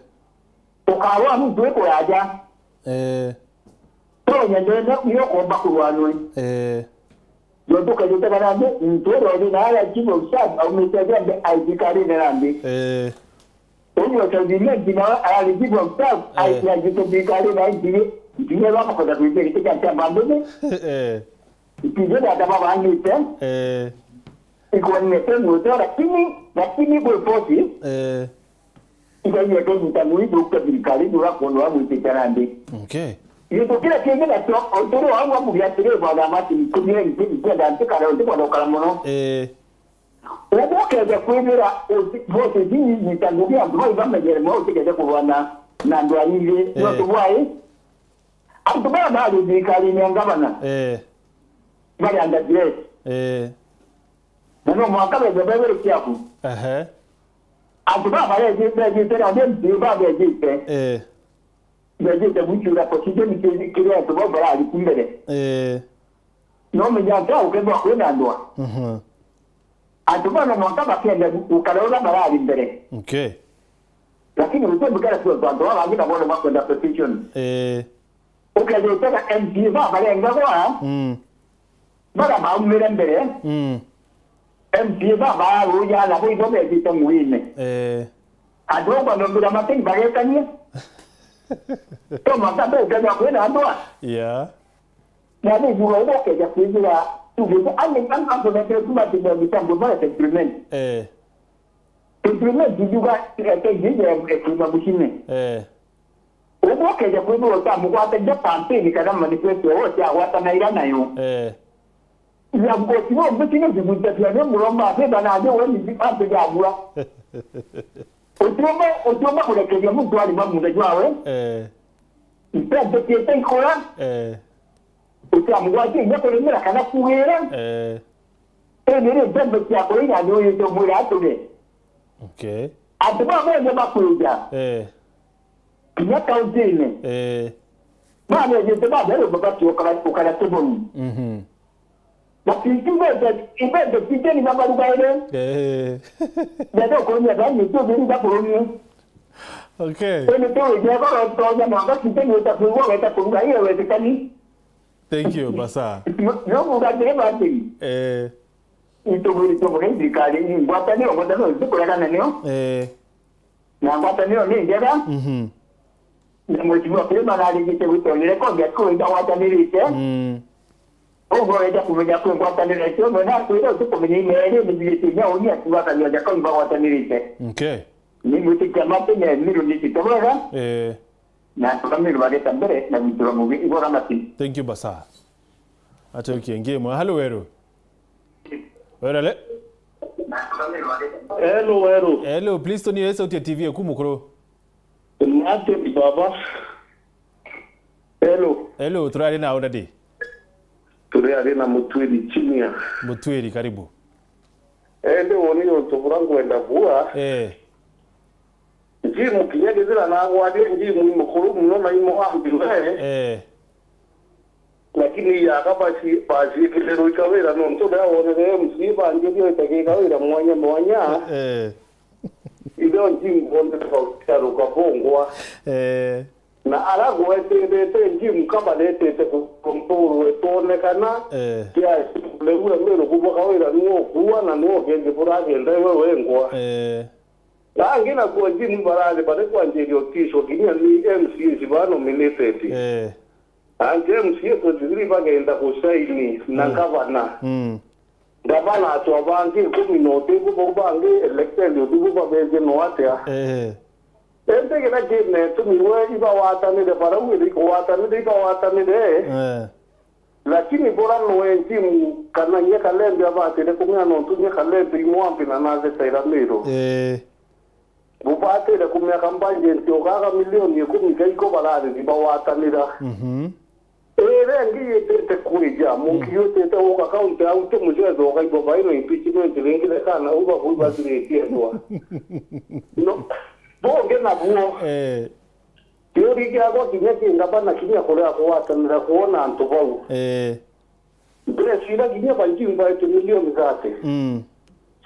Ukarwa muntu ikuraja. Eh. Tonya ndene iyo komba kurwanwe. Eh. Jontu kajite kana nde, ntoro ni na ya chief of staff, aumite jambe aithikari ne rambi. Eh. Uyu wa South Imenti nawe arari chief of staff, eh, aithikari na ngiye, ngiye baba kota kuite kiti kia chamba mbele. Eh. Itije data baba angite. Eh. Iko ni temu, lakini, lakini kwa force. Eh. Iga inya kanyita mwithu kwa thirikari, ndura kondo wa mwitite nandi. Okay. Gintu kiria kingi nakio, onturu wangu amugia atiri, bwana Martin, kumie nti, ntienda ntikare, ntikwenda gukara muno. Eh. Ubu ukeja kwithira uti-, forces inyita ngugi antu bau bamenyere mwe utikeje kurwana na antu aingi. Eh. Nontu bwai, antu bara bari thirikarine ya ngavana, eh, bari under duress. Eh. Na no mwanka beja bebere kiaku. Ehe. Antu baba beji-, bejite na M P A baba bejite. Eh. Bejite gucura position ki-, kiria antu bau barari ku mbere. Eh. No menya antu au kethwa kwina ndwa. Mhm. Antu bana mwanka bakenda gu-, gukara uria barari mbere. Okay. Lakini utembe kara tu antu baba bangi na bono bakwenda position. Eh. Ukethwa utega M P A baba barengagwa. Mm. Bara baumire mbere, mm, M P A baba aruja nabo ibo bejite nguine. Eh. Antu au banombira mateni bagetania. To mwanka mbe ukethwa kwina antu a. Yeah. Na ni jura ubo keja kwithira, tugite, ani, ani, antu na kile kuma timu ya mitambo mara settlement. Eh. Settlement juga, eh, ke jije, eh, kuma mucine. Eh. Ubu ukeja kwithirwa utamugwatagia kampeni kana manifesto yao cia gwatanaira nayo. Eh. Ya mgosi no mbuti ni jiguta pia ni muromba beba na ni we ni antu ya bua. Utiumba, utiumba kurekeria muntu ari mamunda jwawe. Eh. Mpembe kiete ikora. Eh. Utamugwatia inya kurimira kana kuwira. Eh. Indi ri mpembe cia kuria ni uyite mwira atuge. Okay. Antu baba ni bakwija. Eh. Kinya kaunti-ini. Eh. Baba ni jite baba ni baba tu ukara, ukara tuboni. Mhm. But ikiuga ibende, ibende kiteni na marugaire. Eh. Ndio kunya bani tu bini da kurunia. Okay. Ene tu je ba to ya manga kiteni uta kuwa weta kuruga hiyo wezekani. Thank you, basa. No kuga tena bati. Eh. Ituburi tuburi thirikari ni ngwataniro, ngwataniro zikuregana nio. Eh. Na ngwataniro ni njega. Mhm. Na mheshimiwa Kirima narigite gwitonyere konge ati kwenda gwatanirite. Mm. Uguo wenda kumenya kwi ngwataniro icio, no nakwira utikumenya imeri ni thirite inya uni ati watanio ja kau bagwatanirite. Okay. Ni mwitikia mati ne miru ni cito bwega. Eh. Na tukamiri bageta mbere na gwitura mugi igora mati. Thank you, basa. Achokie ngimwe. Halo, Weru. Werale. Hello, hello. Hello, please turn your sauti ya T V eku mukuru. Martin baba. Hello. Hello, turari na udadi. Turi ari na Mutwiri Junior. Mutwiri, karibu. Ende woni untu bura ngwenda bua. Eh. Jim kinya kethira nagwarie Jim i mukuru muno na imo ambire. Eh. Lakini yaka baci-, baciikire ruika wira nontu ria wonere M C A banjirie itagika wira mwanya mwanya. Eh. Ithio Jim bonere bautaruka bongwa. Eh. Na ara gweterete Jim kabaretete kukontorwe twone kana Eh. kiasi leu Emiru kuboka wira niwe ukua na niwe ukenje buragenda iwe wengwa. Eh. Rangi na kwa Jim barari bari kwanjiria utishwa kinya ni M C As ba nominated. Eh. Ange M C A twenty-three bagenda kusaini na Mm. gavana. Mm. Gavana atwa bangi ikumi na utiku bau bangi elected utiku babeje no atia. Eh. Indi kira kina itumi we ibawatanire barau iri kuwatanire ibawatanire. Eh. Lakini bora noe Jim kana nye Kalembe abatire kumea nontu nye Kalembe imwambi na nathetaira Miru. Eh. Bubatire kumea kambajenti ugaga milioni ikumi gaiko barari bawatanira. Mhm. Ere ngi yitite kwija, munki Mm. yutite uka kaunti au ti mucetho ukaigwa baina impeachment ringi rekana uba bui bathiritie ndwa. No. Bonge na buo. Eh. Kiuri kiakwa kinya kingabana kinya kuria kugwatanira kuona antu bau. Eh. Mbere cira kinya baingi mbaete milioni thate. Mm.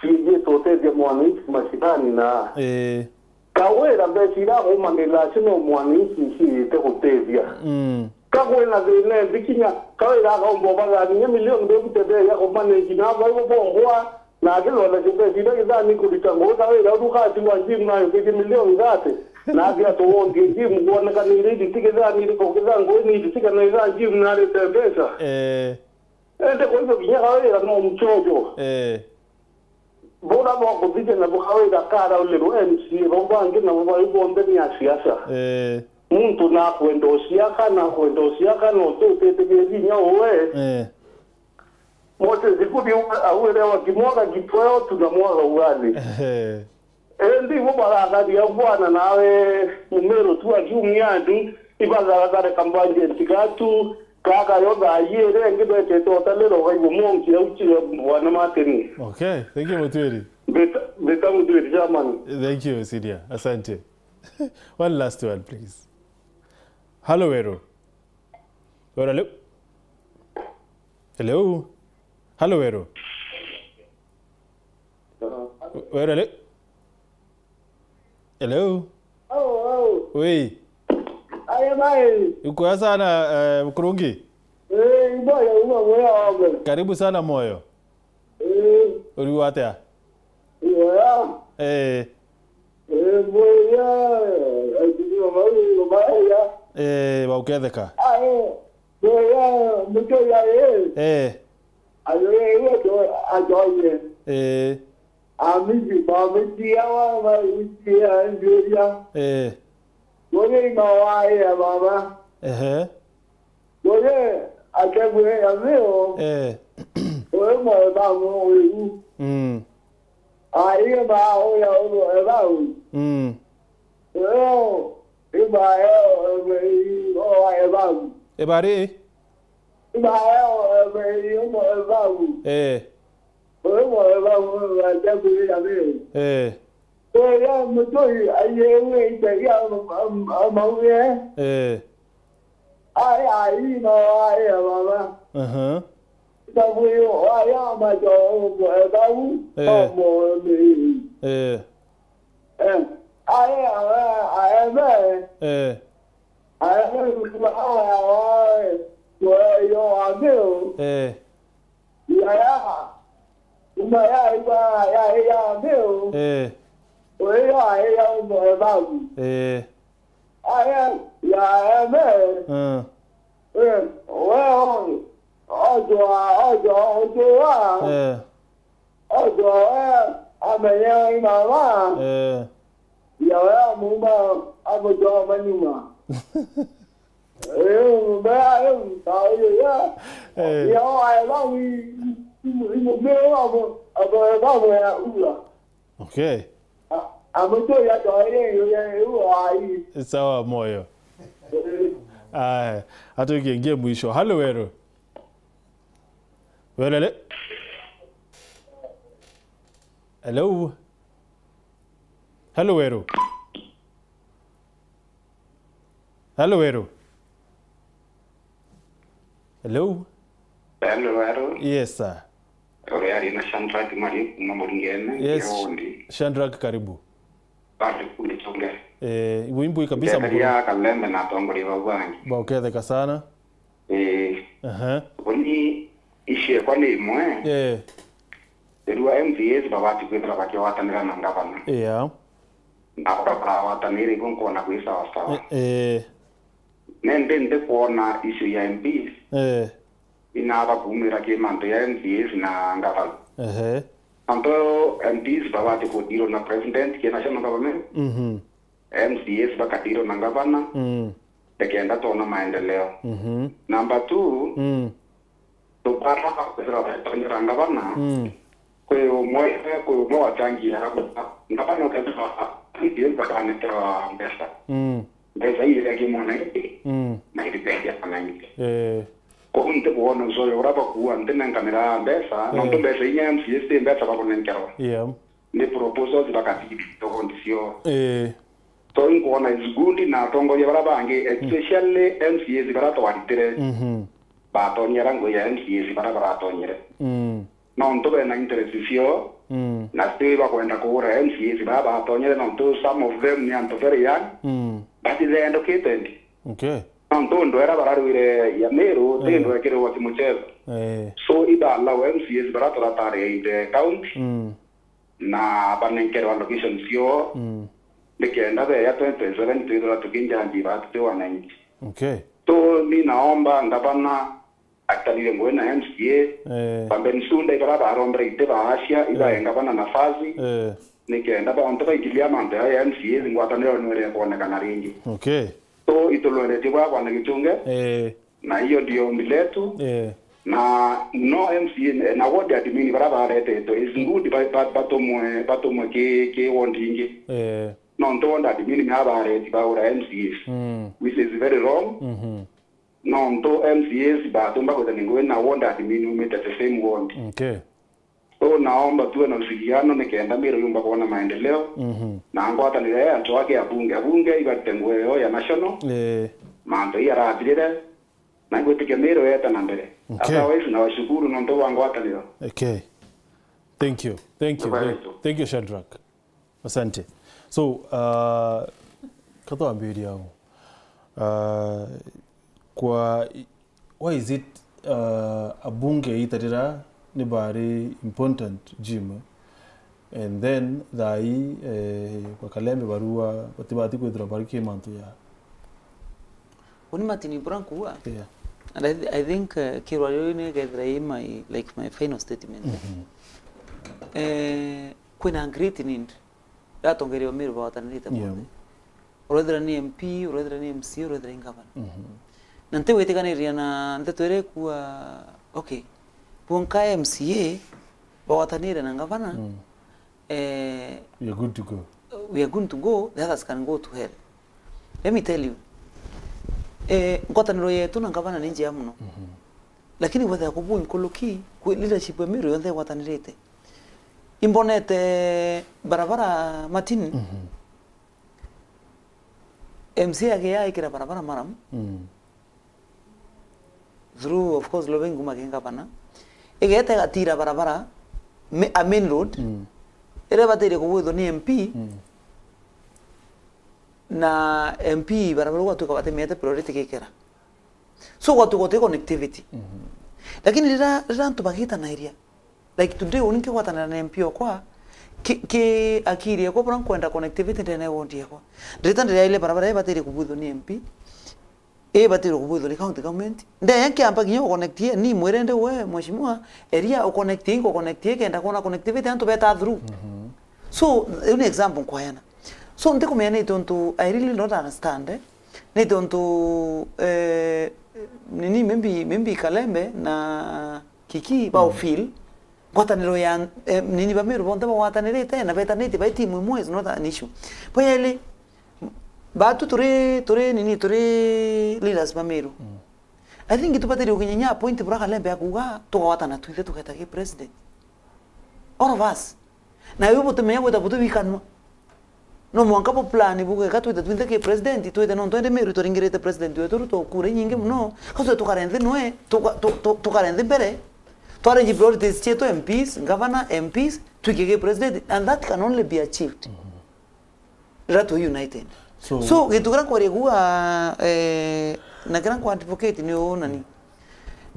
Ciijite utethia mwananchi mashinani na. Eh. Kawira mbeca ira akumanira acio no mwananchi ciite gutethia. Mm. Ka kwina thina inthi kinya, kawira akaumba ubathania milioni bebute bei ya kumanage na baibo bongwa, na akithonda mbeca ira githani kurita ngugi, kawira uru katigwa Jim na yukitie milioni thate. Na athi atuwondie Jim kuonekanire iriti githani iriku githangui ni iriti kana ira Jim na arite mbeca. Eh. Ende kwa hivyo kinya kawira no mchojo. Eh. Bora bwa kuthithia nabo kawira karaulirwe M C A, bau bangi nabo bari bonthe ni a siasa. Eh. Muntu nakwenda uciaka, nakwenda uciaka, no tutitikiria inya uwe. Eh. Moses Kuria auire wa kimwaga gitweo tu na mwaga ugali. Eh. Indi ibo baratharia bwana nawe Mumiru tu akiumia andu, ibatharathare kambajenti gatu, kaka yo thaa iri ingi betete utalira ugaigua monki au kiri bwana Martin. Okay, thank you, Mutwiri. Mbita, mbita Mutwiri, chairman. Thank you, Sidia. Asante. One last one, please. Hello, Weru. Weru, hello? Hello? Hello, Weru? Weru, hello? Hello? Au, au. Wi. Aya, bai. Ukwega sana, eh, Mukurungi? Eh, iboya, uba, uba, uba. Karibu sana, Moyo. Eh. Uri atia? Iboya. Eh. Eh, mboya, eh, mboya. Eh, bauketheka. Ah, eh. Mboya, mboya, eh. Eh. Ayo, eh, ayo, ayo, eh. Eh. Amiji, bamiji, awa, ba, iji, anjuria. Eh. Mboya, ima wa, eh, baba. Ehe. Mboya, akebwe, ya meo. Eh. Oyo, mwe, ba, mo, oyu. Mm. Aiyo ba oya ulo ebau. Mm. Eo, iba eo, ebe, i, o, ebau. Ebari? Iba eo, ebe, i, omo ebau. Eh. Omo ebau, ebe, ajabu ya be. Eh. Oya mutoi, ayewe, itagia, am, am, amauge. Eh. Ai, ai, no, ai, baba. Aha. Tabuyo, aya, majo, omo, ebau, Eh. omo, ebe. Eh. Eh, aye, aye, aye, me. Eh. Aye, me, aye, aye, yo, yo, amigo. Eh. Ya, ya. Uma ya, ya, ya, ya, amigo. Eh. Oye, ya, ya, ya, umo, eh, babu. Eh. Aye, ya, aye, me. Eh. Eh, wewe, ojo, ojo, ojo, wa. Eh. Ojo, eh, amenye mama. Eh. Ya, we, amuma, amujo, manyuma. Eh, mbe, eh, ta, oye, ya. Eh. Ya, wa, eh, bawi. Mumeo abo, abo, babo ya ura. Okay. Amutoi atwaire iyo ya ura ai. Sawa moyo. Aya, atuikie ngie mwisho. Halo Weru. Welele. Hello. Halo Weru. Halo Weru. Hello. Hello, hello. Yes, sir. Uriari na Shadrack Mari kuma Muringene. Yes, Irondi. Shadrack, karibu. Bado kule chonge. Eh, wimbo kabisa. Ndetheria Kalembe na atongoria bau bangi. Bauketheka sana. Eh. Aha. Uni icio ekwa ni imwe. Eh. Erua M C As babati kwithira bakigwatanira na ngavana. Yeah. Na bakagwatanira igo nkona kwi sawa sawa. Eh, eh. Nende ndikwona issue ya M Ps. Eh. Inaba kuumira ki mantu ya M C As na ngavana. Ehe. Antu M Ps babati kudirwo na president ki national government. Mhm. M C As bakadiro na ngavana, mm, nikenda twona maendeleo. Mhm. Number two, mm, tubara kwithira twetonyera ngavana, mm, kwi umwe, kwi umwe wachangia ngavana ukethira ndio bakanekewa mbeca. Mm. Mbeca iria ki mwananchi, mm, na iriteithia mwananchi. Eh. Kou ntikwona ucoyo uria bakuua ntinenkanira mbeca, eh, nontu mbeca inya M C As ti mbeca bakunenkerwa. Yeah. Ni proposals bakathithi togondi cio. Eh. So, inkwona is good na atongoria bara bangi, mm, especially M C As bara twaritire, mhm, batonyera ngui ya M C As bara baratonyere. Mm. Nontu bena interest cio, mm, na still bakwenda kugura M C As bara batonyere, nontu some of them ni antu very young, mm, but they educated. Okay. Nontu ndwera bararwire ya Meru, ti, eh, ndwekirwa ti muchezo. Eh. So, iba allow M C As bara turatari in the county. Mm. Na banenkerwa location cio, mm, nikenda beya twenty twenty-seven twithirwa tukinjanji batu ti wananchi. Okay. So, mi naomba ngavana atanire ngui na M C A, eh, bambe nsunda ibara barombera ite baacia, ibae, eh, ngavana nafasi, eh, nikenda baonte baingilia mantu ya M C A, ngwataniro nwere kwonekana ringi. Okay. So, itulweretie bwa bwana Gichunge. Eh. Na hiyo ndio ombi letu. Eh. Na no M C A, na ward admin bara baretetwe, is good ba-, ba-, batumwe, batumwe ki, ki ward ingi. Eh. Nontu ward admin ni abareti baura M C As. Mm. Which is very wrong. Mhm. Nontu M C As batumba kwithania ngui na ward admin umite the same ward. Okay. So, naomba tuwe na ushirikiano nikenda Meru yumba kuona maendeleo. Mhm. Na ngwataniro ya antu ake abunge. Abunge ibarite nguo yao ya national. Eh. Mantu ii arathirire. Na ngwitikia Meru yeta na mbere. Okay. Otherwise, nawashukuru nontu bwa ngwataniro. Okay. Thank you. Thank you. Bye bye. Thank, thank you, Shadrack. Asante. So, uh, katwambiria au. Uh, kwa, why is it, uh, abunge itarira ni bari important, Jim? And then thaa ii, eh, kwa Kalembe barua batibati kwithira bari ki mantu ya. Uni Martin Ibura nkuuga. Yeah. And I, th-, I think, uh, kirwa riu ni gethira i my, like, my final statement. Mhm. Eh, kwina great need ya atongeria ba Meru bawatanirite, yeah, bonthe. Urethira ni M P, urethira ni M C A, urethira ni ngavana. Mhm. Na ntigwitikaniria na nteto iria ikua, okay, bonka M C A bawatanire na ngavana, mm, eh, we are good to go. We are good to go, the others can go to hell. Let me tell you, eh, ngwataniro yetu na ngavana ni njega muno. Mhm. Lakini bwethira kubu nkuluki, kwi leadership ya Meru yonthe igwatanirite. Imbonete barabara Martin, mhm, M C A agiaikira barabara maramu. Mm. Through, of course, Lovengu Magengavana. Igeta igatira barabara, mi-, a main road, mm, iria ibataire kugwithwa ni M P, mm, na M P barabara gwatuika batimiete priority gikera. So, gwatuika guti connectivity. Mhm. Lakini rira, rira antu bagitanairia, like today, uni nkigwatanira na M P okwa, ki, ki akiri ekwa, bura nkwenda connectivity ndene ya ward ekwa. Ndirita ndiraile barabara ibataire kubwithwa ni M P, ibataire kubwithwa ni county government. Ndeya nkiamba kinya uconnectie, ni mwire ndi we, mheshimiwa, eria uconnectie, ingo connectie, kenda kwona connectivity, antu beta through. Mhm. So, iu ni example nkwaena. So, ndikumenya ni tontu, I really don't understand, eh. Ni tontu, eh, nini, maybe, maybe Kalembe na Kiki, mm, bao feel, ngwataniro ya, eh, nini ba Meru bonthe bagwatanirite na betanitie bai timu imwe is not an issue. Bwa yeli, batu turi, turi nini, turi leaders ba Meru. I think tubataire gukinya point bura Kalembe akuga, tugawatana twinthe tugeta ki president. All of us. Na iu butimenya gwita buti wikanwa. No mwanka bu plan bugeka twite twinthe ki president, twite nontu indi Meru twaringirite president wetu Ruto kura inyingi muno. Ka twite tukare nthi nwe, tuka-, tu-, tu-, tukare nthi mbere. Twarenge priorities cietu, M Ps, governor, M Ps, twike ki president, and that can only be achieved riria twi united. So, so, gintu kiria nkwaria kuuga, eh, na kiria nkwa advocate ni uu nani.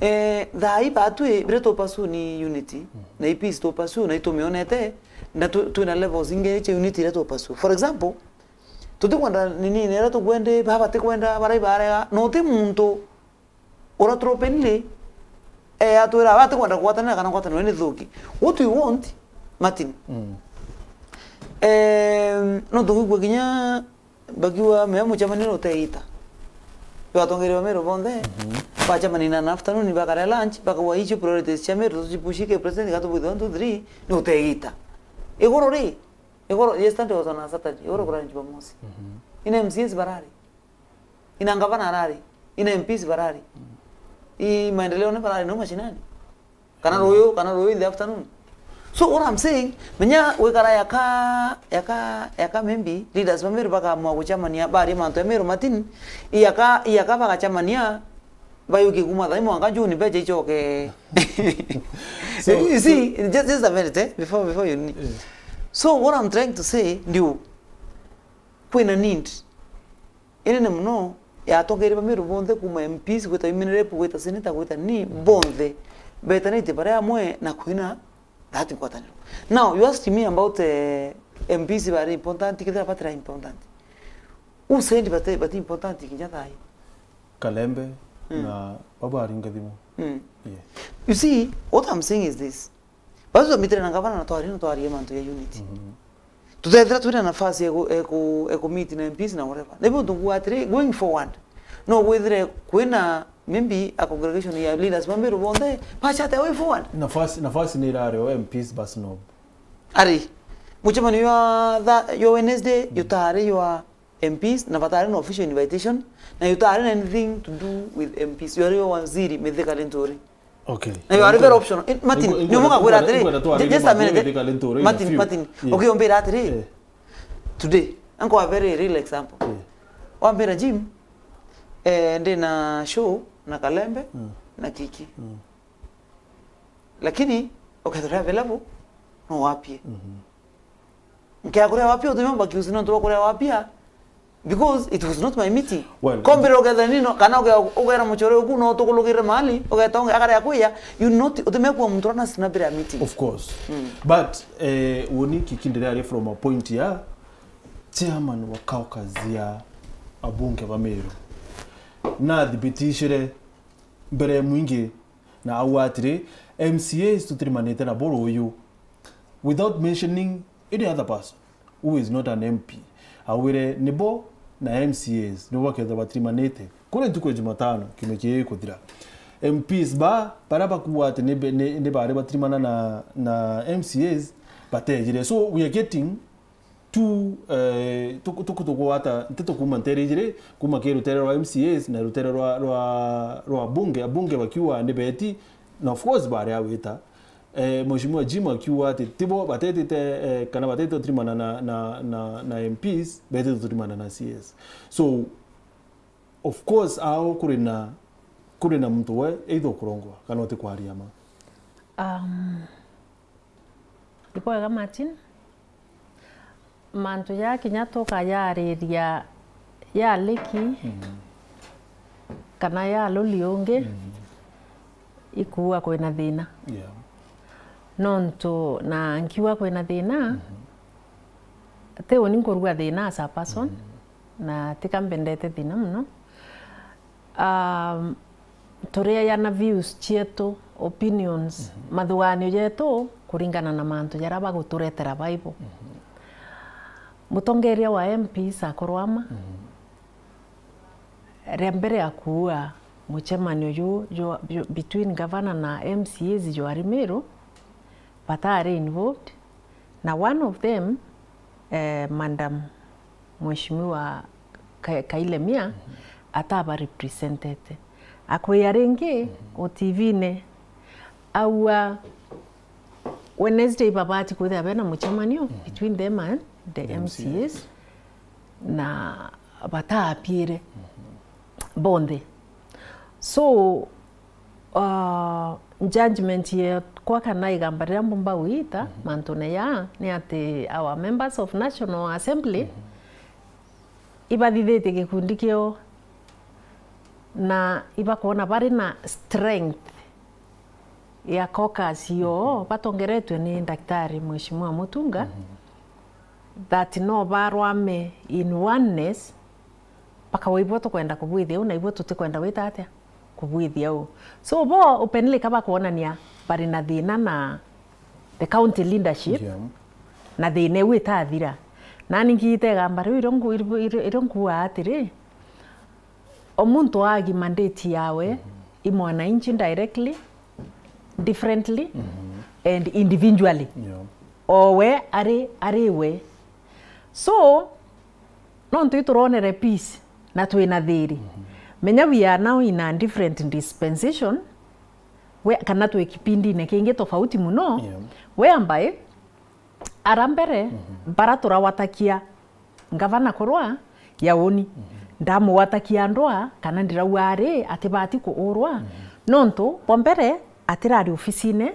Eh, thaa ii batwi biria tu pursue ni unity, na i peace tu pursue, na itumionete, na tu-, twina levels ingi cia unity iria tu pursue. For example, tutikwenda nini, niria tukwendi, baba batikwenda, barai barega, na uti muntu ura tropeni ri, eh, atwira, "Aba atikwenda kugwatanira kana ngwataniro ni thuki." What we want, Martin, em, no tugwigua kinya bakiuga, "Mea mucemanio ni uteita." Yo atongeria ba Meru bonthe, bacemania na afternoon, bakaria lunch, bakauga, "Icio priorities cia Meru, tucipushi ki president, gatubuthi one, two, three, ni uteita." Iguru ri, iguru, yesterday was on a Saturday, iguru kurari Jumamosi. Ina M C As barari. Ina ngavana arari, ina M Ps barari. I maendeleo ni barari no mashinani. Kana ruyu, kana ruyu in the afternoon. So what I'm saying, menya gwikara yaka, yaka, yaka maybe leaders ba Meru bakamua gucemania, baria mantu ya Meru Martin, iyaka, iyaka bagacemania, bayuki kuma thaa imwe mwanka June mbeca icoke. So, you see, just, just a minute, eh, before, before you need. So what I'm trying to say, ndio, kwina need inene muno ya atongeria ba Meru bonthe, kuma M Ps gwita women rep, gwita senator, gwita ni bonthe betanitie bari amwe na kwina that ngwataniro. Now, you asked me about, eh, M Ps bari important, kethira batira important. Who said bati, bati important kinya thaa ii? Kalembe na baba aringa thimu. Yeah. You see, what I'm saying is this. Basi twamitire na ngavana na twaria, na twaria mantu ya unity. Tutethira twina nafasi ya ku-, ya ku-, ya ku meet na M Ps na whatever. Nibu tungu atiri, going forward, no withire kwina maybe a congregation ya leaders ba Meru bonthe, bachate a way forward. Nafasi, nafasi ni irari o M Ps basi no. Ari, mucemanio ya tha-, ya Wednesday, yutari ya M Ps, na batari na official invitation, na yutari na anything to do with M Ps. Yari o waziri Mithika Linturi. Okay. Na you are very optional. Eh, Martin, ni umunga kwira atiri, just a minute. Martin, Martin, okay, umbira atiri. Today, anko a very real example. Wambira, Jim, eh, ndi na show na Kalembe na Kiki. Lakini ukethira available, no wapie. Nkea kuria wapia, utumia mbaki usi nontu bwa kuria wapia, because it was not my meeting. Well, kombira ukethira nino, kana uge-, ugera muchore uku no tukulugire mahali, ugeta unge akare akwiya, you not, utumia kuwa muntu rana sina bila meeting. Of course. But, eh, woni Kiki ndiri ari from a point ya chairman wa caucus ya abunge ba Meru. Na thibitishire mbere mwingi na auga atiri, M C As tutirimanite nabo ruyu, without mentioning any other person who is not an M P. Augire nibo na M C As nibo bakethirwa batirimanite kuri ntuku ya Jumatano kiumia kii gikuthira. M Ps ba, baria bakuuga ati ni, ni, ni bari batirimana na, na M C As, batejire. So we are getting tu, eh, tuku-, tuku-, tukugwata nteto kuuma nteere ijiri, kuuma kiri ruteere rwa M C As na ruteere rwa, rwa, rwa bunge, abunge bakiuga ni beti, na of course bari a gwita. Eh, Mheshimiwa Jim akiuga ati tibo batetite, eh, kana batetite gutirimana na, na, na, na M Ps, betite gutirimana na C As. So, of course, ao kuri na, kuri na muntu we either ukurongwa kana utikwaria ma. Um, Ibwega Martin, mantu ja kinya tukayariria ya liki kana ya luli ungi, ikuuga kwina thina. Yeah. Nontu na nkiuga kwina thina, ti uni nkuruga thina as a person, na tika mbendete thina muno. Um, turiayana views cietu, opinions, mathuganio jetu kuringana na mantu jaria baguturetera Bible. Mutongeria wa M Ps akorwa ama, ria mbere akuua mucemanio ju, ju, ju, between governor na M C As jwari Meru, batari involved, na one of them, eh, Madam Mheshimiwa Ka-, Kailemia ataba represented. Akwia ringi o T V-ini, aua Wednesday babati kwithira bena mucemanio between them and the M C As, na bataapiire bonthe. So, uh, judgment yekwa kana igamba riria mbumba gwita mantune ya ni ati our members of National Assembly ibathithitie gikundi kiao na ibakwona bari na strength ya caucus yoo batongeretwe ni Daktari Mheshimiwa Mutunga, that no barwame in oneness, bakawa ibwo tukwenda kubwithia uu na ibwo tutikwenda gwita atia kubwithia uu. So bo openly ka bakwonania bari na thina na the county leadership, yeah, na thina iu itathira. Nani ngiite igamba riu irio nku-, irio, irio nkuuga atiri, o muntu aagi mandate yawe i mwananchi directly, differently, and individually. Yeah. O we ari, ari we. So, nontu ituronere peace na twina thiri. Menya we are now in a different dispensation, we, kana twi kipindine kingi tofauti muno, yeah, whereby ara mbere bara turawatakia ngavana kurwa ya uni. Ndamugwatakia ndwa kana ndirauga ari atibati kuurwa. Nontu bwa mbere atirari ofisine,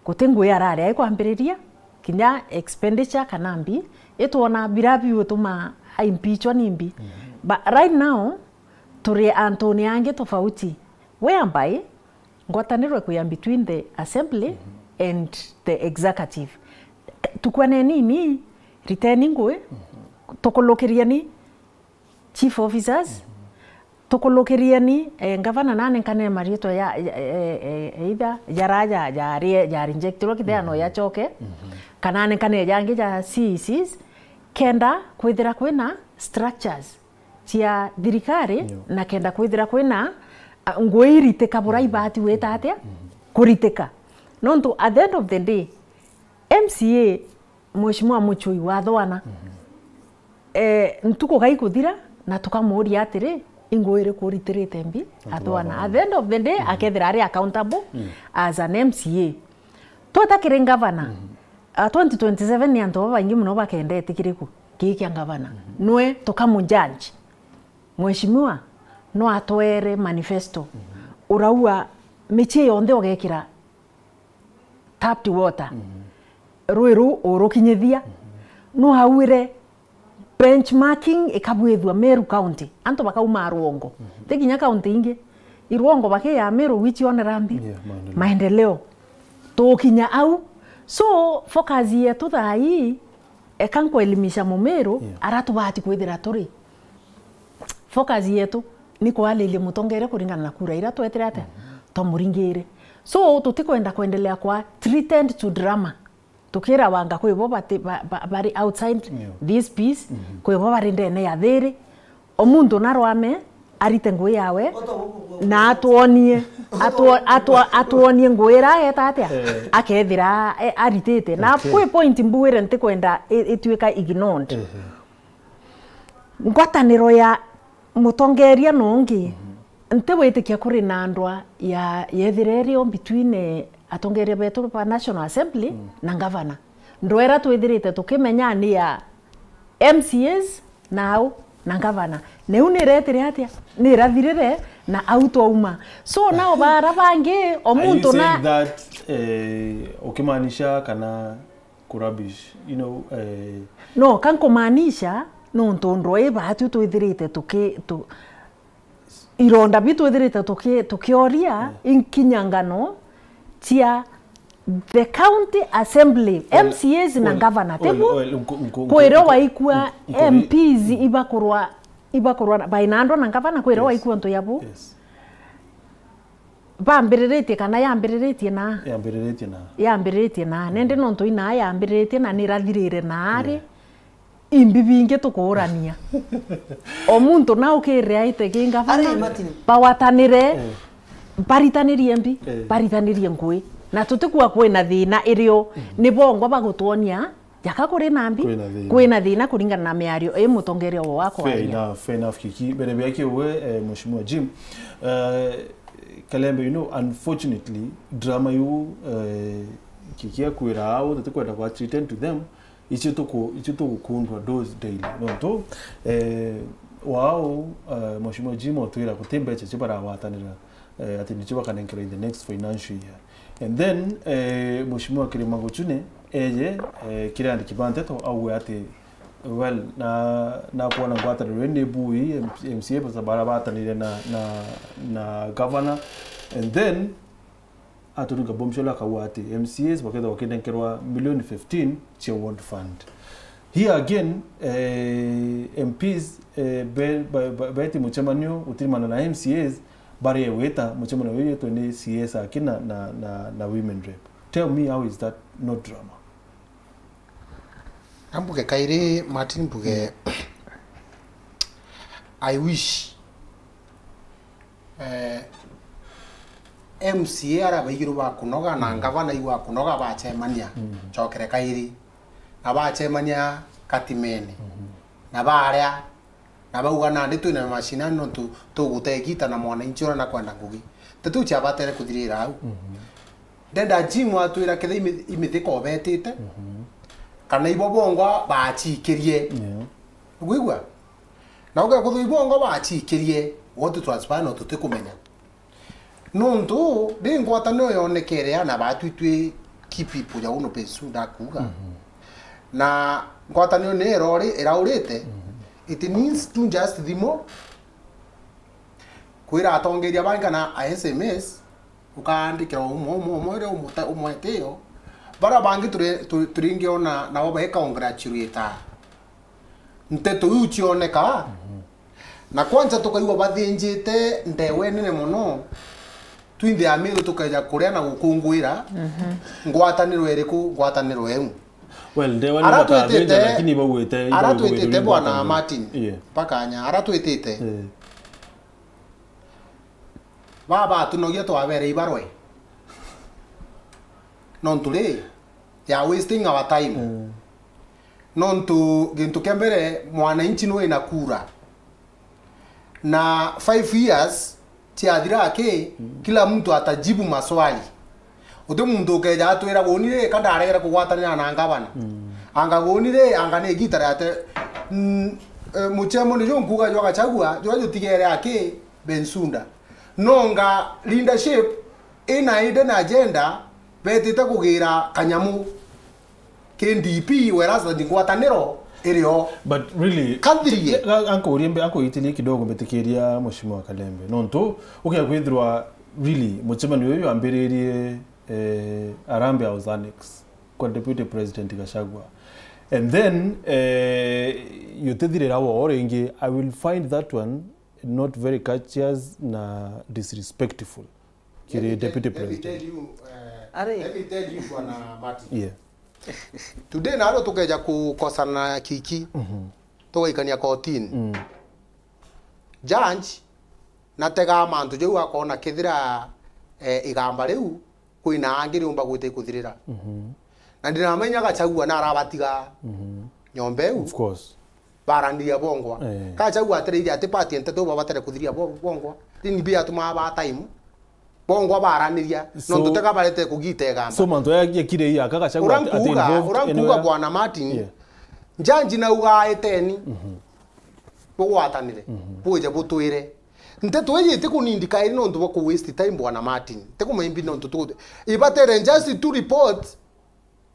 guti ngui arari aikwambiriria, kinya expenditure kana mbi, itwona bira biutuma aimpeachwa ni mbi. But right now, turi antune angi tofauti, whereby ngwataniro ikwia between the assembly and the executive. Tukwane nini, riteni ngui, tukulukirieni chief officers, tukulukirieni, eh, ngavana nanenkane mariitwa ya, ya, eh, eh, either jara ja, ja, ja rejectirwe kithea no yachoke, kana anenkane jangi ja C E Cs, kenda kwithira kwina structures cia thirikari, na kenda kwithira kwina, a, ngui iritika bura ibati gwita atia kuritika. Nontu at the end of the day, M C A, Mheshimiwa Muchui wa Thwana, eh, ntuku gaikuthira na tukamuuria atiri, ingui iriku uritirite mbi Athwana? At the end of the day, akethira ari accountable as an M C A. Tweta kiri ngavana, a, twenty twenty-seven ni antu babaingi muno bakendete kiriku? Kii kia ngavana. Nwe tukamujudge. Mheshimiwa no atwere manifesto. Uraua michie yonthe ugekira tapped water. Rui ruu urukinyithia. No auire benchmarking ikabwithua Meru County. Antu bakauma rwongo. Ti kinya county ingi. Irwongo bakiya Meru wichionera mbi? Yeah, maendeleo. Maendeleo. Tukinya au. So, focus yetu thaa ii, eka nkuelimisha Mumiru, yeah, ara tubati kwithira turi. Focus yetu ni kwaliria mutongeria kuringana na kura iria twetire atia? Twamuringire. So, tutikwenda kwendelea kwa threatened to drama. Tukira wanga kwi bo bati, ba, ba, bari outside this peace, kwi bo bari ndene ya thiri. O muntu narwame, arite ngui yawe, na atwonie, atwo-, atwo-, atwonie ngui ira ageta atia? Eh. Akethira, eh, aritite. Na kwi point mbugire ntikwenda i-, ituika ignored. Ngwataniro ya mutongeria nongi, ntiwitikia kuri na ndwa ya, yethira iri o between, eh, atongeria betu ba National Assembly na ngavana. Ndwa ira twithirite tukimenya ni ya M C As na au na ngavana. Niu niretire atia? Nirathirire na au twauma. So now bara bangi, o muntu na that, eh, ukimaanisha kana kurubbish, you know, eh, no, ka nkumaanisha, nontu ndwa ii baatu twithirite tuki-, tu-, ironda bi twithirite tuki-, tukioria, inkinyangano cia the county assembly, M C As na ngavana, tibu? Kwira waikua M Ps ibakurwa, ibakurwa baina andwa na ngavana, kwira waikua ntu yabu? Yes. Bambiriritie kana yambiriritie na? Yambiriritie na. Yambiriritie na. Nende nontu inaa yambiriritie na nirathirire na ari. Yeah. Imbi bingi tukuurania. O muntu na ukirire aite ki ngavana, ari Martin, bawatanire, eh, baritanirie mbi, eh, baritanirie ngui. Na tutikua kwina thina irio ni bongwa bagutwonia jaka kuri nambi. Kwina thina. Kwina thina kuringana na miario i mutongeria wa Fair kwaria. Enough, fair enough, Kiki. Mbere bia kiuwe, eh, Mheshimiwa Jim, eh, Kalembe, you know, unfortunately, drama yu, eh, Kiki akwira au, tutikwenda kwa attend to them, icio tuku-, icio tugukundwa those daily. Nontu, eh, wao, eh, Mheshimiwa Jim otwira guti mbeca cia baragwatanira, eh, ati nicio bakanenkerwa in the next financial year. And then, eh, Mheshimiwa Kirima Guchune eje, eh, kiri andiki ba nteto auge ati, well, na, nakwona ngwataniro ii ni bui, M-, M C A basa bara batanire na, na, na governor. And then, aturinga bombshell akauga ati M C As bakethagwa bakinenkerwa milioni fifteen cia ward fund. Here again, eh, M Ps, eh, be-, ba-, ba-, beti mucemanio utirimana na M C As, bari gwita mucemanio uyu witwe ni C S aki na, na, na, na women rep. Tell me, how is that not drama? Ambuge kairi, Martin, mbuge, I wish, eh, M C A aria baigirwe bakunoga na ngavana iu akunoga bacemania, cokere kairi. Na bacemania katimene. Na baria, na bauga, nandi twina mashinani nontu tugute igita na mwananchi uria nakwenda ngugi. Nteto iu ciabatere kuthirira au. Ndenda Jim atwira ketha imi-, imithika obetite, kana ibo bongwa bacikirie. Yeah. Ukwigua? Na uge kethwa ibo bongwa bacikirie, what transpire no tutikumenya. Nontu ri ngwataniro yonekere ana batwi twi key people ya uno Bensuda akuga. Na ngwataniro ni irori-, iraurite, it needs to just thimo, kwira atongeria bangi kana a S M S, ukaandikira umwe, umwe, umwe, umwe, umwe, umwe tio. Bara bangi turi-, tu-, turingiona nabo baikongratulate nteto iu cioneka. Na kwanza tukaigua bathinjite ndewa inene mono, twinthe Amiru tukeja kuria na gukunguira ngwataniro iriku? Ngwataniro eu. Well, ndewa ni ara twitite, lakini bauite, ara twitite bwana Martin, yeah, bakanya, ara twitite. Yeah. Baba atunogia twabere ibarwe. Nontu ri, they are wasting our time. Mm. Nontu gintu kia mbere, mwananchi nwe na kura. Na five years ciathira aki, mm, kila mtu atajibu maswali. Uti muntu ukeja atwira guni ri, ka ndaregere kugwatanira na ngavana. Mm. Anga guni ri, anga ni igita riate. Mm, eh, muchemo ni ju nkuga jwa Gachagua, jwa jutigere aki, Bensunda. Nonga leadership ina hidden agenda, betite kugira kanyamu ki D P, whereas ngwataniro iri o. But really, kathirie. Ga-, ga-, ankurie mbe-, ankuitirie kidogo mbitikiria Mheshimiwa Kalembe. Nontu, ukia kwithirwa, really, mucemanio uyu wambiririe, eh, Harambee House Annex kwa Deputy President Gachagua. And then, eh, yutithirira wo ringi, I will find that one not very courteous na disrespectful kiri Deputy President. Let me tell you, uh, let me tell you, Bwana Martin. Yeah. Today naro tukeja kukosana kiki, tugaikania kotini. Mm. Judge natega mantu jau akona kethira, eh, igamba riu kwina angi riumba gwita ikuthirira. Mhm. Na ndinamenya Gachagua narabatiga nyomba iu. Of course. Baraniria bongwa. Eh. Gachagua atereire ati party nteto babatere kuthiria bo-, bongwa. Nini biatumaa ba time? Bongwa baraniria. So, nontu tega barete kugita igamba. So mantu ya, ya kire ya ka Gachagua ura ati, ati nkuga, involved ura nkuga anywhere? Bwana Martin, yeah, njanji nauga eteni. Mhm. Bugwatanire. Mhm. Bwije butwire. Nteto iji itikunindi kairi nontu bwa ku waste time, Bwana Martin. Tikumenya imbi nontu tu-, ibatere just to report.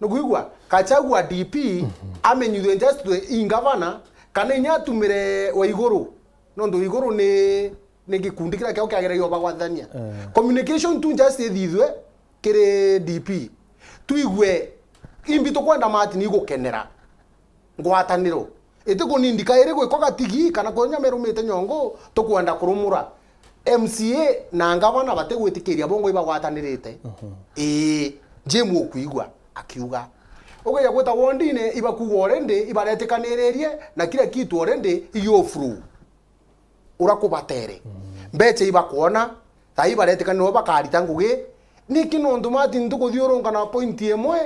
Nukwigua? Gachagua D P, mhm, amenyithwe just i ngavana, kana inya atumire Waiguru. Nontu Waiguru ni, ni gikundi kiria kiao kiageragia ubagwathania. Eh. Communication tu just ithithwe kiri D P. Twigue imbi tukwenda Martin igukenera ngwataniro. Itikunindi kairi gwikwa gatigi kana kunya merumite nyongo tukwenda kurumura. M C A na ngavana batigwitikiria bongwa ibagwatanirite. Mhm. Ii, Jim ukwigua akiuga. Ugeja gwita wondine ibakuga already, ibaretikaniririe na kila kitu already iyo through. Ura kubatere. Mm. Mbecha ibakwona, thaa ibaretikanirwa bakarita ngugi, Niki nontu Martin tukuthiurunka na point imwe,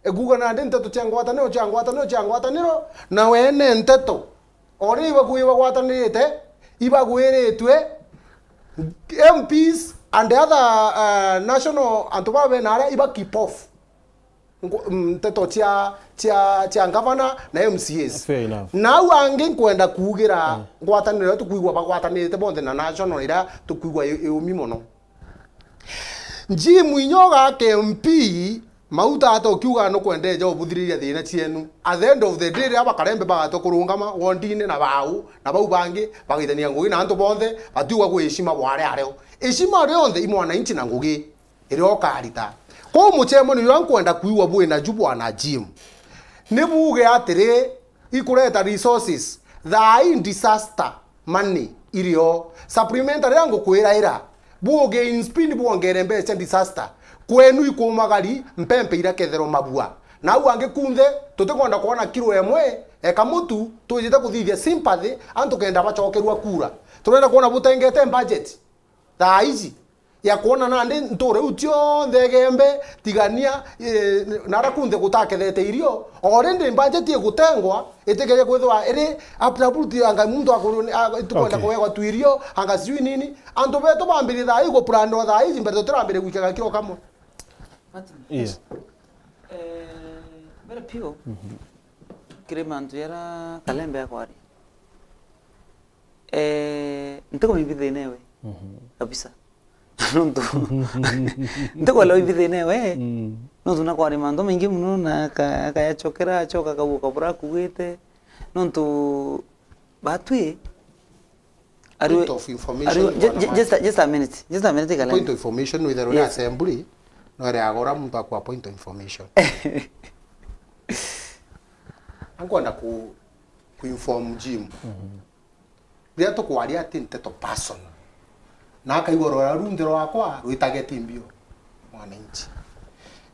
ekuuga nandi nteto cia ngwataniro, cia ngwataniro, cia ngwataniro, na wene nteto. Ori ibakuwi bagwatanirite, ibagwiritwe, M Ps and other, uh, national, antu baba bena aria iba keep off. Ngu-, mm, nteto cia, cia, cia ngavana na M C As. Fair enough. Nau angi nkwenda kuugira ngwataniro iria tukwigua bagwatanirite bonthe na national iria tukwigua i, iumi mono. Jim Inyoga ke M P, Mauta ata ukiuga nukwenda eja ubuthiriria thina cienu. At the end of the day, riria bakarembe bagatwa kurungama wondine na bau, na bau bangi bagaitania ngugi na antu bonthe, batiuga kwi heshima bware areo. Heshima rionthe i mwananchi na ngugi iria ukarita. Kwou mucemanio juria nkwenda kwigua bwina ju bwana Jim, ni buuge atiri, ikureta resources, thaa ii disaster money irio. Supplementary iria ngukwira ira, buuge in speed bwongere mbeca cia disaster. Kwenu ikumagari, mpempe iria kethero mabua. Na au angi kunthe, tutikwenda kwona kiro emwe, eka mutu, twijite kuthithia sympathy, antu kenda bacokerua kura. Turenda kwona butengete budget thaa iji ya kwona nandi ntura iu cionthe Igembe, Tigania, eh, na aria kunthe gutakethete irio. Already budget igutengwa, itikeje kwithirwa iri uprooted, anga muntu akuru-, a-, itukwenda Okay. kuegwa tu irio, anga sijui nini. Antu betu bambirie thaa ii guplandwa thaa iji mbere tutirambirie gwikaga kiro kamwe. Martin. Yes. Eh, mbere piu, kiri mantu jaria Kalembe akwaria. Eh, ntikumimbi thina ewe. Mhm. Kabisa. Nontu, ntikwelewa imbi thina ewe. Mm. Nontu nakwaria mantu maingi mono na aka-, akayacokera, acoka akauga kabura akuugite. Nontu batwi, ari we, Point of information, ari we, ju-, bwana ju-, just a, Mike. Just a minute. Just a minute, Kalembe. Point of information, witherwe ni Yes. assembly, no ere agora muntu akwa point of information. Ankwenda ku, ku inform Jim. Mhm. Riria tukwaria ati nteto personal. Na akaigua rwera runthe rwakwa rwitage timbio mwananchi.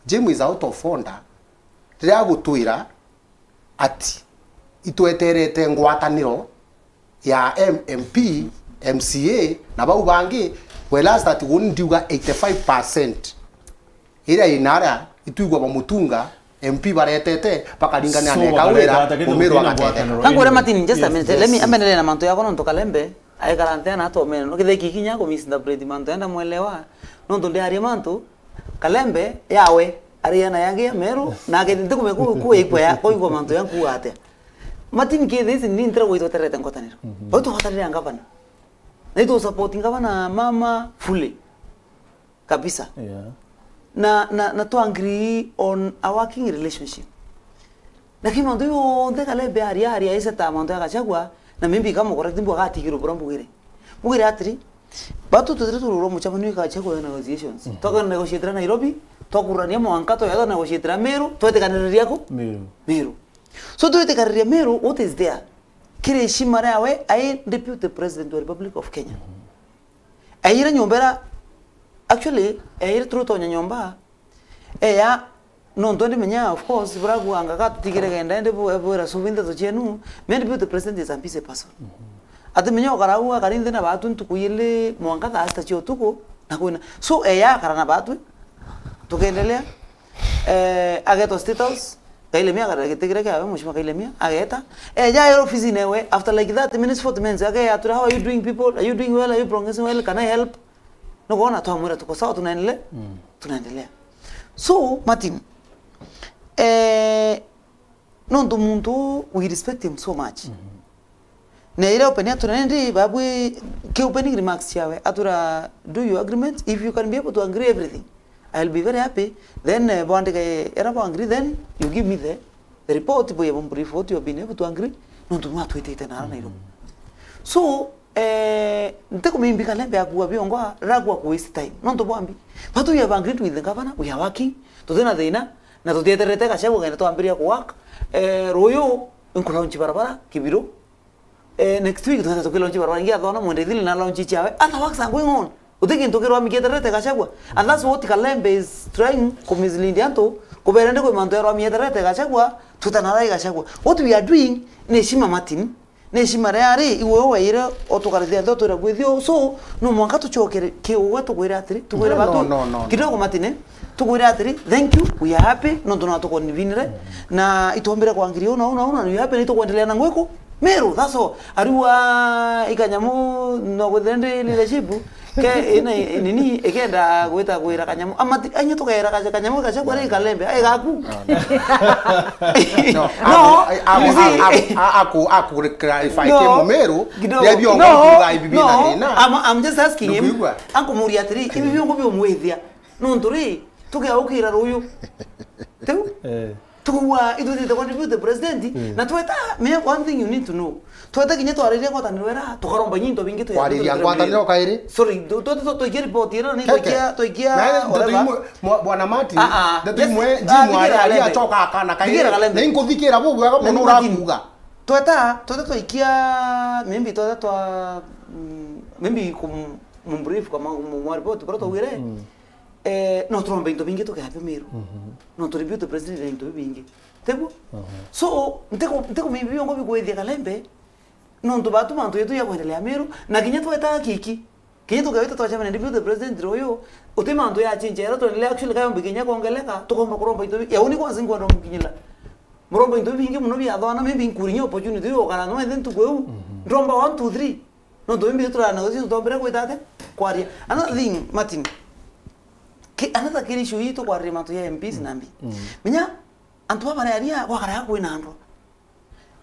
Jim is out of order. Riria agutwira ati itweterete ngwataniro ya M-, M P, M C A, na bau bangi, whereas that uni ndiuga eighty-five percent iria ina aria itwigua bamutunga, M P baretete, bakaringania So, na eka bakareta wira, ata kethira umiro gutina agatetheka. Ngwataniro Kangwire anyway. Martin, just a Yes, minute. Let me, yes. Amenere na mantu yakwa nontu Kalembe aikara nthia na atomene. No kethira kikinya ku misinterpret mantu enda mwelewa. Nontu ndiaria mantu, Kalembe yawe, ari na yangi ya Meru, na agethi ntikumenya ku, ku ikwa ya, kuigua mantu ya nkuuga atia. Martin, kethira ici ni ntira gwitwa terete ngwataniro. Mhm. Bau tugwatanire na ngavana. Na itu support ngavana mama fully. Kabisa. Yeah. Na, na, na to agree on a working relationship. Lakini mantu yonthe Kalembe aria, aria aiseta mantu ya Gachagua, na maybe kama correct mbu agatigirwo bura mbugire. Mbugire atiri, batu tutire tururwo mucemanio Gachagua ya negotiations. Mhm. Twaka negotiatira Nairobi, twakurania mwanka, twaya negotiatira Meru, twetikaniriria ku? Meru. Meru. So, twetikaniriria Meru, what is there? Kiri heshima riawe, ai Deputy President wa Republic of Kenya. Mhm. Eire nyomba ira, actually, eire turutonya nyomba, eya, nontu ndi menya, of course, burakuanga gatutigire genda, ndi bu-, bwira subi nteto cienu, me ndi the president is a busy person. Mhm. Ati menya ukara uu, akari nthi na batu ntuku ili mwanka thaa sita cia utuku, na kwina. So, eya akara na batu, tukendelea. Eh, agetwa State House, Kailemia akarira giti kiria kiawe, Mheshimiwa Kailemia, ageta. Eh, eja ae ofisine ewe, after like thirty minutes, forty minutes, akeya atwira, "How are you doing, people? Are you doing well? Are you progressing well? Can I help?" Nukwona twamwira, "Tuko sawa, tunaendelea." Mm. Tunaendelea. So, Martin, eh, nontu muntu, we respect him so much. Mhm. Na ira open atura nindi babwi ki opening remarks ciawe, atura, "Do your agreement. If you can be able to agree everything, I'll be very happy. Then, eh, bwandike era bwa agree, then you give me the, the report, bwe bumbrief what you have been able to agree." Nontu mwatwitite nara Nairobi. So, eh, ntikumimbi Kalembe akua biongo, ragua ku waste time. Nontu bwambi, but we have agreed with the governor, we are working, tutina thina, na tutieterete Gachagua kenda twambiria ku work. Eh, ruyu, nkulaunch barabara, Kibiru. Eh, next week, tunaenda tukilaunch barabara ingi, athona mwende ithili na launch ciawe. Other works are going on. Uti kintu kirwamikite rete Gachagua. And that's what Kalembe is trying ku mislead antu, kubera ndi kwi mantu yarwamikite rete Gachagua, tutanarai Gachagua. What we are doing ni heshima Martin, Ni heshima ria ari, iwe weire utukarithia nthi utwira bwithio. So, no mwanka tucokere ki ugwe tukwire atiri, tukwire No, batu, no, no, no, no. kidogo Martin, tukwire atiri, thank you, we are happy, nontu no tukonvinire, na itwombire kwa ngiri una, una, una, we are happy, na itukwendelea na ngwiku. Meru, that's all. Ariwa ikanyamu, no gwithire ndi leadership, ke ina nini, ikenda gwita kwira kanyamu. Amati, anye tukera kaja kanyamu, kaja kwa ri kalembe, ai gaku. No, No, aku, you see, aku, aku, aku, aku clarify No, ke mumeru, kidogo. ya biongo No, kuga ibi bina no, thina. I'm, I'm just asking him. Ndukwigua? Ankumuria atiri, ibi biongo biumwithia. Nontu ri, tugeukira ruyu. Tiu? Eh. Tuwa, itwithite kwa deputy president, Mm. na tweta, me one thing you need to know. Tweta kinya twariria ngwataniro era, tukaromba nyinto bingi tu Kwariria ngwataniro kairi? Sorry, tu, tu, tu, tuikia report era, ni Keke. tuikia, tuikia, Na ndeto whatever. imwe, mwa-, bwana Martin, Ah, ah. ndeto Yes. imwe, Ah, Jim thigira ari, ari Kalembe. acoka akana kairi. Thigira Kalembe. Na inkuthikira bu bwega Na mono ni Martin. urakuga. Tweta, tweta twaikia, maybe tweta twa, mm, maybe kum-, mumbrief kama mu-, mwa report, bara twaugire, Mm. eh, no turomba into bingi tukeabio Meru. Mhm. No turi deputy president into bingi. Tiguo? Mhm. So, ntiko, ntiko maybe biongo bikwithia Kalembe, nontu batu mantu yetu ya kwendelea Meru, na kinya tweta kiki. Kinya tukewita twacemania na deputy president ruyu, uti mantu ya change, era twendelea actually kayombe kinya kuongeleka, tukomba kuromba into bi-, ya uni kwanza nkwenda mukinyila. Muromba into bingi muno bia thwana, maybe nkuri nya opportunity yo kana no ende ntuku eu. Mhm. Ndromba one, two, three. Nontu maybe turana gucio tutombere gwita ate? Kwaria. Another thing, Martin. Ki-, another kiri issue hii tukwariria mantu ya M Ps Mm. na mbi. Mm. Menya, antu baba bararia gwakara kwina andwa.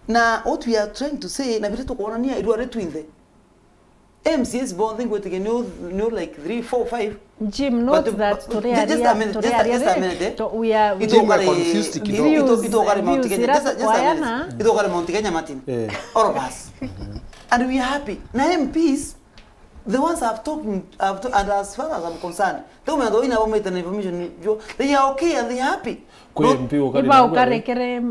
Na what we are trying to say, na biria tukwonania irua ri twinthe. M C As bonthe ngwitikia ni u-, ni u like three, four, five. Jim, note But, that but, turiaria, just a minute, just a, turiaria just a ri, minute, eh. to, we are, we Jim, are Itokare, confused kidogo. views, ito-, itokare views Mount Kenya. ira Just a, just a minute. tukwaana. Itokare Mount Kenya, Martin. Eh. All of us. And we are happy. Na M Ps, the ones I've talked, I've to-, and as far as I'm concerned, the women that we never made an information, they are okay and they are happy. Kwi Not M P ukari Iba nagwe? ukarekere,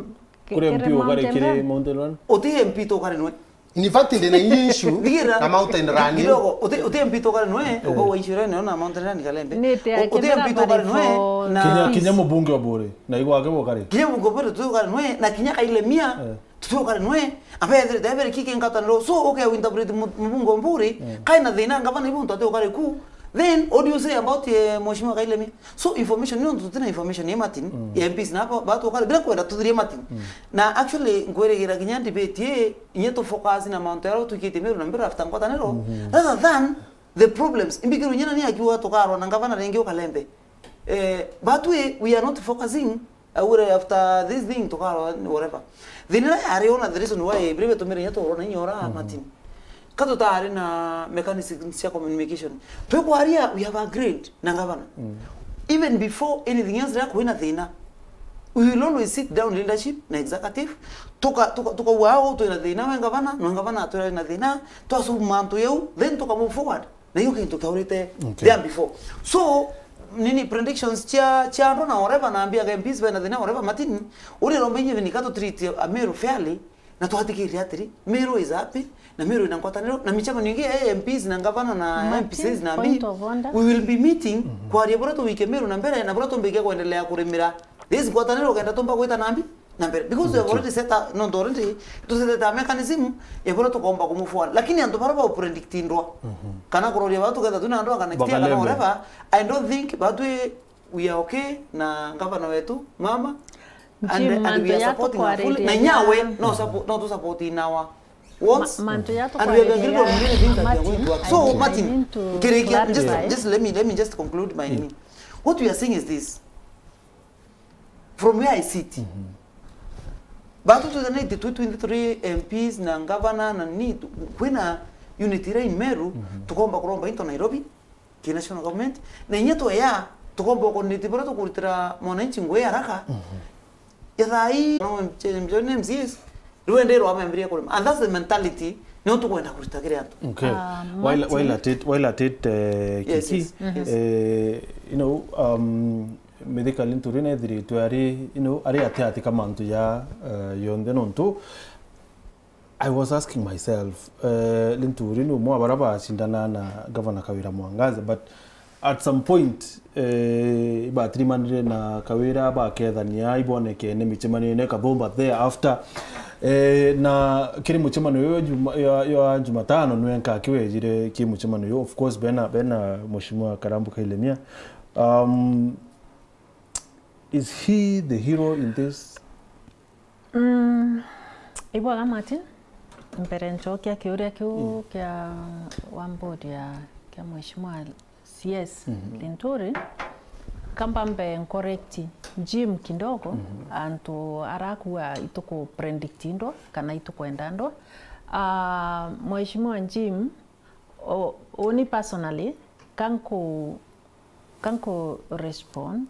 Kuri kere M P ukari Mountain kiri Run? Mountain Run? Uti M P tukare nwe. In fact, ndina issue Thigira. na Mountain Run. Kidogo, uti, uti M P tukare nwe, Eh. ukawa issue rene na Mountain Run Kalembe. Ni te U-, uti akemera M P tukare nwe, for na Kinya, peace. kinya mubunge wa Buri, na igwa ake bukari. Kinya mubunge wa Buri tukare nwe, na kinya Kailemia, Eh. tukare nwe. Abe ethire, ethire kiki nkataniro. So, uke interpret mu-, mubunge wa Buri, Eh. kai na thina ngavana ibu ntu ati ukare ku. Then, what do you say about, eh, Mheshimiwa Kailemia? So, information, ni untu tutina information ya Martin, Mm. ya M Ps na hapa, batu ukare, bila kwenda tuthirie Martin. Mm. Na actually, nkwirigira kinya debate ye, inye tu focus na mantu yaro tukitie Meru na Meru after ngwataniro, Mhm. rather than the problems. Imbikiru nyina ni akiuga tukarwa na ngavana ringi ukalembe. Eh, but we, we are not focusing, aure after this thing tukarwa whatever. Thina ira yari ona the reason why, bire betumire inya tuurwa na inya ora Mhm. Martin. Ka tutari na mechanisms cia communication. Twikwaria, we have agreed na ngavana. Mm. Even before anything else, ria kwina thina, we will always sit down leadership na executive. Tuka, tuka, tukauga, "Au twina thina, we ngavana, no ngavana atwira na thina, twasolve mantu yau, then tuka move forward." Na iyo kintu kiaurite Okay. there before. So, nini predictions cia, cia andu na whatever, na ambia M Ps bena thina, whatever, Martin, uri romba inye bini ka tu treat Ameru fairly, na twathikirire atiri, Meru is happy, na Meru ina ngwataniro, na micemanio ingi ya M Ps na ngavana na Martin, M Ps na point mbi, of order. we will be meeting, Mhm. kwaria buria tuwike Meru na mbere, na buria tumbikia kwendelea kurimira this ngwataniro, ukenda tumba gwita na mbi na mbere. Because we have Ndio. already set up, no, already, tu set up a mechanism ya buria tukomba ku move forward. Lakini antu baria ba predict ndwa, Mhm. kana kuroria batu ketha tuna ndwa, kana next year, kana Bakalembe. whatever, I don't think, but we, we are okay na ngavana wetu, mama, and, Jim, and we mantu are ya supporting her fully. Na tukwaririria nyawe, no support, no tu support in our wants. Ma-, mantu ya And we have agreed on tukwaririria many things that we are going to work. Martin, So, I Martin, need to nkirikia, just, clarify. just let me, let me just conclude my Yeah. nini. What we are saying is this. From where I sit, Mhm. batu twithanite twi twinthe turi M Ps na ngavana na ni tu-, kwina unity ira in Meru, Mhm. tukomba kuromba into Nairobi, ki national government, na inya tweya, tukomba coordinate buria tukuritira mwananchi ngui haraka. Mhm. Ya thaa ii, no, M C As, riu endeirwa amembirie kurima. And that's the mentality, nio tukwenda kurita kiri antu. Okay. Ah, While, Martin. while at it, while at it, eh, Yes, Kiki, yes, yes. eh, you know, um, Mithika Linturi nethiritwe ari, you know, ari ati ati ka mantu ya, eh, yonthe nontu I was asking myself, eh, Linturi ni umwe wa baria bacindana na Governor Kawira Mwangaza, but At some point, eh, ibatirimanire na Kawira bakethania ibonekene micemanio-ini Kathumba thereafter. Eh, na kiri mucemanio uyu juma, ya, ya Jumatano nwe nka kiwejire ki mucemanio uyu. Of course, bena, bena Mheshimiwa Karambu Kailemia. Um, is he the hero in this? Mm, ibwaga Martin, mbere nchokia kiuria kiu kia wa mbodi ya kia Mheshimiwa C S Linturi, kamba mbe ncorrect Jim kidogo, antu arakua ituku predict ndwa kana itukwenda ndwa. Ah, Mheshimiwa Jim, o-, uni personally, kanku, kanku respond,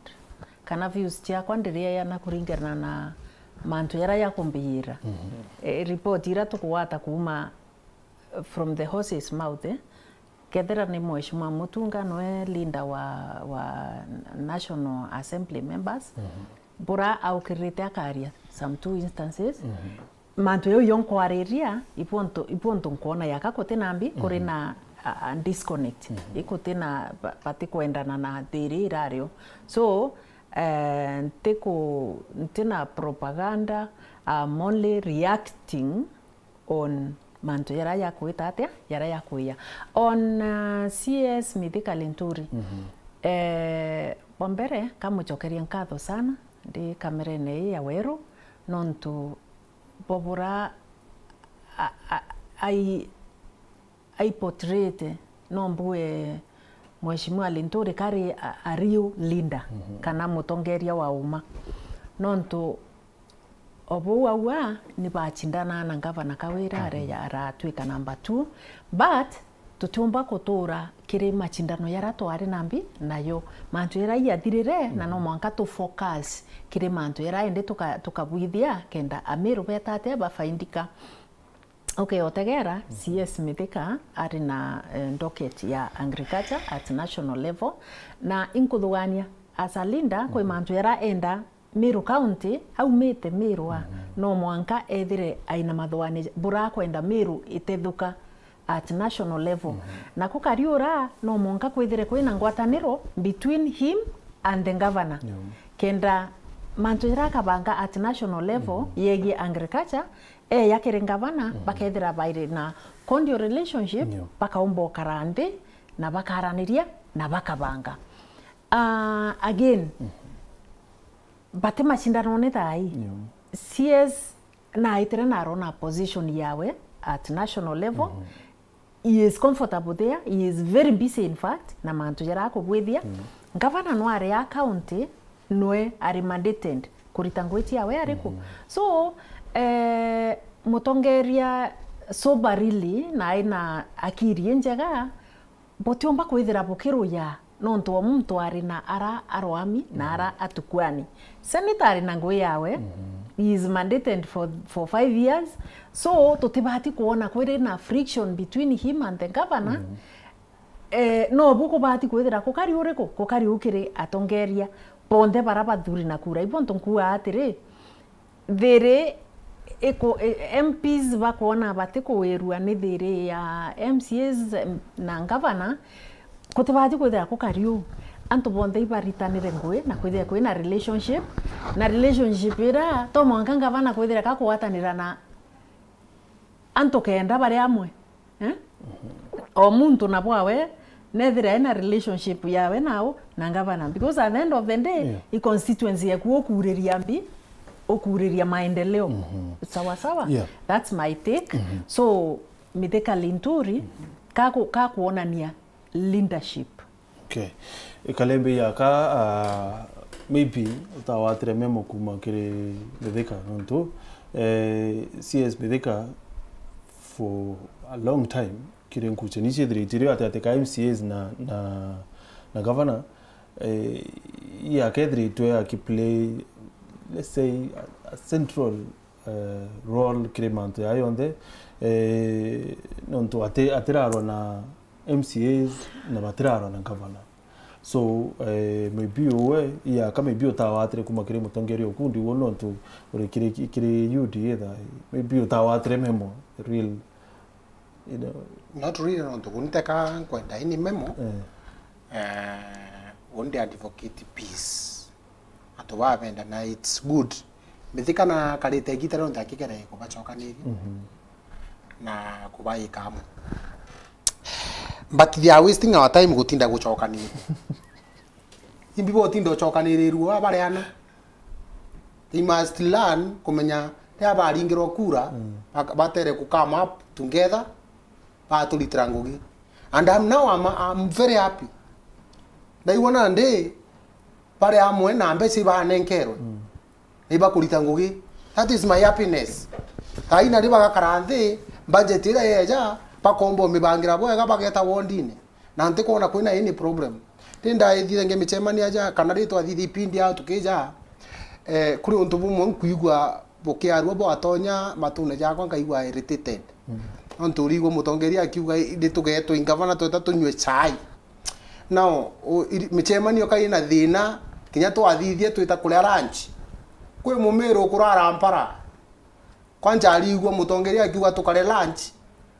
kana views ciakwa ndirieyana kuringana na mantu jaria jakumbiyira. E, report iria tukugwata kuuma from the horse's mouth, eh, kethira ni Mheshimiwa Mutunga nwe leader wa, wa National Assembly members, bura aukirite akaria some two instances, mantu jau yo nkwariria, ibwonto, ibwonto nkwona yaka kuti na mbi, kuri na a, a disconnect, ikuti na ba-, batikwendana na thiri irario. So, eh, ntiku-, ntina propaganda, I'm only reacting on mantu jaria jakwita atia, jaria jakwia. On, uh, C S Mithika Linturi, eh, bwa mbere, kamucokeria nkatho sana, ndi kamerene ii ya weru, nontu bobura a, a, ai, ai portrayed, no mbue Mheshimiwa Linturi kari a, a real leader, kana mutongeria wa uma. Nontu o bou aua ni bacindana na ngavana Kawira, areja aratwika number two, but tutiumba kutura kiri macindano jaria twari na mbi nayo. Mantu jaria jathirire, na no mwanka tu focus kiri mantu jaria indi tuka-, tukabwithia kenda Amiru beta atia bafaindika. Okay, otegera, C S Mithika ari na, eh, docket ya agriculture at national level, na inkuthugania as a leader, kwi mantu jaria enda Meru County, aumite Meru a, no mwanka ethire aina mathuani bura kwenda Meru itethuka at national level. Na kukariura, no mwanka kwithire kwina ngwataniro between him and the governor. Kenda mantu jaria akabanga at national level yegie agriculture, eya kiri ngavana, bakethira bairi na cordial relationship, bakaumba ukara nthi, na bakaraniria, na bakabanga. Ah, again, bati macindanone thaa ii. C S naitire narona position yawe at national level. He is comfortable there. He is very busy, in fact, na mantu jaria akubwithia. Ngavana no ari a county, nwe ari mandated kurita ngugi ciawe ariku. So, eh, mutongeria soberly na aina akiri injega, butiumba kwithira bukiruya nontu o muntu ari na ara aroami na ara atukuani. Senator ari na ngugi yawe, he is mandated for, for five years, so tutibati kwona kwiri na friction between him and the governor. Eh, no bu kubati kwithira kukari uriku? Kukari ukiri atongeria bonthe bara bathuri na kura. Ibontu nkuuga atiri, thiri iku-, i-, M Ps bakwona bati kuwirua ni thiri ya M C As na ngavana, kutibati kwithira kukari uu. Antu bonthe ibaritanire ngugi na kwithira kwina relationship, na relationship ira to mwanka ngavana kwithira kakugwatanira na antu kenda bari amwe. Eh? O muntu na bwawe nethira ena relationship yawe nao na ngavana, because at the end of the day, i constituency yaku ukuriria mbi, ukuriria maendeleo. Sawa sawa? That's my take. So, Mithika Linturi, kaku-, kakuonania leadership. Okay. Ikalembe yaka, ah, maybe utawatire memo kuma kiri Mithika, nontu, eh, C S Mithika for a long time, kiri nkuchani ciethirite iri ati, ati ka M C As na, na, na governor, eh, yakethiritwe akiplay, let's say, a, a central, eh, role kiri mantu ya yonthe, eh, nontu ati-, atirarwa na M C As na batirarwa na governor. So, eh, maybe uwe, yaka maybe utawatire kuma kiri mutongeria ukundi uo nontu uri kiri, kiri U D A thaa ii. Maybe utawatire memo, real, you know. Not really, nontu kuniteka nkwenda ini memo. Eh. Eh, undi advocate peace. Antu babendana, it's good. Mithika na karite igita rionthe akigere kubacokaniria. Mhm. Na kubaika amwe. But they are wasting our time gutinda gucokaniria. Imbi botinda ucokanirirua bareana. They must learn kumenya ria baringirwa kura, mm, bak-, batere ku come up together, baturitira ngugi. And I'm now, I'm, I'm very happy. Ndaigua nandi bari amwe na mbeca ibanenkerwe. Mm. Ibakurita ngugi. That is my happiness. Taina ri bagakara nthi, budget iria yeja, bakomba umibangira bwega, bageta wondine. Na ntikwona kwina any problem. Ri ndaithire nge micemania aja, kana ri twathithia ipindi ao tukija, eh, kuri untu bumwe nkwigua bukiarua bwatonya matune jakwa, nkaigua irritated. Mm. Nontu urigua mutongeria akiuga, "Ri tugetwe ingavana tweta tunywe chai." Now, u-, iri-, micemanio kai na thina, kinya twathithia twita kuria lunch. Kwi mumiru ukurara mpara. Kwanja arigua mutongeria akiuga tukare lunch,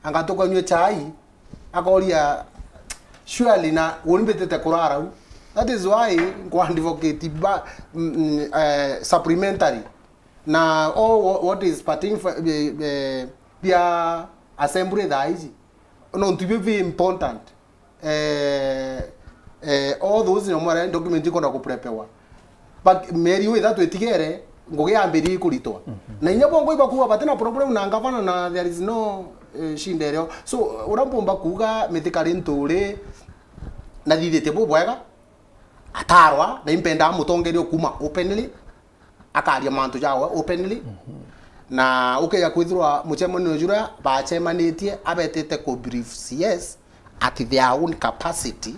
anga tukanywe chai, akoria, "Surely na uni mbitite kurara u?" That is why nkwa advocate ba, mm, mm, eh, supplementary. Na all wha-, what is pertaining for, eh, eh, bia assembly thaa iji. Nontu ibio bi important. Eh, eh, all those no mwara document ikwenda kuprepewa. But mieri ithatu itigere, ngugi yambiririe kuritwa. Mhm. Na inya bongo ibakuwa batina problem na ngavana na there is no, eh, shinda irio. So, uria mpumba kuuga Mithika ri nturi, na thithite bubwega, atarwa, na impendaa mutongeria ukuma openly, akaria mantu jawe openly. Mhm. Na ukeja kwithirwa mucemanio juria bacemanitie, abetite ku brief C S at their own capacity,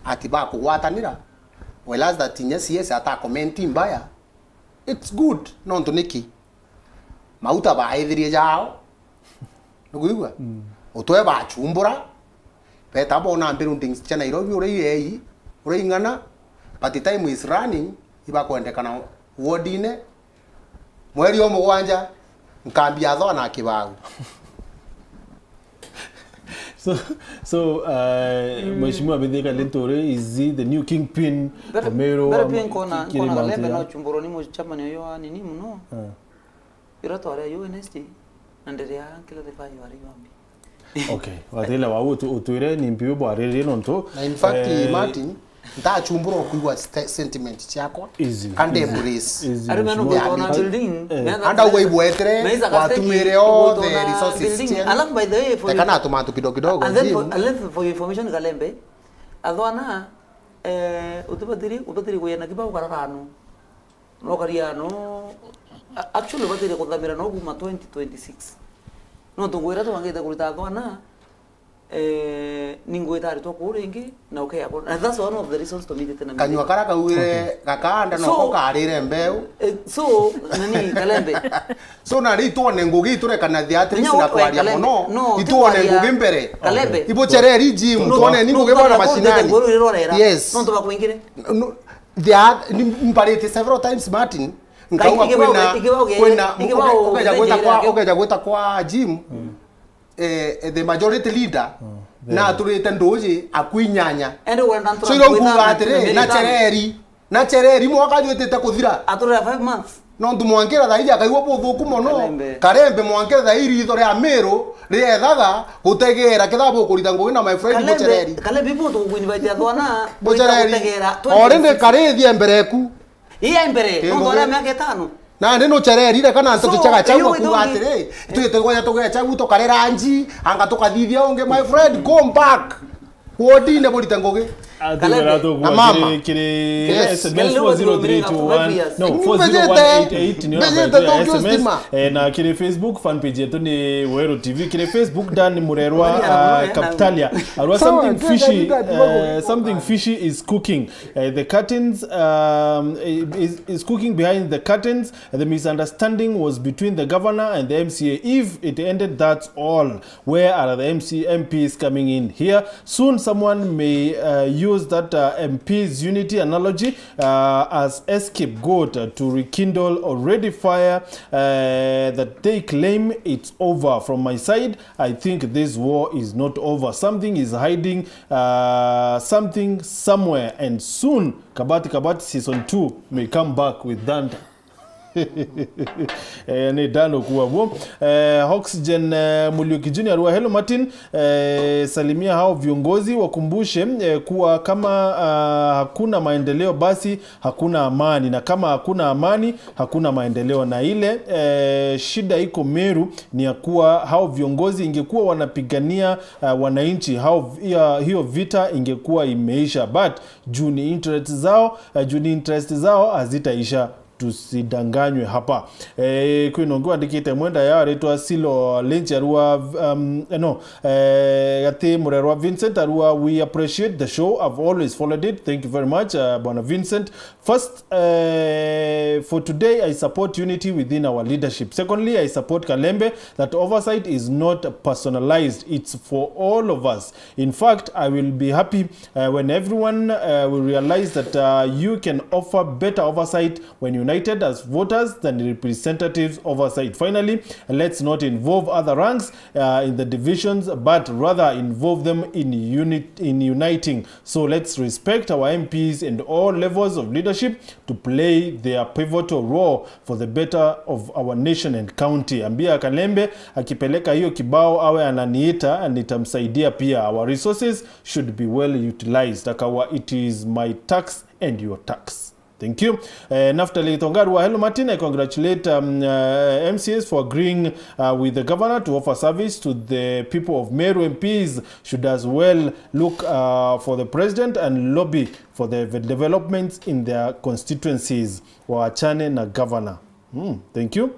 ati bakugwatanira, whereas that inya C S ata comment mbaya, it's good. Nontu niki? Mauta baithirie jao. Nukuigua? Mm. Utwe bachumbura, beta bona buildings cia Nairobi uria iei, uria ing'ana, but time is running, ibakwendekana wodine, mweri o mugwanja, nkambi ya Thona Kibau. So, so, uh, Mheshimiwa Mithika Linturi, is he the new kingpin? Mbere, Meru mbere wa pia nkona, kiri nkona Mount Kalembe Kenya? No chumburwa ni mucemania uyu wa nini muno. Uh. Ira twari ayo Wednesday, na ndiria nkila the value ari yombi. Okay, wathiile wau utu-, utwire ni mpi bwariririe nontu, na in fact, eh, Martin, ntachumbura kwigua st-, sentiment ciakwa, easy, kandi easy, embrace. Easy, Ari meno mheshimiwa. Gutona building, eh, meno anda uwe ibwetere, meza watwire othe resources building. Alafu, by the way, for, tekana tumantu kidogo kidogo, and then for, and then for your information, Kalembe, athwana, eh, utibatiri, utibatiri kuyena kibao kararano. No karia no, a-, actually, ubatire kuthamira no kuma twenty twenty-six. No tungwira twangite kurita thwana, eh, ningwita aritwa kuu ringi, na ukea ku-, and that's one of the reasons tumitite na kanyua kara kauire gakanda. So, noko karire mbeu. Eh, so, nani, Kalembe? So, na ri itwone ngugi, iturekana the at least na kwaria muno, no, itwone ngugi mbere. Kalembe. Ibuchereri gym, no, twone ni no, ngugi bona mashinani. Yes. No, tubakwingire. No, there are, ni-, mbarite several times, Martin, nkauga kwina, kwina, ukeja gwita kwa, ukeja gwita kwa gym, eh, the majority leader, na aturite nduji akwinyanya. So, iro nkuga atiri, na chereri, na chereri mwaka jwitite kuthira. Aturira five months. Nontu mwankira thaiji akaigua buthuku mono. Kalembe. Kalembe mwankira thaiji ritho ria Miru riethaga gutegera ketha bukurita ngugi na my friend Kalembe, Muchereri. Kalembe, ibu tukuinvitea thwana, Muchereri. Already karithie mbere eku. Iya mbere, nontu aria miaka itano. Nandi nuchererire kana ntu tuchaga chau akuga atiri, twite gwanya tugecha gu tukarera nji, anga tukathithia ungi, my friend, come back. Wodine burite ngugi. Kalembe. Na mama. Kiri, kiri S M S four zero three two one. No, four zero one eight eight, ni ona S M S. Eh, na kiri Facebook fan page yetu ni Weru T V. Kiri Facebook, Dan Murerwa, ah, Kaptalia. Arua, something fishy, eh, something fishy is cooking. Eh, the curtains, um, is, is cooking behind the curtains. The misunderstanding was between the governor and the M C A. If it ended, that's all. Where are the M C, M Ps coming in here? Soon someone may, uh, use that uh, M P's unity analogy uh, as a scapegoat uh, to rekindle already fire uh, that they claim it's over. From my side, I think this war is not over. Something is hiding uh, something somewhere, and soon Kabati Kabati season two may come back with thunder. Eh, ni Dano kuwa bo. Eh, Oxygen eh, Muliuki Junior wa Hello Martin, eh, salimia hao viongozi, wakumbushe eh, kuwa kama ah, hakuna maendeleo, basi hakuna amani, na kama hakuna amani, hakuna maendeleo. Na ile eh, shida iko Meru ni ya kuwa hao viongozi ingekuwa wanapigania uh, wananchi, hao hiyo, hiyo vita ingekuwa imeisha, but juu ni interest zao uh, juu ni interest zao hazitaisha. Tusidanganywe hapa. Eh, kwina ungi wandikite mwenda ya aritwa Silo Lenchi arua um, eh, no eh, gati murerwa Vincent arua, we appreciate the show, I've always followed it, thank you very much uh, bwana Vincent. First, uh, for today, I support unity within our leadership. Secondly, I support Kalembe that oversight is not personalized, it's for all of us. In fact, I will be happy uh, when everyone uh, will realize that uh, you can offer better oversight when united as voters than representatives oversight. Finally, let's not involve other ranks uh, in the divisions, but rather involve them in unit in uniting. So let's respect our M Ps and all levels of leadership to play their pivotal role for the better of our nation and county. Ambia Kalembe akipeleka hiyo kibao awe ananiita, nitamsaidia pia. Our resources should be well utilized. Akawa, it is my tax and your tax. Thank you. Uh, Naftali Tongarua, hello Martin. I congratulate um, uh, M C As for agreeing uh, with the governor to offer service to the people of Meru. M Ps should as well look uh, for the president and lobby for the developments in their constituencies. Waachane na governor. Mm, thank you.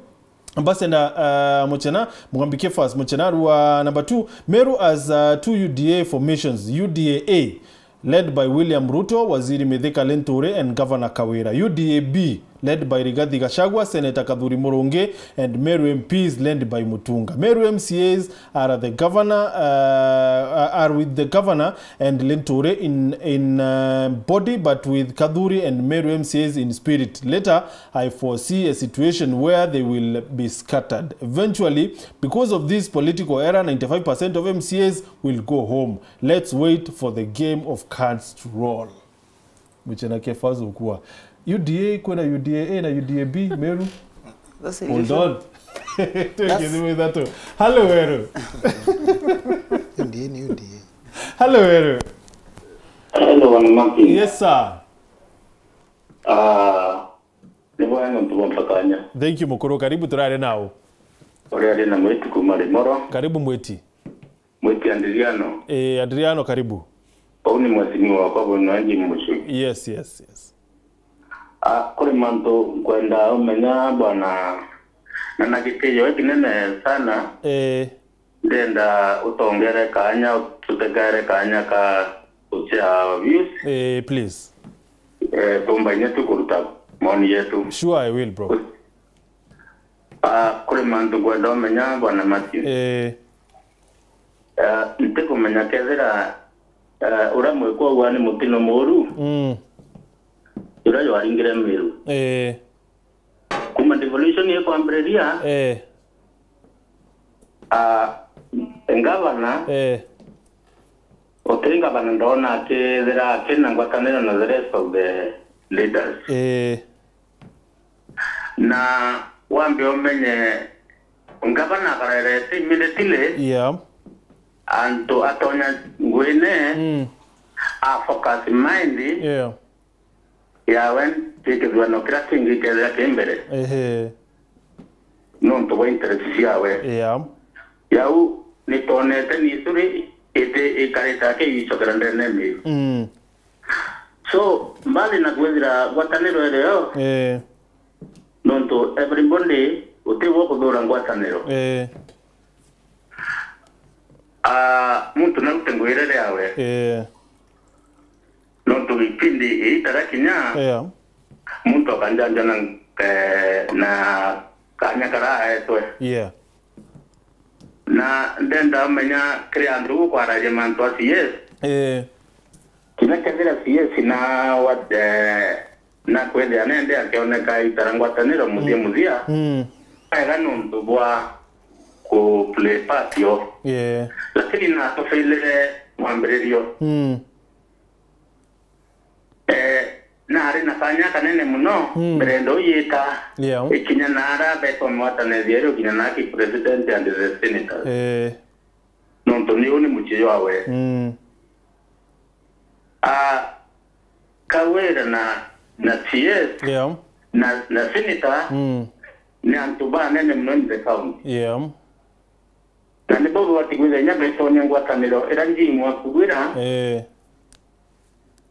Ambassador uh, Muchena, Mugambi Kefas Muchena, Rua number two, Meru as uh, two U D A formations, U D A A, led by William Ruto, Waziri Mithika Linturi, and Governor Kawira. U D A B, led by Rigathi Gachagua, Senator Kathuri Murungi, and Meru M Ps, led by Mutunga. Meru M C As are the governor, uh, are with the governor and Linturi in, in uh, body, but with Kathuri and Meru M C As in spirit. Later, I foresee a situation where they will be scattered. Eventually, because of this political error, ninety-five percent of M C As will go home. Let's wait for the game of cards to roll. Muchena Kefazo kuwa U D A, kwina U D A A na U D A B, Meru. That's Hold on. Tuweke thimũ ithatũ. Hello, Meru. U D A ni U D A. Hello, Meru. Hello, Bwana Martin. Yes, sir. Ah, ni bwana nontu bwa kanya. Thank you, mukuru. Karibu, turare nao. Uri ari na Mwiti kuma Rimoro. Karibu, Mwiti. Mwiti Adriano. Eh, Adriano, karibu. Uu ni mwesini wakwa bwino anji mucu. Yes, yes, yes. Ah, kuri mantu nkwenda umenya bwana, na na gitiyo kinene sana. Eh. Ndenda utongere kanya, tutegere kanya ka kucia views. Eh, please. Eh, tumbaine tu kuruta maoni yetu. Sure, I will, bro. Ah, kuri mantu nkwenda umenya, bwana Matthew. Eh. Eh, ntikumenya kethira, eh, uria mwikwa ugwa ni mutino muru. Mm. Uria jwaringire Miru. Eh. Kuma devolution ikwambiriria, eh. Ah, ngavana, eh. Uti ngavana ndona akithira akina ngwataniro na the rest of the leaders. Eh. Na wambe umenye ngavana akarerete immediately, yeah. Antu atonya ngwine, mm. A focus mind, yeah. Yawe nti kithuano kiria kingi kethira ki mbere. Ehe. Nontu bwa interest ciawe. Yeah. Yau nitonete ni isuri iti ikarite akiicokera ndene Miru. Mm. So, mbali na kwithira ngwataniro irio, eh. Nontu everybody uti wo kuthura ngwataniro. Eh. Ah, muntu narute ngwirire yawe. Eh. Nontu gipindi iitara kinya, yeah. Muntu akanjanja na, eh, na kanya kara aetwe. Yeah. Na ndenda menya kiri antu gukwaragia mantu acio, yes. Eh. Kinya kethira C S na wa-, eh, na kwethia nende akioneka itara ngwataniro muthia muthia, Mm. wega nuntu bwa ku play part yo. Yeah. Lakini na tufailire mwambiririo. Mm. Eh, nari na kanya kanene muno, Mm. mbere ndo yita Yeah. ikinya na ara betwa mwatanethia iri ukinya na ki president and the senators. Eh. Nontu ni uni mucii jwawe. Mm. Ah, Kawira na, na C S Yeah. na, na senator Mm. ni antu banene muno in the county. Yeah. Na nibo bwati kwithira inya betonya ngwataniro ira njimu akugwira Eh.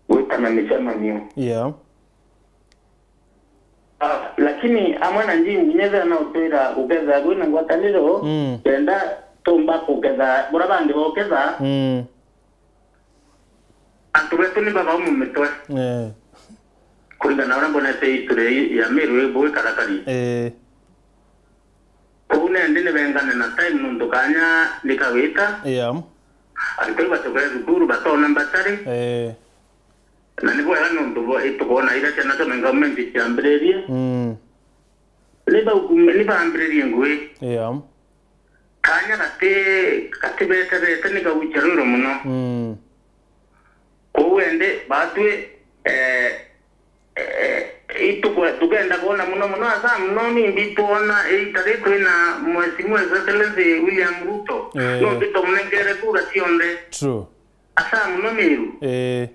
gwita na micemanio. Yeah. Ah, lakini amwe na njimu inya ethira na utwira guketha gwina ngwataniro, Mm. kenda tumba kuketha bura bangi boketha, Mm. antu betu ni babau mu mitwe. Eh. Kuringana na uria mbonete history ya Meru ibu ikarakari. Eh. Kou nendi ni bengane na time nuntu kanya ni kawita. Yeah. Antu bau bacokere thukuru, batona mbatari. Eh. Na ni bwega nuntu bo-, itukwona iria ciana cia government ciambiririe. Mm. Ni bau-, ni bambiririe ngui. Yeah. Kanya gati, gati bete bete ni gaucherwirwe muno. Mm. Kou endi batwi, eh, eh, itukwe-, tukenda kwona muno muno, asa muno nimbi twona iita ri twina Mheshimiwa His Excellency William Ruto. Eh. Nontu twamunenkere kura cionthe. True. Asa muno Meru. Eh.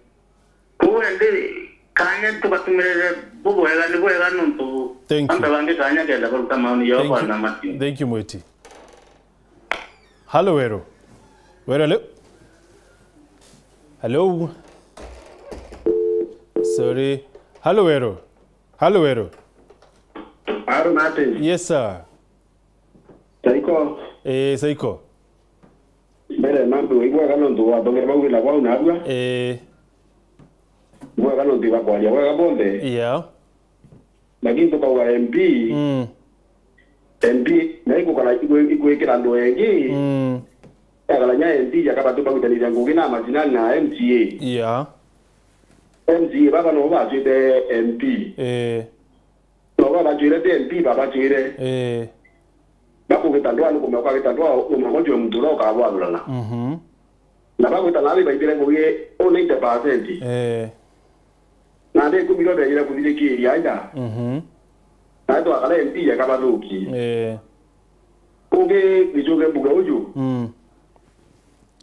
Kou endi kanya tugatumirire bubwega, ni bwega nontu Thank you. antu bangi kanya kenda baruta maoni yao Thank you. bwana Martin. Thank you, Mweti. Halo, Weru. Weru, hello? Hello? Sorry. Halo, Weru. Halo, Weru. Halo, Martin. Yes, sir. Saiko. Eh, Saiko. Mbere mambe, ibwega nontu wathongere bau wina bwau narua. Eh. Ibwega nontu ibakwaria bwega bonthe. Yeah. Lakini tukauga M P, Mm. M P na ikukara ikwe-, ikwikira andu engi. Mm. Ekara nya M P yakabatu bagutaniria ngugi na macinani na M C A. Yeah. M C A baba no bacwite M P. Eh. No baba bacwire ti M P, baba bacwire. Eh. Bakugita ndwaa ni kumea ukagita ndwaa, umwe gwe muntu uria ukabwathurana. Mhm. Na bagwita nathi baithire ngugi u ninety percent. Eh. Na ndi ikumi rio beejire kuthirikiria aja. Mhm. Na twakara M P yakabathuki. Eh. Kungi gicuke mbuga uju. Mm.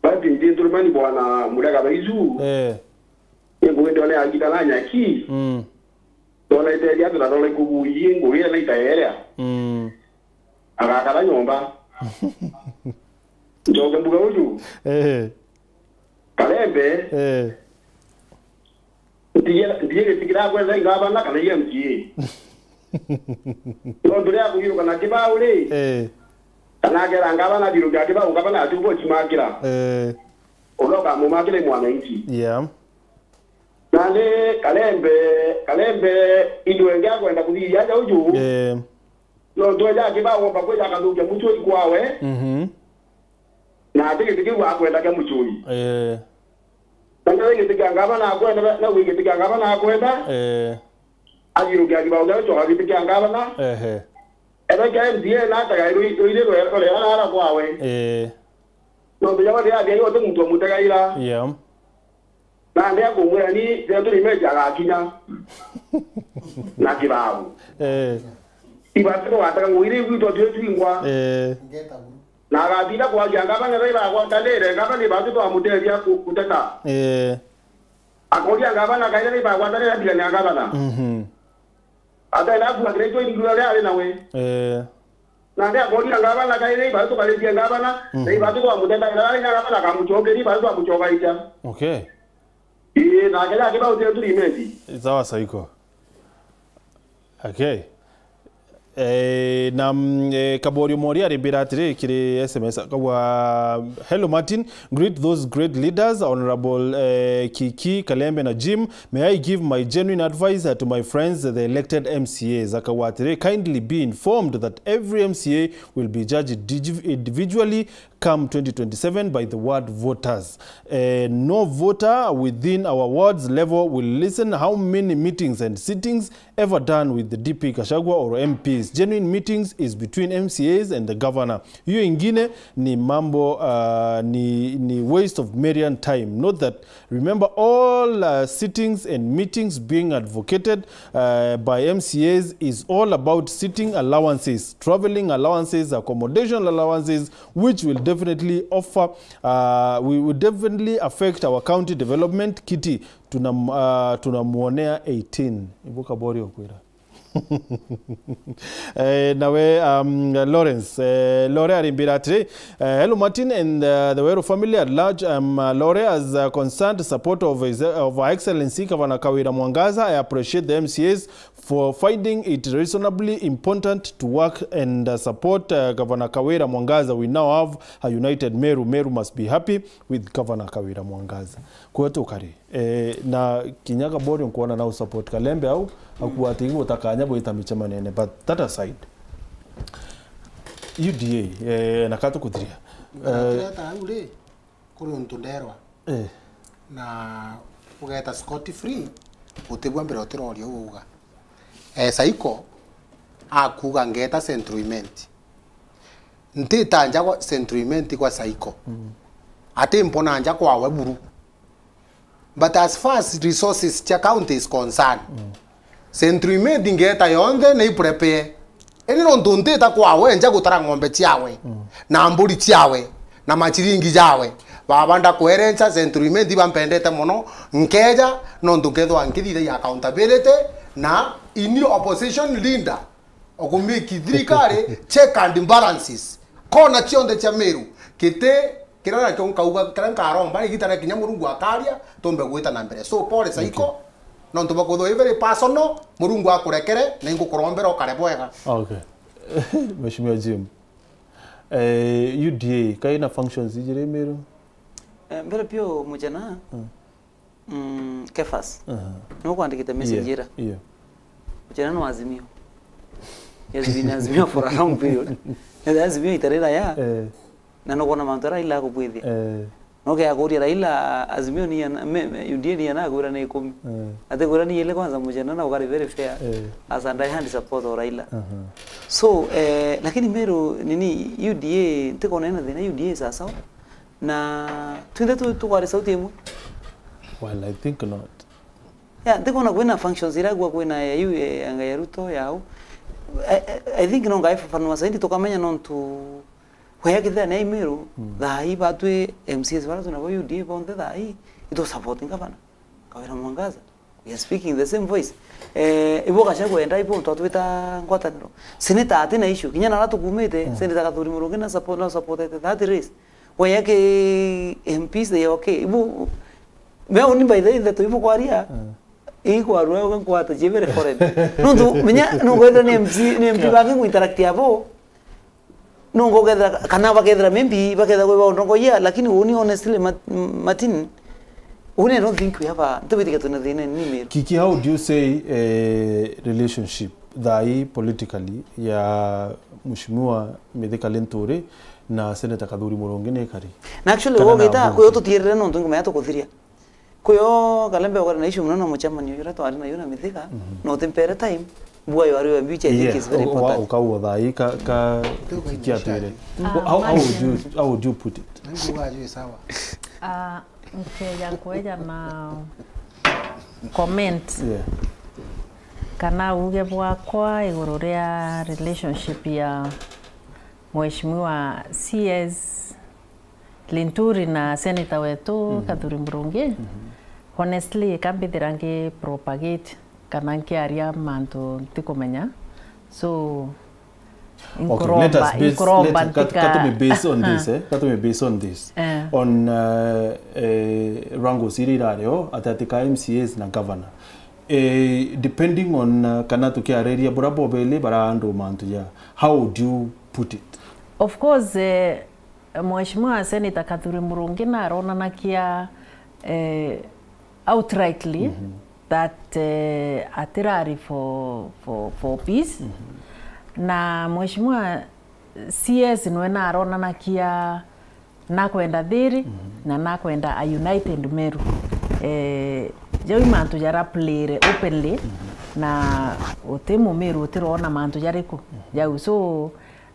Bati nthi nturumani bwana Murega Baisu. Eh. Ni ngugi ndone agita na nyaki. Mm. Ndona iteria atu na ndona ikuguirie ngugi na itaerea. Mm. Agakara nyomba. Njoke mbuga uju. Eh. Karembe. Eh. Ntige, ntige giti kirakwenda ingabana kana i M C A. Nontu ria kugiruka na kibau ri. Eh. Kana akera ngabana thirukia kibau, ngabana atubo chimakira. Eh. Uria ukamumakira i mwananchi. Yeah. Nandi Karembe, Karembe, into engi akwenda kuthiria aja uju. Eh. Nontu eja akibagomba kwija akathukia mucui kwawe. Mhm. Na ati giti kiu akwenda kia mucui. Eh. Na ndio giti kia ngabana akwenda, na wi giti kia ngabana akwenda. Eh. Athirukia kibao kia gucoka giti kia ngabana. Ehe. Ethwe kia M C A na atega rui-, ruiri rwe-, rurera nara kwawe. Eh. Nontu jawe ndi athia yote muntu amutegaira. Yeah. Na ndi akumwira ni Century Image agakinya na kibabu. Eh. Ibati tugatega ngugi riu gwitwa twi twingwa. Eh. Na agatinda kwaria ngabana ira ibagwatanire, ngabana ibati twamutethia ku-, guteta. Eh. Akoria ngabana kaira ibagwatanire atigania ngabana. Mhm. Atenda kuakiretwe irindura ria ari nawe. Eh. Na ndi akoria ngabana kairi ibatu tukaritie ngabana, Mhm. na ibatu twamuteta ira ari na ngabana akamucokeria ibatu twamucokaita. Okay. Ii, nake nake bauti turi imenti. Sawa, Saiko. Okay. Eh, na, mm, eh, Kaborio Mori arimbira atiri kiri S M S, akauga, "Hello Martin, greet those great leaders, Honorable, eh, Kiki, Kalembe na Jim. May I give my genuine advice, uh, to my friends, the elected M C As?" Akauga atiri, "Kindly be informed that every M C A will be judged digi-, individually. come twenty twenty-seven by the ward voters. Eh, no voter within our wards level will listen how many meetings and sittings ever done with the D P Gachagua or M Ps. Genuine meetings is between M C As and the governor. Hiyo ingine ni mambo, uh, ni, ni waste of Marian time. Note that, remember, all, uh, sittings and meetings being advocated, uh, by M C As is all about sitting allowances, traveling allowances, accommodation allowances, which will definitely offer, uh, we will definitely affect our county development. Kiti, tuna, uh, tunamuonea eighteen. Ibuka bori okwira. Eh, nawe, um, Lawrence, eh, Lore arimbira atiri, eh, "Hello Martin and, uh, the Weru family at large. Um, uh, Lore, as a concerned supporter of His, of Her Excellency Governor Kawira Mwangaza, I appreciate the M C As for finding it reasonably important to work and, uh, support, uh, Governor Kawira Mwangaza. We now have a united Meru. Meru must be happy with Governor Kawira Mwangaza." Kwetu kari. Eh, na kinya Kabori nkuona na usupport Kalembe au, akuwa ati gutakanya bwita micemanene. But that aside, U D A, eh, na ka tukuthiria. Eh, Ndireta au ri, kuri untu nderwa. Eh. Na ugeta scot free, utibua mbere utiroria uguga. Eh, Saiko, akuga ngeta Central Imenti. Ntita nja gwa Central Imenti gwa Saiko. Mm. Ati mpona nja kwawe buru. But as far as resources cia county is concerned, Central Imenti ngeta yonthe ni iprepare. Ini nontu ntita kwawe nja gutara ng'ombe ciawe, na mburi ciawe, na machiringi jawe, baba ndakwerenca Central Imenti bampendete mono, nkeja nontu nkethwa nkithithagia accountability na ini opposition leader. Okumiki thirikari, check and balances. Kona cionthe cia Meru. Kiti, kiria nakio nkauga, kiria nkaromba, igita ria kinya Murungu akaria, tumbe gwita na mbere. So, pole Saiko, nontu bakwithwa i very personal, Murungu akurekere, na ingukurombera ukare bwega. Okay. Mheshimiwa Jim, eh, U D A, kaina functions ijiri Meru? Eh, mbere pio mujana, Mm, Kefas. Aha. Niwe ukwandikite message ira. Yeah. Uchena no Azimio. He has been Azimio for a long period. Na Azimio itarira ya. Eh. Na nukwona mantu Raila akubwithia. Eh. No ke akuria Raila, Azimio ni ana, me, me, U D A ni ana akwira ni ikumi. Eh. Ati kwira ni ile kwanza mujena na ukari very fair. Eh. As a die-hard supporter of Raila. Aha. So, eh, lakini Meru nini U D A, ntikona ina thina U D A sawa sawa. Na twinthe tu-, tukwari sauti imwe? Well, I think not. Yeah, ntikona kwina functions iragua kwina ya U A anga ya Ruto yau. I, I, I think no ngai fafanua zaidi tukamenya nontu kwaya kithira ni Meru, mm, thaa ii batwi M C As bara twina bo U D A bonthe thaa ii, itu support ngavana Kawira Mwangaza. We are speaking the same voice. Eh, ibo Gachagua enda ibo twatwita ngwataniro. Senator ati na issue. Kinya nara tukumite, mm, Senator Kathuri Murungi na support, na supportete that race. Waya ke M Ps they okay. Ibo, me uni by the way, ndeto ibo kwaria. Mm. Ii kwarua, uga nkwata, jebere foreign. Nontu, menya, nontu kwethira ni M C, ni M P, yeah, bangi ngu interact abo. Nongo kethira, kana bakethira maybe bakethira kwi baundongoia, lakini uni honestly, Mat-, Martin, uni I don't think we have a, ntibwitikia twina thina ni Meru. Kiki, how do you say, eh, relationship thaa ii politically ya Mheshimiwa Mithika Linturi na Senator Kathuri Murungi ni ikari? Na actually, kana na wogita, Mbunge? Kwi o tutierere nontu ngumenya tukuthiria. Kwio Kalembe ukwari na issue mono na mucemanio juria twari nayo na Mithika, mhm, na utimpere time, bua yo ari we mbiu, which I think, yeah, is very u-, wa-, important. Ukauga thaa ii ka, ka, ndio kiatwire. Ah, how, how would you, how would you put it? Nikuga juu sawa. Ah, nkeja kweja na comment. Yeah. Kana uge bwakwa iguru ria relationship ya Mheshimiwa C S Linturi na senator wetu, mhm, Kathuri Murungi, mhm, honestly, kambithira ngi propagate kana nkiaria mantu ntikumenya. So, okay, let us inkuromba, base, inkuromba let, kat-, ntika- katume base on this, eh? Katume base on this. Eh. On, uh, eh, wrangles iria irario, ati, ati ka M C As na governor. Eh, depending on, uh, kana tukiariria bura bobeli bara andu mantu ja, how would you put it? Of course, eh, Mheshimiwa Senator Kathuri Murungi naronanakia, eh, outrightly, mhm, that, eh, atirari for, for, for peace. Mhm. Na Mheshimiwa C S nwe naronanakia, nakwenda thiri, na nakwenda a united Meru. Eh, jau i mantu jara played openly, na uti Mumiru utirona mantu jariku jau. So,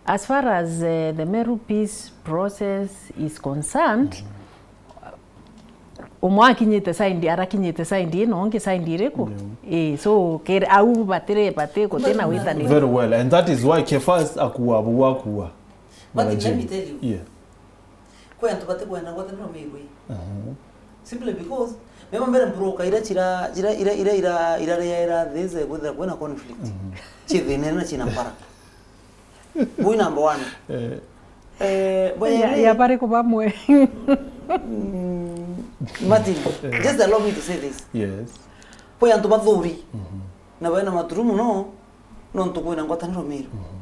as far as, eh, the Meru peace process is concerned, umwe akinyite side, arakinyite side ino, ungi side iriku? Ii, so, kere au batire, bati, gutina witaniro. Very well, and that is why Kefas akua buu akua. But let me tell you, yeah, kwi antu batikwenda ngwataniro Meru. Aha. Simply because, mema mbere broker ira chira, ira, ira, ira, ira, ira, ira, ira, these kwithira kwina conflict. Mhm. Chi thina na china mpara. Bui number one. Eh. Eh, bwe ya, ri, ya bariku bamwe? Mm, Martin, eh, just allow me to say this. Yes. Kwi antu bathuri, mhm, na bena maturumu no, nontu kwina ngwataniro Meru. Mhm.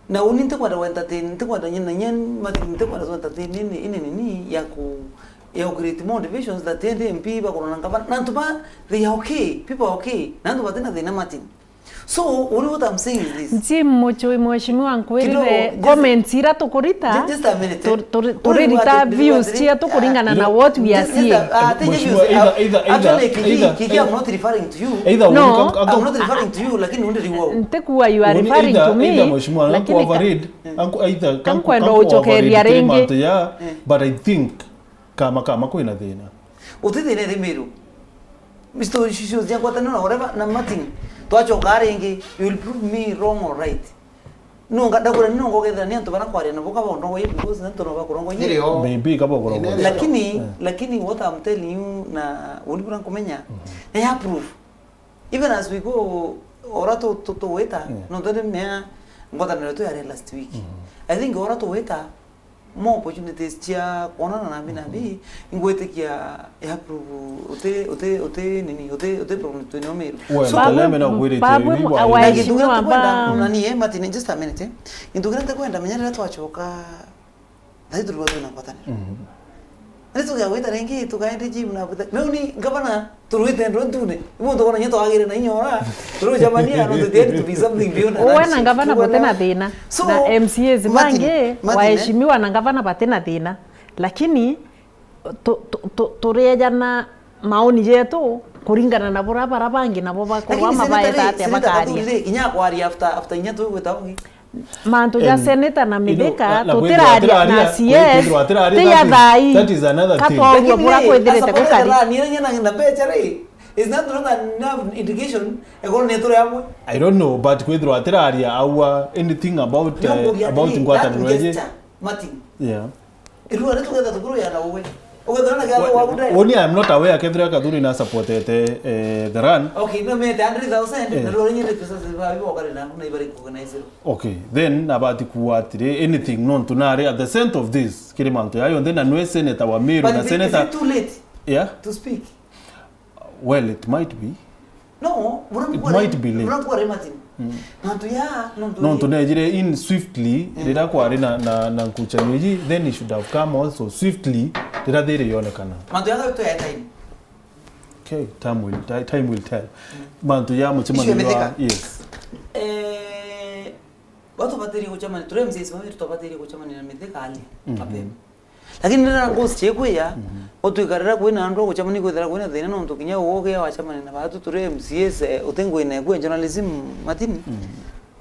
Na uni ntikwenda we entertain, ntikwenda nyina nyie, Martin, ntikwenda tu entertain ini, ini nini ya ku, ya ku create more divisions that endi M P bakorwa na ngavana. Na antu ba, they are okay, people are okay. Na antu batina thina, Martin. So, only what I'm saying is this. Jim Muchui, mheshimiwa, nkwirire, kidogo, just, comments ira tukurita, ju-, just a minute, eh. Turi-, turi-, turirita views cietu kuringana na what we are seeing. Just, just a, ah, thank you, mheshimiwa, sir. Either, either, actually, either, Kiki, Kiki, I'm not referring to you. Either, no, I'm not referring to you, lakini undi riu. Ntikuwa you are referring to me, either, mheshimiwa, lakini ka-, overread, eh, anku-, either, kankwenda ucokeria ringi. Mantu ya, eh, but I think kama, kama kwina thina. Uti thina iri Meru. Mister Shishu, cia ngwataniro na whatever, na Martin, twacoka ringi, you will prove me wrong or right. Nonga, ndakwira ni nonga ukethira ni antu bara kwaria nabo kaba ndongo ye, because ni antu no bakurongo ye. Nirio. Maybe kaba kurongo. Lakini, eh, lakini what I'm telling you, na uni bura nkumenya, mhm, na ya proof. Even as we go, ora tu, tu, tuwita, yeah, no, twende mea ngwataniro tu yari last week. Mhm. I think ora tuwita, more opportunities cia kwonana na mbi na mbi, ingwitikia ya prove uti, uti, uti nini, uti, uti problem twinio Meru. Well, so, Kaleme na kwirite babu, bibi bwa awa-, na gintu kiria ntikwenda, mm, nani, eh, Martin, just a minute, eh. Gintu kiria ntikwenda, menya riria twacoka, thai turua twina ngwataniro. Mm. Ni tugagwita ringi, tukaende Jim na butha. Meu ni ngavana, turwite ndo ntune. Ibu tukona nyo twagire na inya ora. Turucamania, no, there to be something beyond. Uwe na ngavana bote na thina. So, na M C As Martin, bangi, Martin, eh, waheshimiwa na ngavana bate na thina. Lakini, tu-, tu-, tu-, turiejana maoni jetu kuringana na bura bara bangi nabo bakorwa mabaeta atia bakaria. Lakini senator ri, senator kathurire, inya kwaria after, after inya tu gwita ungi. Mantu ja, em, senator na Mithika, na, na kwithirwa tutiraria atiraria, na C S, kwithirwa atiraria, ti ya that is, thai. That is another thing. Katoguo bura kwithirite gukari. Lakini ri, as a politician, ni na, na mbeca ri, is that not enough indication, ekorwo ni turi amwe? I don't know, but kwithirwa atiraria aua anything about, eh, about ngwataniro iji. Martin. Yeah. Irua riu tugetha tukuru ya na uwe. Ugetha na kia wa budai. Only I'm not aware kethira Kathuri na supportete, eh, the run. Okay, no mete hundred thousand, eh, na rua nyine pesa za bibo kare na kuna ibari ku na isiro. Okay, then nabati kuwa atiri, anything nontu nari at the center of this, kiri mantu yayo, then anwe senator wa Meru na senator. But is it too late, yeah, to speak? Well, it might be. No, it might be late. Mantu ya, nontu nontu nejire in swiftly, mm, riria kwari na, na, na nkuchanio iji, then it should have come also swiftly, riria thiri yonekana. Mantu ya tu ya time. Okay, time will, ti-, time will tell. Mm. Mantu ya muchemanio wa, yes. Eh, watu batiri kuchemania, turi M C As bawe tubatirie kuchemania na Mithika ali, mhm, mapema. Lakini riria ghost ikwija, mhm, utwikarira kwina andu a gucemania kwithira kwina thina, nontu kinya uguo ugia wacemania na batu turi M C As, eh, uti ngwina eku ya journalism, Martin. Mhm.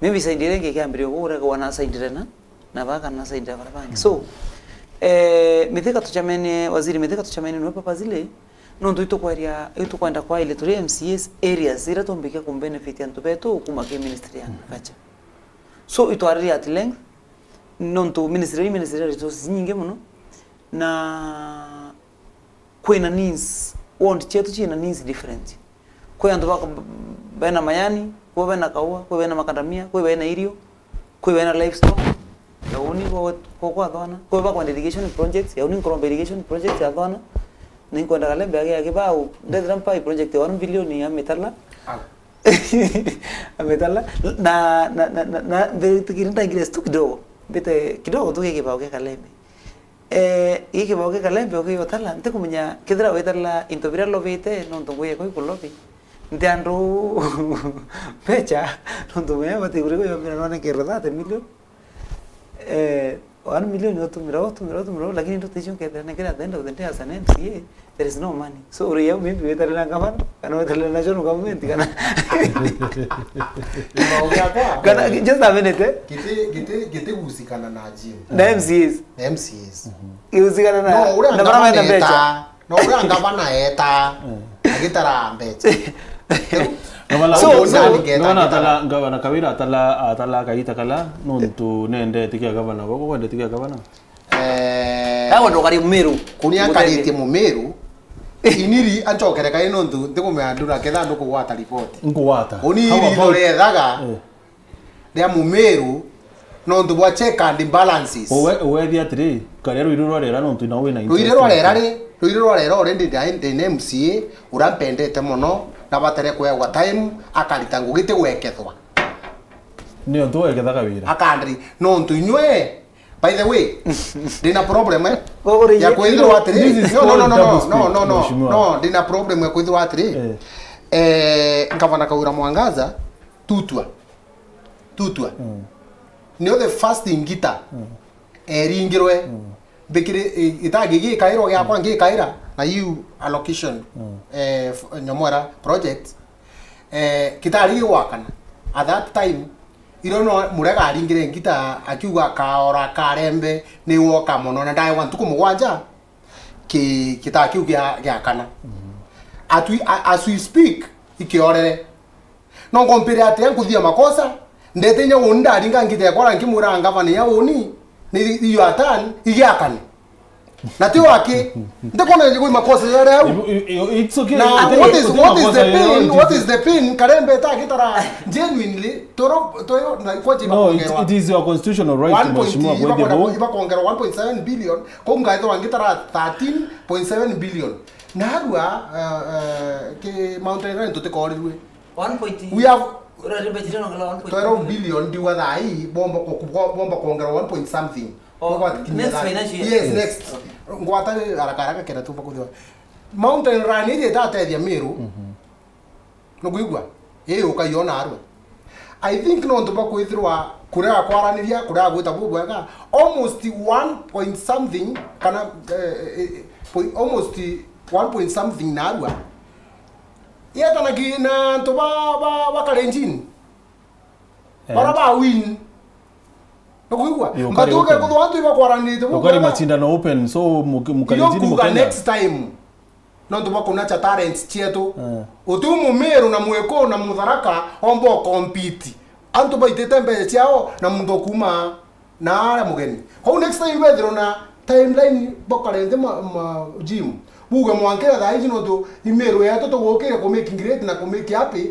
Maybe side iria ingi ikiambiria uguo uregwa na side rena, na baka na side ya bara bangi. Mhm. So, eh, Mithika tucemenie, Waziri Mithika tucemenie niwe papa zile, nontu itukweria, itukwenda kwa ile turi M C As areas iria tumbikia kumbenefit antu betu kuma ki Ministry ya, mhm, Agriculture. So, itwaririe at length, nontu ministry, ministry ya resources nyingi muno, na kwina needs, ward cietu ciina needs different. Kwi antu bako-, bena mayani, kwi bena kaua, kwi bena makandamia, kwi bena irio, kwi bena livestock, ya uni kwa, kwa, kwa thwana, kwi bakwenda irrigation projects, ya uni nkuromba irrigation projects ya thwana, na inkwenda Kalembe age ya kibau, ndethira mpai project ya one billion ya mitala. Ah. Ametala. Na, na, na, na, na, mbe-, tukiri ndangire tu kidogo. Mbite kidogo tu gikibao kia Kalembe. Eh, gikibao kia Kalembe ukiyotala, ntikumenya kethira wetala into biria lobite, nontu ngugi yakwa ikulobi. Nti andu mbecha, nontu menya bati kuri kuyomira none kero thirty million. Eh, One million otumira, otumira, otumira, lakini ndoto icio nkethira nekira at the end of the day as an M C A, there is no money. So, uri yau maybe wetarira ngavana, kana wetarira national government, kana kana, just a minute, eh? Giti, giti, giti gusikana na gym. Na M C As. Na M C As. Iusikana na, no, uria na bara ngavana mena mbecha. Eta, no, uria ngavana eta, agitara mbecha. Ngavana, so, so, ngavana atala, ngavana Kawira atala, atala kagita kala, nontu nendete kia gavana, boko kwendete kia gavana. Eh, awe ndokari Mumiru. Kuni akaritie Mumiru. Iniri anchokere kai nontu ndikumea ndura ketha ndukugwata report. Nkugwata. Kuni iri ndo rethaga. Eh. Ria Mumiru, nontu bwa check and balances. Uwe, uwe thi atiri, karia ruiri rwa rera nontu na wina interest. Ruiri rwa rera ri, ruiri rwa rera already ndi, ndi na M C A, ura mpendete mono, na batere kwewa time, akarita ngugi ti gwekethwa. Ni ontu wekethaga wira. Akandiri, nontu inywe, by the way, ndina problem, eh? Uri ya kwithirwa atiri. This is no, no, called no, no, double no, speak, no, no, no, mheshimiwa. No, ndina problem ya kwithirwa atiri. Eh. Eh, ngavana Kawira Mwangaza, tutwa. Tutwa. Mm. Nio the first ngita. Mm. Eringirwe. Mm. Mbikiri, i-, itangi gikairwa giakwa ngikaira na you allocation. Mm. Eh, f-, Nyamwera project. Eh, kitari gigwakana. At that time, iro no Murega aringire ngita akiuga kaora karembe ni woka mono na ndaewa ntuku mugwanja ki-, kita kiu gia, gia kana. Mm. Atwi-, a-, as we speak, ikiorere. No ngompire atia nkuthia makosa, ndete inya uni ndaringa ngite yakwa nkimwira ngavana ya uni, ni iyo atani, igiakane. Na ti waki, ndikona gwi makosa yale au. It's okay. Na what is, what is the pain, what is the pain, Karembe ta gitara genuinely, toro, toyo, na kwa jiba. No, it, it is your constitutional right, mheshimiwa, kwethia bo. Ibakongerwa one point seven billion, ko ngaithwa ngitara thirteen point seven billion. Narua, uh, uh, ki Mountain Lion tutikorirwe. One point, we have ura rimbe chire nongela one point twelve billion ndiwa thai, bomba ku-, ku-, bomba kuongera one point something. Oh, next financial year. Yes, yes, next. Okay. Ngwata haraka haraka kenda tumba kuthiwa. Mountain Lion iri itatethia Meru. Mhm. Nukwigua? Ii ukaiona arwe. I think nontu bwa kwithirwa kuria kwaraniria, kuria gwita bubwega, almost one point something, kana, eh, eh, eh, point, almost one point something narua. Yetana ki na antu ba, ba, ba Kalenjin. Eh. Bara ba win. Nukwigua? Yo, ukari open. But uke kuthwa antu ibakwaranite bubwega. Ukari machindano open, so muki-, mukalenjini. Iyo kuga mukenya next time. Nontu bwa kunacha talents cietu. Eh. Uti Mumiru na Mwiku na Mutharaka omba ukompiti. Antu baitite mbeca ciao na muntu ukuuma na aria mugeni. Kwou next time bethirwa na timeline bokare nthi ma, ma gym. Buge mwankira thaa iji nontu i Miru yetu tugukire ku make great na ku make happy.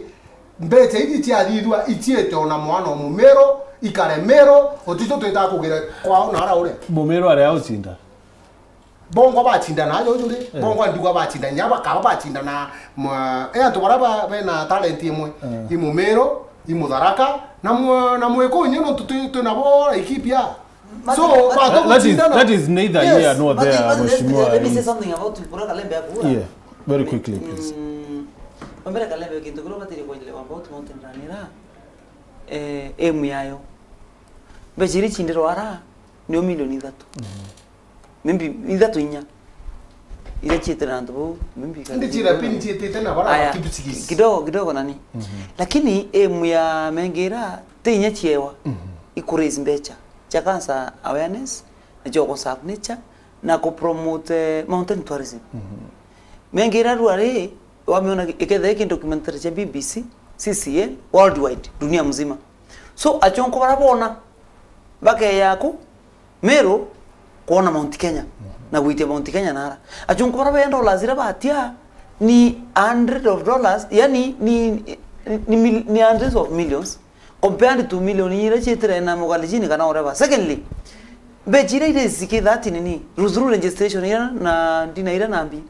Mbeca iji ciathithua iciite ona mwana o Mumiru, ikare Miru, utitu twita kugira kwao na ara uria. Mumiru aria ucinda. Bongwa bacindana ajo juri, eh, bongwa ndigwa bacindana, nya bakaba bacindana, mwa-, e antu bara ba-, bena talent imwe, eh, i Mumiru, i Mutharaka, na mwa-, na Mwiku inye nontu twi, twi nabo ikipi ya. So, but, but that is, that is neither here nor there, mheshimiwa. Let me say something about Bura Kalembe akuura. Yeah, very quickly, please. Mm, wambere Kalembe, kintu kiria ubatirie kuelewa about Mountain Lion ira, eh, aim yayo. Mbeca iria icindirwa ara, nio milioni ithatu. Mhm. Maybe ithatu inya. Iria ciitire na antu bau, maybe. Indi ciira pin ciitite na bara. Aya, kidogo, kidogo nani. Mhm. Lakini aim ya mengira, ti inya ciewa. Mhm. Iku raise mbeca cia cancer awareness, na cia ku serve nature, na ku promote, eh, mountain tourism. Mhm. Mengira rua ri, wamiona ikethira iki documentary cia B B C, C C N, worldwide, dunia mzima. So, achonko bara bona, bakeya ku, Meru, kwona Mount Kenya, na gwitia Mount Kenya nara. Achunku bara benda dollars ira batia ni hundred of dollars, yani ni, ni, ni mil-, ni hundreds of millions compared to million ira ciitire na Mukalenjin kana whatever. Secondly, mbeca ira ire ziki that nini, through registration ira na ndina ira na mbi,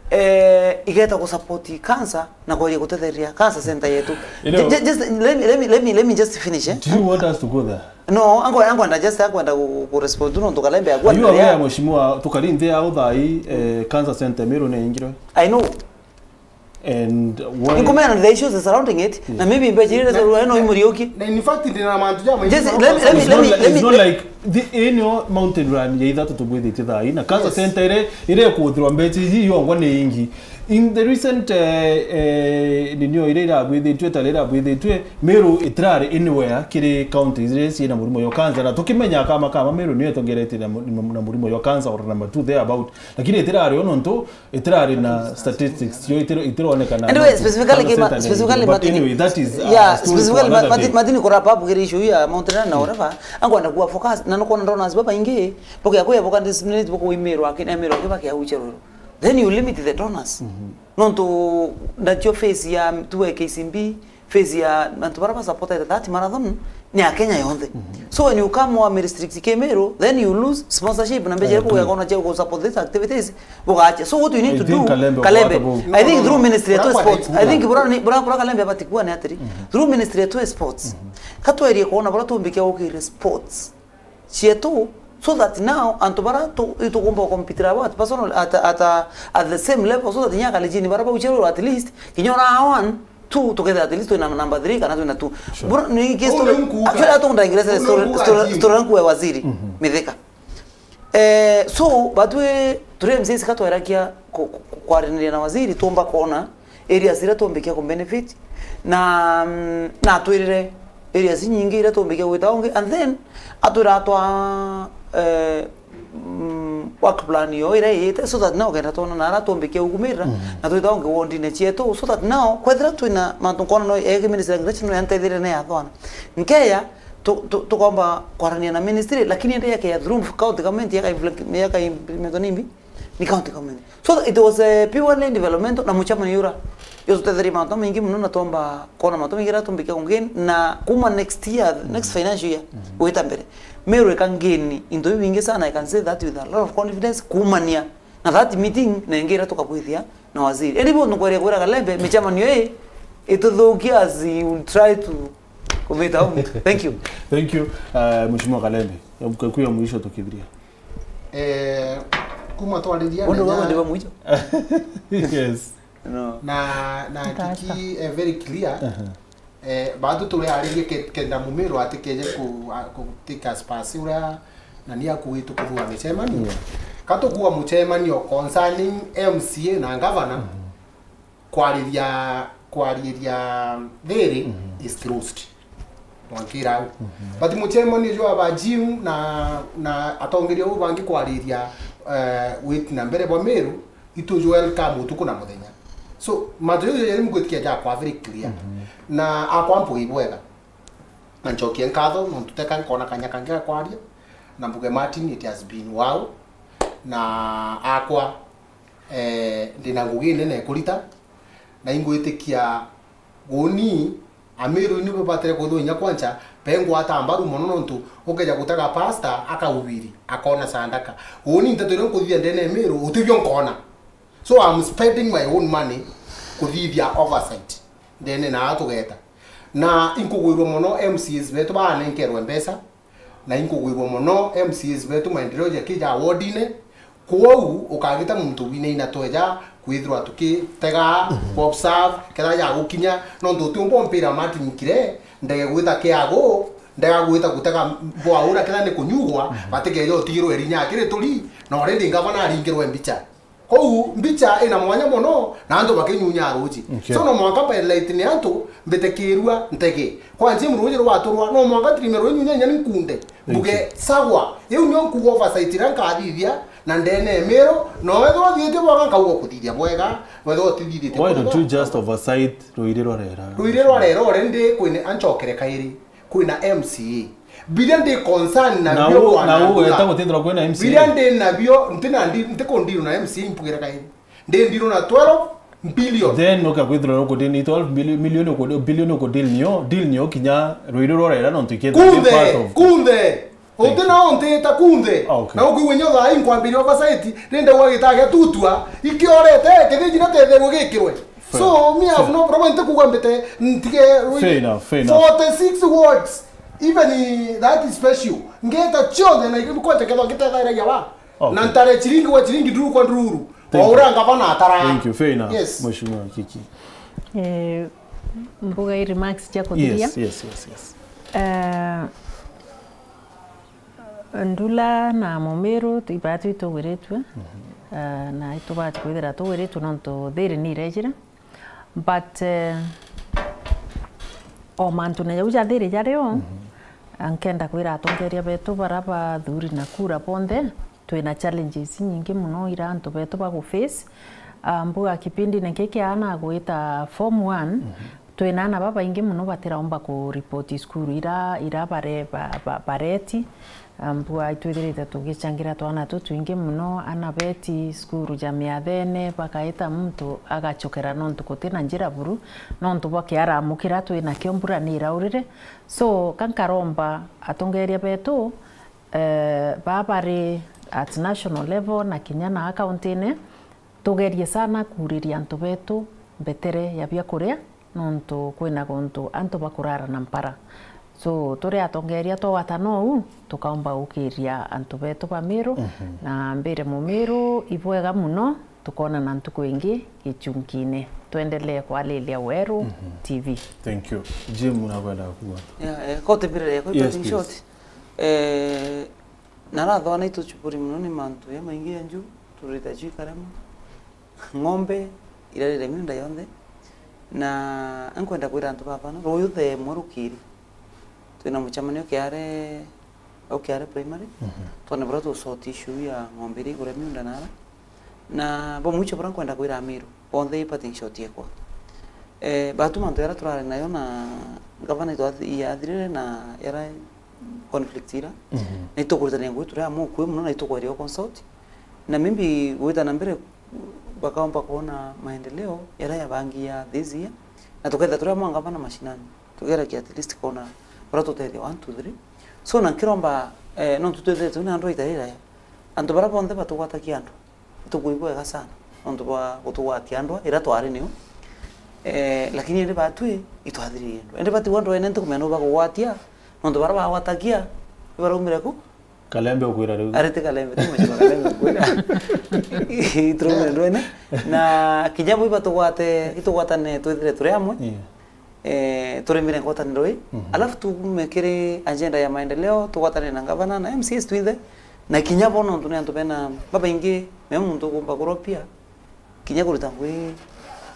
eh, igeta ku support cancer na kwaria gutetheria cancer center yetu. You know, ju-, ju-, just let me, let me, let me, let me just finish, eh? Do you want us to go there? No, ango, ango anda just akwenda ku, ku respond tu nontu Kalembe agwa. Are you aware, mheshimiwa, tukari nthi ya uthai, eh, cancer center Meru ni ingirwe? I know. And what? Inkumena the issues surrounding it, na maybe mbeca iria zirarua no imuriuki. Na in fact, ndina mantu ja maingĩ. Just let me, let me, let me, let me, it's not like, it's not like Thi-, ii nio mountain run ya ithatu tubwithitie thaa ii, na cancer Yes. center iria, iria ikuthirwa mbeca iji yongwa ni ingi. In the recent, eh, eh, ninio iria irabwithitue, tari irabwithitue, Meru itirari anywhere kiri counties iria ciina murimo yo cancer, na tukimenya kama kama Meru niyo itongeretie na mu-, na murimo yo cancer or number two there about, lakini itirari o nontu itirari na statistics cio itiro-, itironekana. Anyway, specifically cancer kima-, center specifically but Martin, anyway, that is, uh, yeah, story for specifically another Martin, day. Martin, kurapa up kiri issue ya Mount Ryan na whatever, ankwenda kuwa focus, na nukwona donors babaingi, bokia kuya boka disseminate bokuimirwa, akin-, emirwa kiba kia uche ruru. Then you limit the donors. Nontu ndacio phase ya tuwe K C B, phase ya antu bara ba supported that marathon ni ya Kenya yonthe. So when you come wa restrict Kimiru, then you lose sponsorship na mbeca iria kugia kona cia ku support these activities, bugacha. So what we need I to think do, Kalembe, Kalembe, bwata bu- I think through ministry ya sports, I think bura ni, bura, bura Kalembe abatikua ni atiri. Through ministry ya sports, katwerie kuona bura tumbikia gukire sports cietu, so that now antu bara tu-, itugomba gukompitira abo at personal, at, at, uh, at the same level, so that inya akalijini bara baucherwe at least kinya ona one two tukethira at least twina number three kana twina two. Bro, ni ki story actually atonda ingirese story, story, story yangu ya waziri Mithika. Eh, so batwe turi M C As katwerakia ku-, ku-, kwaraniria na waziri tumba kona areas iria tumbikia ku benefit na, mm, na atwirire areas nyingi iria tumbikia gwita ungi, and then atwira twa, eh, mm, work plan yo iria iyite, so that now kenda twona na ara tumbikia ugumirira na twita ungi wondine cietu, so that now kwethira twina mantu nkona no ege ministry ya English no yanteithire ne yathwana nkeya tu-, tu-, tukomba kwarania na ministry, lakini ende yake ya through county government yaka implement, yaka implement nimbi ni county government. So it was a purely developmental na mucemanio ura yo tutetherie mantu maingi muno na twomba kona mantu maingi ra tumbikia kungi na kuma next year, next financial year gwita mbere. Meru ika ngeni into biu bingi sana, I can say that with a lot of confidence kumania na that meeting na ingi ira tukabwithia na waziri. Indi buntu nkweria kwira Kalembe, micemanio ii ituthukia as you try to kumita home. Thank you. Thank you, uh, Mheshimiwa Kalembe. Kwa ya mwisho tukithiria. Eh, kuma twariria Undu nenya baba ndiba mwisho. Yes. No. Na, na Tata. Kiki, eh, very clear. Eh, batu turiaririe ke-, kenda Mumiru atikeje ku-, a-, ku take us pass uria na ni akuitwe kuthua micemanio. Katukua mucemanio concerning M C A na governor, kwariria, kwariria thiri is closed. Mwankira au. But mucemanio jwa ba Jim na, na atongeria uu bangi kwariria, eh, wit na mbere bwa Meru, itu ju welcome utuku na muthenya. So, mantu jau jeri mugwitikia jakwa very clear. Na akwa mpugi bwega. Na ncokie nkatho, nontu teka nkona kanya kangi ga kwaria, na mbuge, Martin, it has been wow. Na akwa, eh, ndina ngugi nene kurita, na ingwitikia Uni, Amiru ni babatire kwithirwa inya kwancha, bengwata mbaru mono nontu ukeja gutega pastor akaubiri, akona sandaka. Uni nteto iria nkuthithia ndene ya Miru, utibio nkona. So I'm spending my own money kuthithia oversight ndene na atugeta. Na inkugwirwa mono M C As betu banenkerwe mbeca, na inkugwirwa mono M C As betu maendeleo jaki ja wardine. Kwou ukagita muntu winaina tweja kwithirwa tukitega, ku observe, kethira jagukinya, nontu utiumba umpira Martin Kire, ndege gwita kiagu, ndega gwita gutega bwaura kethira ni kunyugwa, batikeja utigirwe rinya akiri turi, na already ngavana aringirwe mbicha. Kou mbicha ina mwanya mono, na antu bakinyunya ruji. Okay. So no mwanka by light ni antu mbitikirua ntege. Kwa njimu ruji rwaturwa, no mwanka tirime rwinyunya inya ni nkunde. Thank you. Mbuge, sagwa, iu nio nkuga oversight iria nkathithia, na ndene ya Miru, no wethirwa uthiite bwega nkauga kuthithia bwega, wethirwa utithithitie bwega. Why don't you just oversight ruiri rwa rera? Ruiri rwa rera already kwina ancokere kairi. Kwina M C A. Biria ndi concern na nabio u-, bwana na u Ndura. Weta gutithirwa kwina M C A. Biria ndi nabio, ntina ndi, ntikundiru na M C A impugire kairi. Ndi ndiru na twelve billion. Then ukakwithirwa ukudini twelve billion, million ukudi-, billion ukudini nio, deal nio kinya ruiri rwa rera nontu ikethirwa part of kunthe, kunthe. Thank you. Uti na untita kunthe. Ah, okay. Na ukwigua nyo thaa inkwambiria oversight, rinde gwa gitagia tutua, ikiorete, kithiji na tetherwe gikirwe. Fair. So, me have no problem, nti kuga mbite, ntige. Fair enough, fair enough. Forty-six words, even that is special. Ngeta chionthe na ikiri kwete ketho ngitethairagia wa. Okay. Na ntare chiringi gwa chiringi, nduru kwa nduru. Thank you. Waura ngavana atara. Thank you, fair enough. Yes. Mheshimiwa Kiki. Eh, mbuga i remarks cia kuthiria. Yes, yes, yes, yes. Eh, Ndula na Mumiru, twi-, batwi tugwiritue, eh, na itubati kwithira tugwiritue nontu thiri ni irejire. But, eh, o mantune jau ja thiri jario, nkenda kwira atongeria betu bara bathuri na kura bonthe, twina challenges nyingi muno ira antu betu bagu face. Ah, mbuga kipindine kiki ana gwita form one, twina ana babaingi muno batiraumba ku report cukuru ira, ira bare-, ba-, ba-, bareti. Ah, mbuga itwithirite tugichangira twana tutwingi muno, ana beti cukuru ja miathene, bakaita muntu agachokera nontu gutina njira buru, nontu bwa kiaramu kiria twinakio mbura ni iraurire. So, ka nkaromba atongeria betu, eh, baa bari at national level na kinya na county-ine, tugerie sana kuuriria antu betu mbetere ya biakuria, nontu kwina guntu antu bakurara na mpara. So, turi atongeria twawatana uu, tukaumba gukiria antu betu ba Miru, na mbire Mumiru, ibwega muno, tukoonana ntuku ingi gichunkiine. Twendelee kwariria Weru T V. Thank you. Jim, unakwenda kuuga? Yeah, eh, kote mbere ya Yes, please. Short. Eh, narathwa na ituchupuri muno ni mantu ya maingi ya nju, turita ju ikarema. Ng'ombe irarire miunda yonthe, na nkwenda kwira antu baba no, ruyu the mwe rukiri. Twina mucemanio kiare, au kiare primary, twone buria tu sort issue ya ng'ombe iria igure miunda nara. Na bo mwicho buria nkwenda kwira Amiru, bonthe i parting shot yekwa. Eh, batu mantu yara turari nayo na gavana itwathi-, yathirire na yara conflict ira. Na itukuritania ngugi turi amwe ukui muno na itukweria consult. Na maybe gwita na mbere bakaomba kuona maendeleo yara yabangi ya this year. Na tuketha turi amwe ngavana mashinani. Tugeragia at least kuona buria tutethia one, two, three. So na nkiromba, eh, nontu twethirite twina andu aitarira. Antu bara bonthe batugwatakia andu. Tukwigua wega sana nontu bwa gutugwatia ndwa ira twari nio. Eh, lakini indi batwi itwathiririe ndwa. Indi batigwa ndwene ntikumenya nu bagugwatia nontu bara bagwatakia ibaraumire ku? Kalembe ukwira riu. Ari ti Kalembe, ti mheshimiwa Kalembe ukwira. Ituraumire ndwene. Na kinya bo ibatugwate, itugwatane twithire turi amwe. Yeah. Eh, turemire ngwataniro ii. Alafu tuume kiri agenda ya maendeleo, tugwatanire na ngavana na M C As twinthe, na kinya bo nontu ni antu bena babaingi, me muntu ugomba kuropia, kinya kuruta ngugi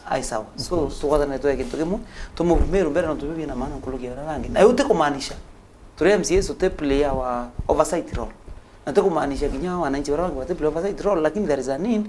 ai sawa. So, tugwatanire twee kintu kimwe, tumuvumiru mbere nontu biu bina maana nkuruki ya baria bangi. Na iu ti kumaanisha turi M C As uti play our oversight role. Na ti kumaanisha kinya wananchi baria bangi bati play oversight role, lakini there is a need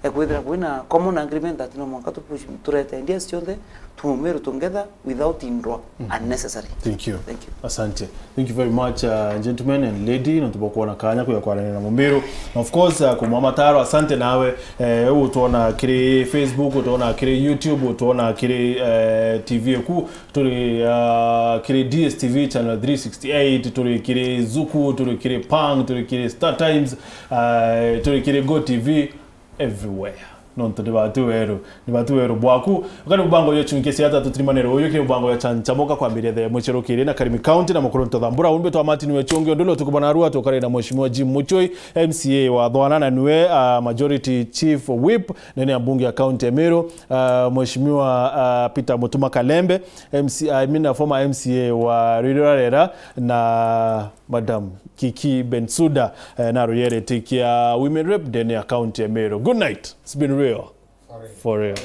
ya kwithira kwina common agreement that no mwanka tu push, turete ideas cionthe, tumumiru together without indwa unnecessary. Thank you. Thank you. Asante. Thank you very much, uh, gentlemen and lady, nontu bwa kuona kanya kuya kwaranira na Mumiru. Na of course, uh, kumwa mataro, asante nawe, eh, utwona kiri Facebook, utwona kiri YouTube, utwona kiri, eh, T V eku, turi, uh, kiri D S T V channel three sixty-eight, turi kiri Zuku, turi kiri Pang, turi kiri Star Times, uh, turi kiri Go T V, everywhere. Nontu ni batu weru, ni batu weru bwaku. Ukari mubango yo chunke cia tatu tirimanero uyu kiri mubango ya chanchamoka kwambiria the muchero kiri na Karimi County na mukuru ntothambura umbe twa Martin Wechungi undu lo tukubona rua tukare na mheshimiwa Jim Muchoi, M C A wa Thwana na niwe, uh, majority chief whip ndene ya bunge ya county ya Meru, uh, mheshimiwa, uh, Peter Mutuma Kalembe, M C, I mean, a former M C A wa Rwirorarera na Madam Kiki Bensuda, eh, na ruyerete kia women rep ndene ya county ya Meru. Good night. It's been real. For real.